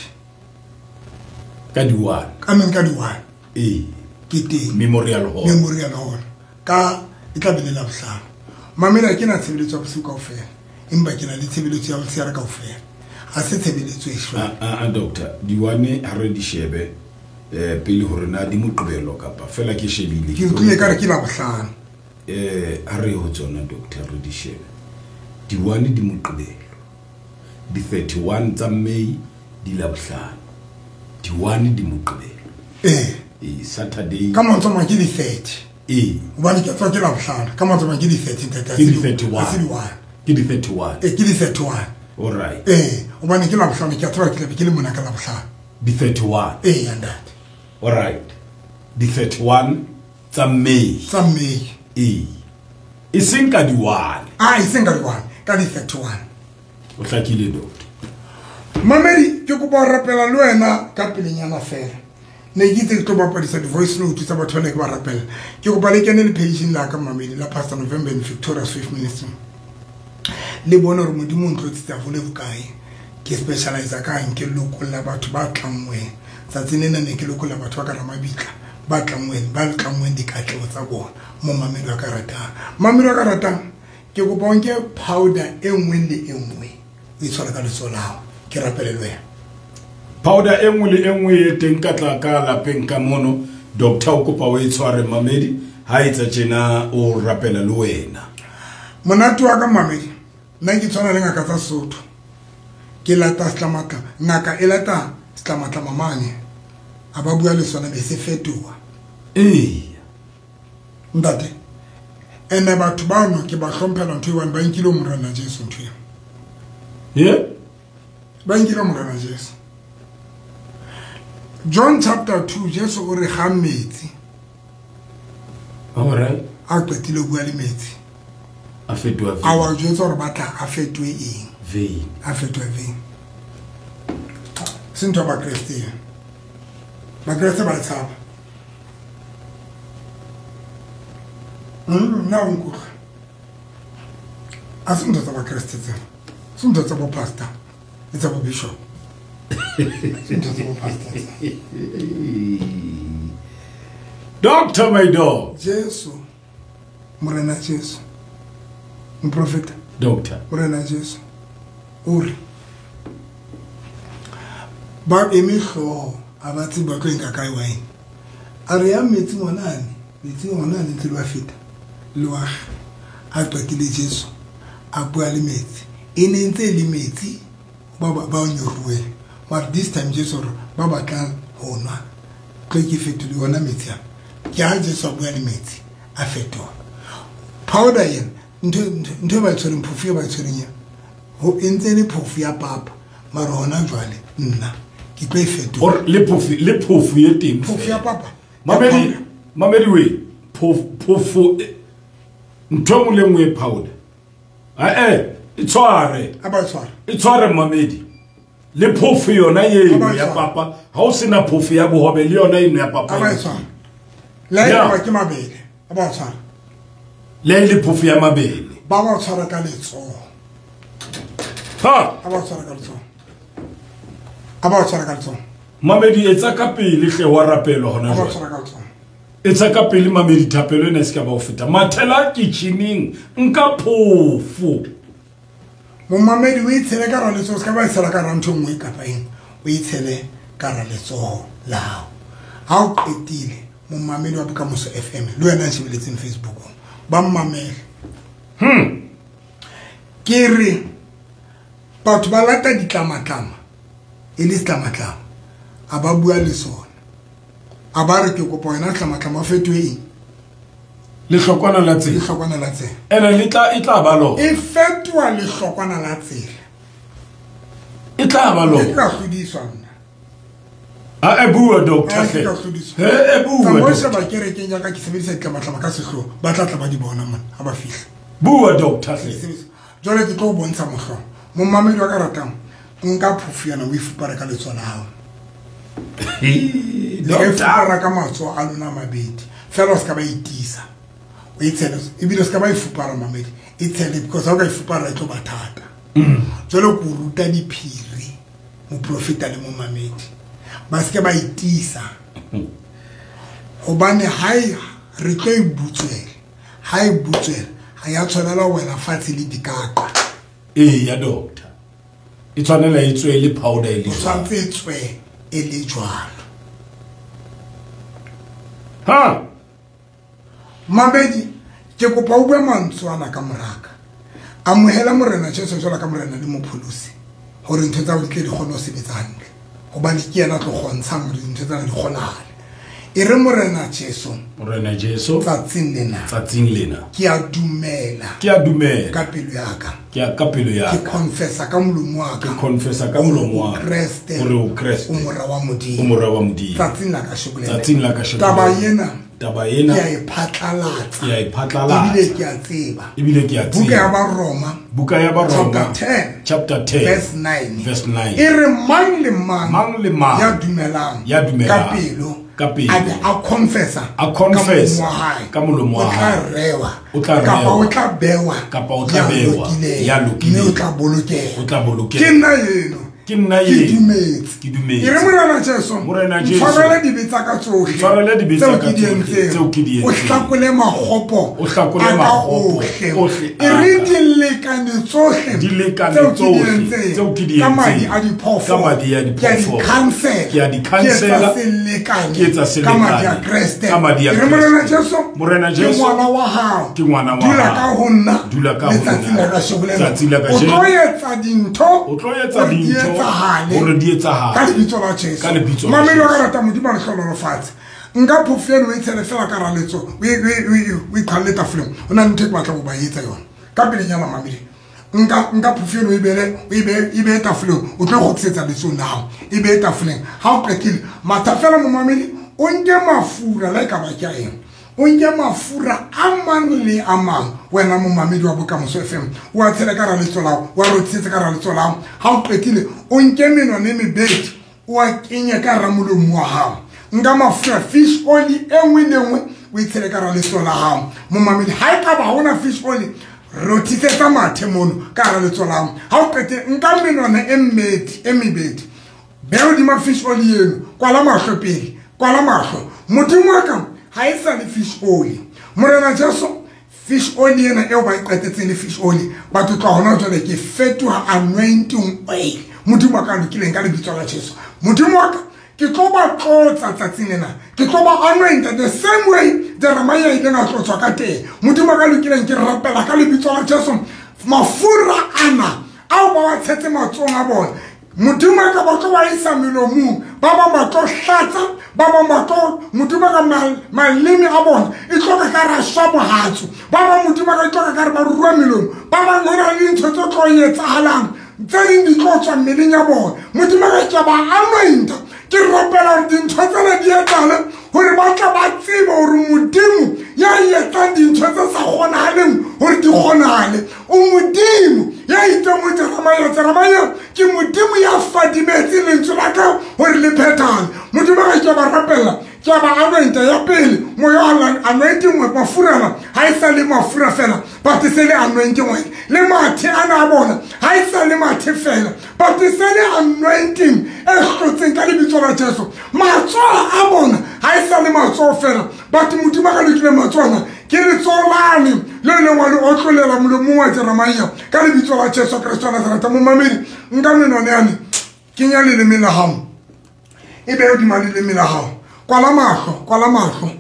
Ka di-one. I mean ka di-one. Ee. Ke teng. Memorial Hall. Memorial Hall. Ka e tla be le Labohlano. Mamedi, ha ke na tshebeletso ya bosiu kaofela, empa ke na le tshebeletso ya motshehare kaofela. Ha se tshebeletso e jwalo. Ah, ah, ah, doctor, di-one ha re di shebe, eh, pele hore na di Moqebelo kapa fela ke shebile. Ke utlwile ekare ke Labohlano. Eh, ha re ho tsona doctor re di shebe. Di-one di Moqebelo. Di thirty-one tsa May di Labohlano. Di-one di Moqebelo. Eh. Eh, Saturday. Ka mantswe a mang ke di thirty. Eh. Hobane ke tswa ke Labohlano. Ka mantswe a mang ke di thirty, ntate, ha Ke se di di thirty-one. Ha se di one. Ke di thirty-one. Eh, ke di thirty-one. All right. Eh, Hobane ke Labohlano, ke a tseba ke tlabe ke le mona ka Labohlano. Di thirty-one. Eya ntate. All right. Di thirty-one tsa May. Tsa May. Ee. E seng ka di one. Ah, e seng ka di one, ka di thirty-one. O hlakile doctor. Mamedi, ke kopa ho rapela le wena ka pelenyana fela. Ne ke itse ke tlo bapadisa di-voice note tsa batho ba ne ke ba rapela. Ke kopa le kene le page-ing la ka mamedi la Pastor November and Victoria Swift Ministry. Le bone hore Modimo o ntlotsitse haholo bokae. Ke specialize ka eng, ke lokolla batho ba tlanngweng. Tsatsing lena ne ke lokolla batho ba ka Ramabitla, ba tlanngweng, ba tlanngweng dikatleho tsa bona. Mo mamedi wa ka ratang. Mamedi wa ka ratang, ke kopa o nke powder e nngwe le e nngwe. O e tshware ka letsoho la hao. Ke rapele le wena. Powder e nngwe le e nngwe e teng ka tla ka lapeng ka mono, doctor o kopa o e tshware mamedi, ha etsa tjena o rapela le wena. Monate wa ka mamedi, nna ke tshwana le ngaka tsa Sesotho. Ke lata setlamatla, ngaka e lata setlamatla mamane. A ba bua le sona be se fetoha. Ee. Ntate, ene batho bano ke ba hlomphela ntho e one ba nkile Morena Jesu ntho eo. Ye? Ba nkile Morena Jesu. John chapter two, Jesu o re ga metsi. All right. A qetile ho bua le metsi. A fetoha vein. A wa jwetsa hore ba tla a fetohe eng? Vein. A fetohe vein. Se ntho ya Bakreste eo. Bakreste ba tshaba. Mm, nna o nkutlwa. A se ntho tsa Bakreste tsena. Se ntho tsa bo pastor le tsa bo bishop. Se ntho tsa bo pastor tsena. Doctor my dog. Jesu. Morena Jesu. Moprofeta. Doctor. Morena Jesu. O re ba eme hlooho, a ba tsebe ba tlo nka kae wine. A re ya metsi ngwanane, metsi ngwanane ntse le wa feta. Le wa a qetile Jesu a bua le metsi. E ne ntse e le metsi ba ba ba nyoruwe. But this time Jesu re ba batlang ho nwa. Tlo ke fetole yona metsi a. Ke ha Jesu a bua le metsi a fetoha. Powder ena ntho ntho ba tshwereng phofu e ba tshwereng ya. Ho entse le phofu ya papa. Mara hona jwale nna ke tlo e fetola. Or le phofu le phofu e teng. Phofu ya papa. Mamedi mamedi we phofu phofu ntho nngwe le nngwe e powder. Ah eh e tshware. A ba tshware. E tshware mamedi. Le phofu yona eno ya papa, ha o sena phofu ya bohobe le yona eno ya papa. A ba tshware. Le e ba ke mabele. A ba tshware. Le le phofu ya mabele. Ba ba tshwara ka letsoho. Ha! A ba tshwara ka letsoho. A ba tshwara ka letsoho. Mamedi etsa ka pele hle wa rapelo hona A ba jwale. tshwara ka letsoho. Etsa ka pele mamedi thapelo ena e se ka ba o feta. Mathela kitchening nka phofu. Momamedi o itshele ka ra letsoho, se ka ba itshela ka ra ntho nngwe kapa eng. O itshele ka ra letsoho la hao. Ha o qetile, momamedi wa Bokamoso F M le wena a shebeletseng Facebook, ba mmamele. Hmm. Ke re batho ba lata ditlamatlama e le setlamatlama, a ba bua le sona. A ba re ke kopa wena setlamatlama o fetohe eng? Lehlokwana la tsela. Lehlokwana la tsela. Ene le tla e tla ba lona. E fetoha lehlokwana la tsela. E tla ba lona. Ke tla hlodiswa nna. A e bua doctor A hle. ke tla hlodiswa. He e bua. Tsamaya doctor. sheba kerekeng ya ka ke sebedisa ditlamatlama ka sehloho. Ba tla tla ba di bona mona ha ba fihla. Bua doctor hle. Jwale ke tlo o bontsha mohlolo. Momamedi wa ka ratang, nka phofu yana o e fupare ka letsoho la hao. He, Le e doctor. fupara ka matsoho a lona a mabedi. Fela o se ka ba itisa. O e tshele, ebile o se ka ba e fupara mamedi. E tshele because ha o ka e fupara e tlo ba thata. Mm. Jwale ke o ruta diphiri, moprofeta le momamedi. Ba se ke ba itisa. Hobane ha e re tlo e butswela. Ha e butswela, ha ya tshwanela ho wela fatshe le dikaka. Ee ya doctor. E tshwanela e tswe le powder e le O tshwanetse e tswe e le jwalo. Ha! Mamedi, ke kopa o bue mantswe ana ka moraka. Amohela Morena Jesu jwalo ka Morena le Mopholosi, hore ntho tsa hao di tle di kgone ho sebetsa hantle. Hobane ke yena a tlo kgontshang hore dintho tsena di kgonahale. E re Morena Jesu, Morena Jesu, tsatsing lena, tsatsing lena, ke a dumela, ke a dumela ka pelo ya ka, ke a ka pelo ya ka, ke confessa ka molomo wa ka, ke confessa ka molomo wa ka, Kreste, hore o Kreste, o mora wa Modimo, o mora wa Modimo. Tsatsing la kasheko lena, tsatsing la kasheko, taba ena, taba ena ke a e phatlalatsa, ke a e phatlalatsa, ebile ke a tseba, ebile ke a tseba. Buka ya Baroma, Buka ya Baroma, chapter ten, chapter ten, verse nine, verse nine, e re mang le mang, mang le mang ya dumelang, ya dumelang ka pelo, ka pelo, a be a confessa, a confessa ka molomo wa hae, o tla rewa, o tla rewa, kapa o tla bewa, kapa o tla bewa, ya lokileng, mme o tla bolokeha, o tla bolokeha. Ke nna eno, ke nna ke eno, dumetse, ke dumetse. E re Morena Jesu, Morena Jesu, ntshwarele dibe tsa ka tsohle, ntshwarele dibe tsa ka tseo ke di tsohle, entseng, tseo ke di o entseng. hlakole makgopo, O hlakole a ka makgopo ohle. ohle E re dilekane tsohle, Dilekane tseo ke di tsohle, entseng, tseo ke di ka madi entseng, a diphoofolo, ka madi a ke a di diphoofolo, cancela, ke a di ke etsa cancela, selekane, ke etsa ka madi a selekane, Kreste. ka madi a E re Morena Kreste. Jesu, Morena ke Jesu, ngwana wa hao, ke ngwana wa dula hao. ka ho nna, Dula ka ho letsatsing nna. la kasheko lena. Letsatsi la O kajeno. tlo etsa dintho, O tlo etsa hore di dintho, etsahale, hore di etsahale. ka lebitso la Jesu. Ka lebitso la Mamedi wa Jesu. ka rata Modimo a le hlohonolofatse. Nka phofo eno o e tshele fela ka hara letso, o e, o e, o e, o e qhalle tafoleng. Ho na le ntho e ke batlang ho ba etsa yona. Ka pelenyana mamedi. Nka, nka phofo eno o e beele, o e behe, e behe tafoleng, o tlo kgutlisetsa letsong la hao. E behe tafoleng. Ha o qetile, matha fela momamedi, o nke mafura, la e ka ba ke a eng? O nke mafura a mang le a mang, wena momamedi wa Bokamoso F M, o a tshele ka hara letso la hao, o a rothisetse ka hara letso la hao. Ha o qetile, o nke menwana e mebedi, o a kenye ka hara molomo wa hao. Nka mafura fish oil e nngwe le nngwe, o e tshele ka hara letso la hao. Momamedi, ha e ka ba ha hona fish oil, rothisetsa mathe mono ka hara letso la hao. Ha o qetile, nka menwana e mmedi, e mebedi, beha hodima fish oil eno, kwala mahlo pele, kwala mahlo. Modimo wa ka, ha e sa le fish oil. Morena Jesu, fish oil ena eo ba e qetetseng le fish oil, batho tloha hona jwale ke fetoha anointing oil. Modimo wa ka lokileng ka lebitso la Jesu. Modimo wa ka, ke tlo ba tlotsa tsatsing lena. Ke tlo ba anointa the same way Jeremiah a ileng a tlotswa ka teng. Modimo wa ka lokileng, ke rapela ka lebitso la Jesu. Mafura ana ao ba wa tshetse matsohong a bona, Modimo wa ka ba tlo ba isa melomong, ba bang ba tlo hlatsa, ba bang ba tlo, Modimo wa ka mal-, maleme a bona e tlo ka ka ra shwa bohatsu, ba bang Modimo wa ka e tlo ka ka re ba rua melomo, ba bang ho na le dintho tse tlo etsahalang, tse ding di tlo tswa mmeleng ya bona. Modimo wa ka ke ba anointa, ke rapela hore dintho tsena di etsahale, hore ba tla ba tsebe hore Modimo ya etsang dintho tse sa kgonahaleng hore di kgonahale, o Modimo ya itseng ho Jeremiah, Jeremiah ke Modimo ya fadimetse lentswe la ka hore le phethahale. Modimo wa ka ke ba rapella, ke ba anointa ya pele, moya wa anointing oil, mafura ana ha e sa le mafura fela, but e se le anointing oil. Le mathe ana a bona ha e sa le mathe fela, but e se le anointing e hlotseng ka lebitso la Jesu. Matsoho a bona ha e sa le matsoho fela, but Modimo wa ka lokile matsoho ana ke letsoho lane le leng wa le otlolela molomong wa Jeremiah ka lebitso la Jesu Kreste wa Nazareth. Momamedi, nka menwana yane, kenya leleme la hao, e behe hodima leleme la hao. Kwala mahlo, kwala mahlo,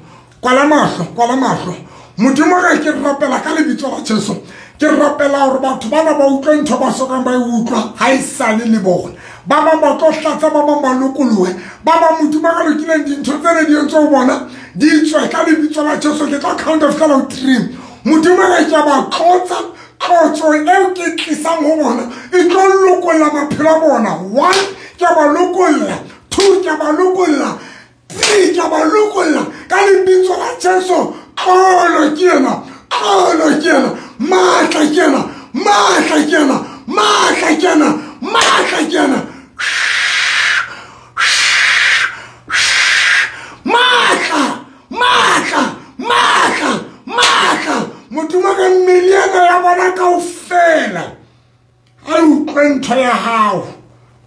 kwala mahlo, kwala mahlo. Modimo wa ka ke rapela ka lebitso la Jesu. Ke rapela hore batho bana ba utlwe ntho ba sokang ba e utlwa ha e sale le bona. Ba bang ba tlo hlatsa, ba bang ba lokolohe, ba bang Modimo wa ka lokileng dintho tsene di entswe ho bona di tswe ka lebitso la Jesu. Ke tlo count of fela ho three. Modimo wa ka ke a ba tlotsa, tlotso eo ke tlisang ho bona e tlo lokolla maphelo a bona. One, ke a ba lokolla. Two, ke a ba lokolla. Three, ke a ba lokolla ka lebitso la Jesu. Tlolo ke ena, tlolo ke ena, matla ke ena, matla ke ena, matla ke ena, matla ke ena. Matla, matla, matla, matla. Modimo wa ka mmele ena ya bona kaofela a utlwe ntho ya hao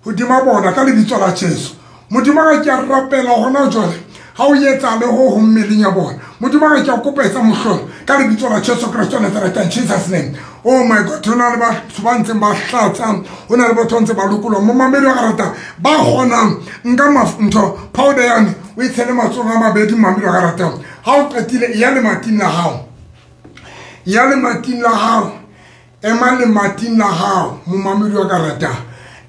hodima bona ka lebitso la Jesu. Modimo wa ka ke a rapela hona jwale, ha o etsa le ho ho mmeleng ya bona. Modimo wa ka ke a kopa etsa mohlolo ka lebitso la Jesu Kreste wa Nazareth, in Jesus name. Oh my God, ho na le batho ba ntseng ba hlatsa, ho na le batho ba ntseng ba lokoloha. Momamedi wa ka rata ba kgonang, nka maf-, ntho powder yane o e tshele matsohong a mabedi. Momamedi wa ka ratang, ha o qetile, ya lemating la hao, ya lemating la hao, ema lemating la hao. Momamedi wa ka ratang,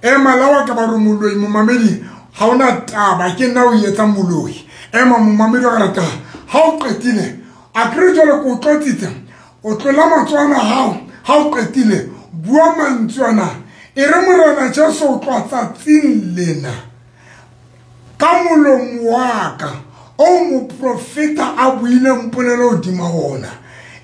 ema la wa ka ba re moloi. Momamedi, ha ona taba, ke nna o etsang moloi. Ema momamedi wa rata ha o qetile a kere jwale ko tlotsitse o tlola matsoho a hao ha o qetile bua mantswe ana e re Morena Jesu o tloha tsatsing lena ka molomo wa ka o moprofeta a buileng polelo hodima ona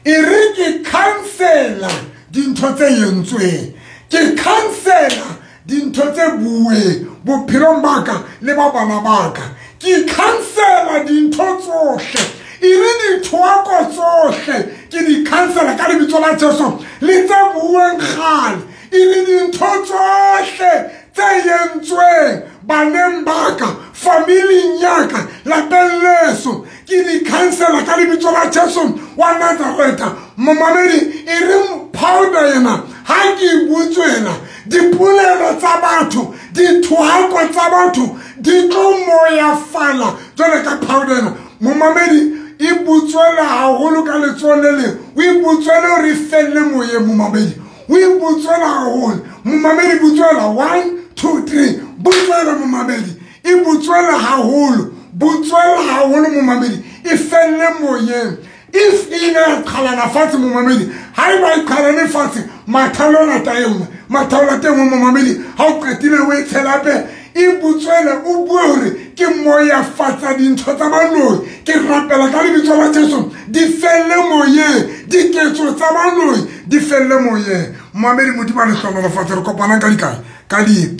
e re ke cancela dintho tse entsweng ke cancela dintho tse bueng bophelong ba ka le ba bana ba ka ke cancela dintho tsohle e re dithoako tsohle ke di cancela ka lebitso la Jesu le tse bueng kgale e re dintho tsohle tse entsweng baneng ba ka familing ya ka lapeng leso ke di cancela ka lebitso la Jesu wa Nazareta. Momamedi e re powder yena ha ke butswela dipolelo tsa batho dithoako tsa batho di tlo moyafala jwale ka powder ena. Momamedi e butswela haholo ka letsoho le leng o e butswele hore e felle moyeng. Momamedi o e butswela haholo. Momamedi butswela one two three butswela momamedi e butswela haholo butswela haholo momamedi e felle moyeng. If e ile ya qhalana fatshe momamedi ha eba e qhalane fatshe mathalo lata e nngwe mathalo lata e nngwe momamedi ha o qetile o e tshela hape e butswele o bue hore ke moyafatsa dintho tsa baloi ke rapela ka lebitso la Jesu di felle moyeng diketso tsa baloi di felle moyeng. Momamedi Modimo a le hlohonolofatse. Re kopanang ka dikae ka di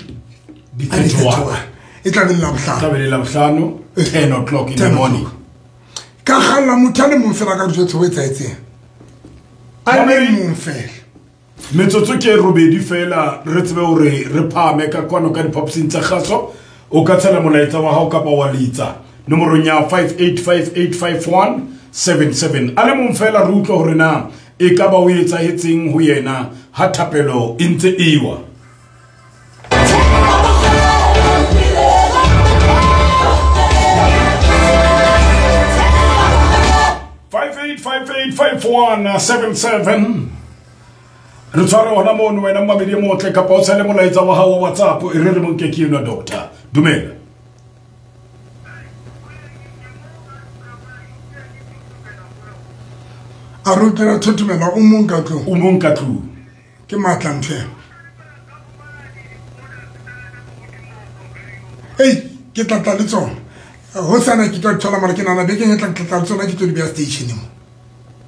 di thirty-one e tla be le Labohlano tla be le Labohlano ten o'clock in the morning. Ka kgalla motho a le mong fela ka dijotse ho etsahetseng a le mong fela metsotso ke robedi fela re tsebe hore re phahame ka kwano ka diphaposing tsa kgaso. O ka tshela molaetsa wa hao kapa wa letsa nomorong ya five eight five eight five one seven seven. A le mong fela re utlwe hore na e ka ba o etsahetseng ho yena ha thapelo e ntse ewa. five eight five eight five one seven seven. Re tshware hona mono wena mmamedi e motle kapa o tshele molaetsa wa hao wa WhatsApp e re re monke ke enwa doctor. Dumela. A re utlwela thothomela o mong ka tlung. O mong ka tlung. Ke matla ntho eo. Ei, ke tla tla le tsona. Ho sana ke tlo thola mara ke nana bekeng e tlang ke tla le tsona ke tlo di beha station mo.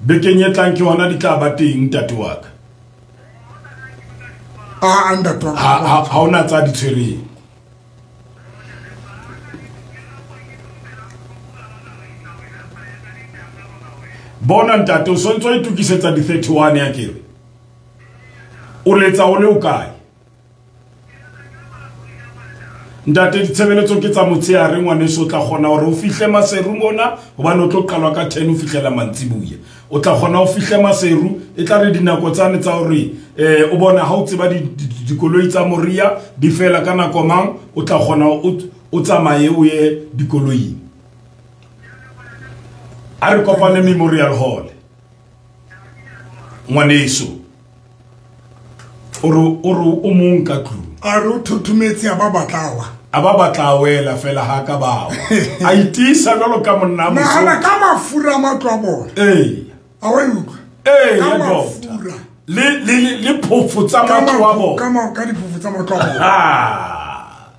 Bekeng e tlang ke hona di tla ba teng ntate wa ka. A ntate wa ka. Ha ha hona tsa di tshwereng. Bona ntate o sontso o itokisetsa di thirty-one ya kere. O letsa o le o kae? Ntate ditshebeletso ke tsa motshehare ngwaneso o tla kgona hore o fihle Maseru mona hobane o tlo qalwa ka ten o fihlela mantsibuya. O tla kgona o fihle Maseru e tla re dinako tsane tsa hore eh o bona ha o tseba dikoloi tsa Moria di fela ka nako mang o tla kgona o tsamaye o ye dikoloing. A re kopane Memorial Hall. Ngwaneso o re o re o mong ka tlung. A re o thothometse a ba batlawa. A ba batla wela fela ha ka bawa. A itisa jwalo ka monna mo. Nahana ka mafura matlo a bona. Eh. A wa utlwa. Eh, ka mafura. Le le le phofo tsa matlo a bona. Ka ma ka diphofo tsa matlo a bona. Ah.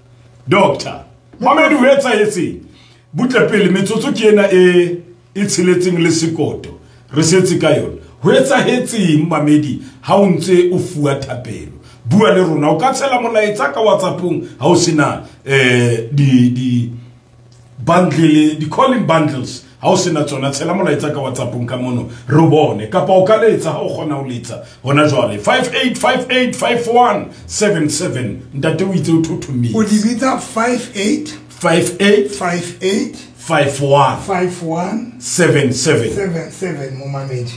Doctor, Mamedi o etsahetseng? Butle pele metsotso ke ena e e tsheletseng le sekoto. Re setse ka yona. Ho etsahetseng Mamedi ha o ntse o fuwa thapelo? Bua le rona o ka tshela molaetsa ka WhatsAppong ha o sena eh di di bundle di calling bundles ha o sena tsona tshela molaetsa ka WhatsAppong ka mono re bone kapa o ka letsa ha o kgona ho letsa hona jwale five eight five eight five one seven seven. Ntate o itse o thothomile o di bitsa five eight five eight five eight five one five one seven seven seven seven momamedi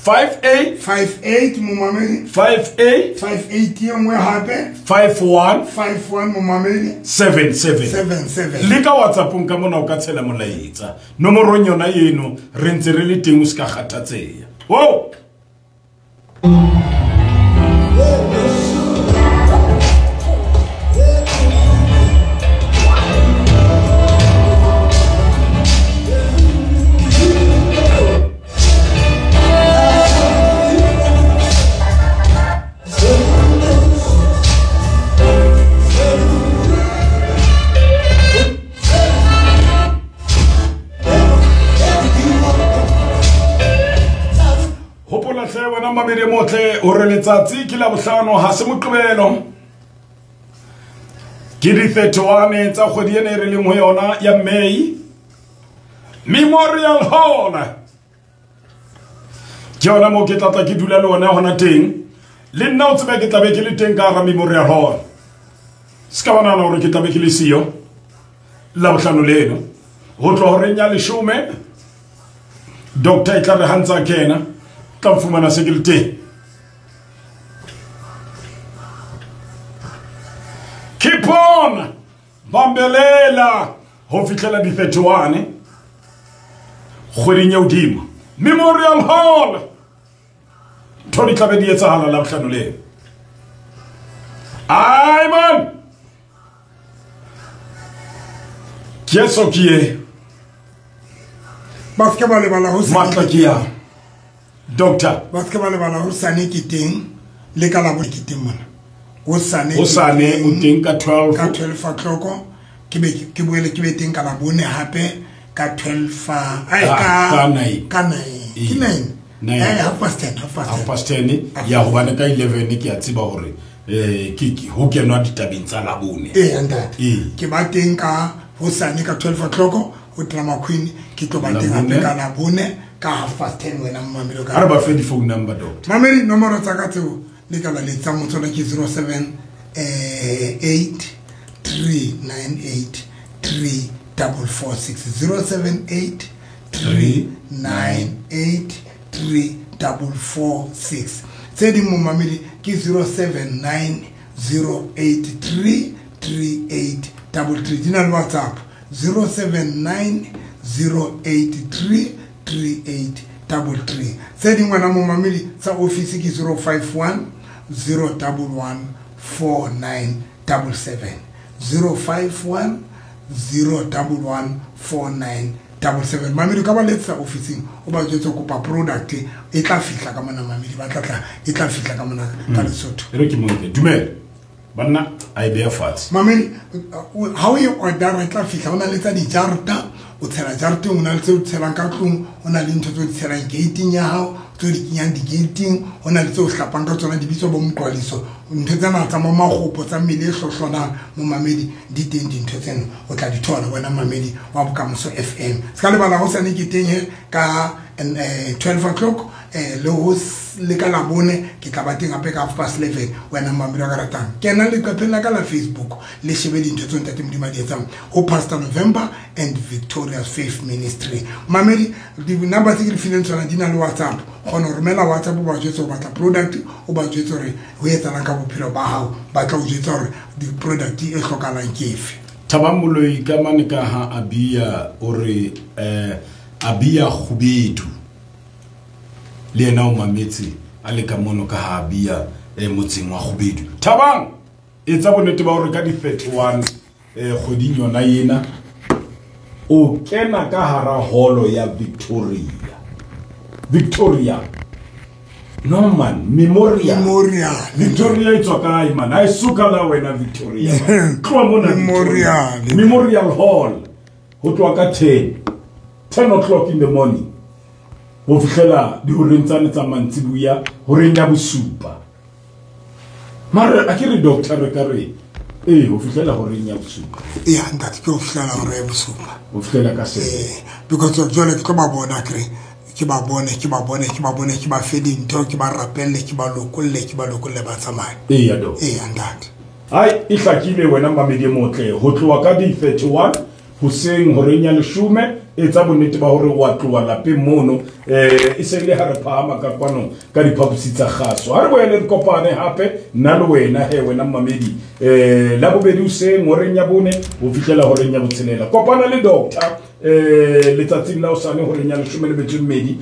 five eight five eight momamedi five eight five eight e nngwe hape five one five one momamedi seven seven seven seven. Le ka WhatsAppong ka mona o ka tshela molaetsa nomorong yona eno re ntse re le teng o se ka kgathatseha. Wo hantle wena mamedi motle hore letsatsi ke la bohlano ha se Moqebelo. Ke di thirty-one tsa kgwedi ena e re leng ho yona ya May. Memorial Hall. Ke yona moo ke tlatla ke dula le ona hona teng. Le nna o tsebe ke tlabe ke le teng ka hara Memorial Hall. Se ka ba nahana hore ke tlabe ke le siyo la bohlano leno. Ho tloha horeng ya leshome doctor e tla re ha ntsa kena tla fumana se ke le teng. Keep on bambelela ho fihlela di thirty-one kgweding ya hodimo. Memorial Hall. Ntho di tlabe di etsahala la bohlano leno. Ai man. Jesu ke ye. Ba se ba lebala ho matla ke ya. Doctor, ba se ba lebala ho sane ke teng le ka la bo ke teng mona. O sane o sane o teng ka twelve ka twelve o'clock ke be ke boele ke be teng ka la bone hape ka twelve ai ka nine ka nine ke nine eh half past ten half past half past ten ya hobane ka eleven ke a tseba hore eh ke ke ho kenwa ditabeng tsa la bone. Eh ntate ke ba teng ka ho sane ka twelve o'clock ho Drama Queen ke tlo ba teng hape ka la bone ka half past ten wena mamelo ka. Ha re ba fe di phone number doctor. Mamedi nomoro tsa ka tseo le ka la letsa motswala ke zero seven eight three nine eight three four four six zero seven eight three nine eight three four four six. Tse ding mo mamedi ke zero seven nine zero eight three three eight three three. Di na le WhatsApp zero seven nine zero eight three three eight three three. Tse ding wena mo mamedi tsa office ke zero five one zero one one four nine seven seven zero five one zero one one four nine seven seven. Mamedi ka ba letsa officing o ba jwetse kopa product e tla fihla ka mona mamedi ba tla tla e tla fihla ka mona ka Lesotho. E re ke monke dumela banna a e beha fatshe. Mamedi ha o e order e tla fihla o na le tsa dijarta o tshela jarteng o na le tse o tshelang ka tlung o na le ntho tse o di tshelang gating ya hao tse o di kenyang di-gating o na le tse o hlapang ka tsona di bitswa bo moqwaliso ntho tsena tsa mo magopo tsa mmele e hlohlonang mo mamedi di teng dintho tseno o tla di thola wena mamedi wa Bokamoso F M. Se ka lebala ho sane ke teng he ka twelve o'clock le ho le ka la bone ke tla ba teng hape ka half past eleven wena mamedi wa ka ratang. Kena leqepheng la ka la Facebook le shebe dintho tseo ntate Modimo a di etsang ho Pastor November and Victoria's Faith Ministry. Mamedi di-number tse ke di fileng tsona di na le WhatsApp. Kgona ho romela WhatsApp o ba jwetse o batla product o ba jwetse hore ho etsahalang ka bophelo ba hao ba tla o jwetsa hore di-product e hlokahalang ke efe. Thabang Moloi ka mane ka ha Abia o re eh Abia Kgubedu le yena o mametse a le ka mono ka ha Abia eh motseng wa Kgubedu. Thabang etsa bonnete ba hore ka di thirty-one eh kgweding yona ena o kena ka hara holo ya Victoria. Victoria. No man, Memorial. Memorial. Victoria e tswa kae man? Ha e suka la wena Victoria. Tloha mona Memorial. Memorial Hall. Ho tloha ka ten. ten o'clock in the morning. Ho fihlela dihoreng tsane tsa mantsibuya, horeng ya bosupa. Mara a ke re doctor re ka re eh ho fihlela horeng ya bosupa. Eh ntate ke ho fihlela horeng ya bosupa. Ho fihlela ka seven. Eh because jwale ke tlo ba bona kre. Ke ba bone ke ba bone ke ba bone ke ba fe dintho ke ba rapelle ke ba lokolle ke ba lokolle ba tsamaye. Eh ya do. Eh ntate. Ai e hlakile wena mamedi motle ho tloha ka di thirty-one hoseng horeng ya leshome etsa bonnete ba hore wa tloha lapeng mono eh e se le ha re phahama ka kwano ka diphaposi tsa kgaso. Ha re boele re kopane hape nna le wena he wena mamedi eh la bobedi hoseng horeng ya bone ho fihlela horeng ya botshelela. Kopana le doctor eh letsatsing la hosane horeng ya leshome le metso e mmedi.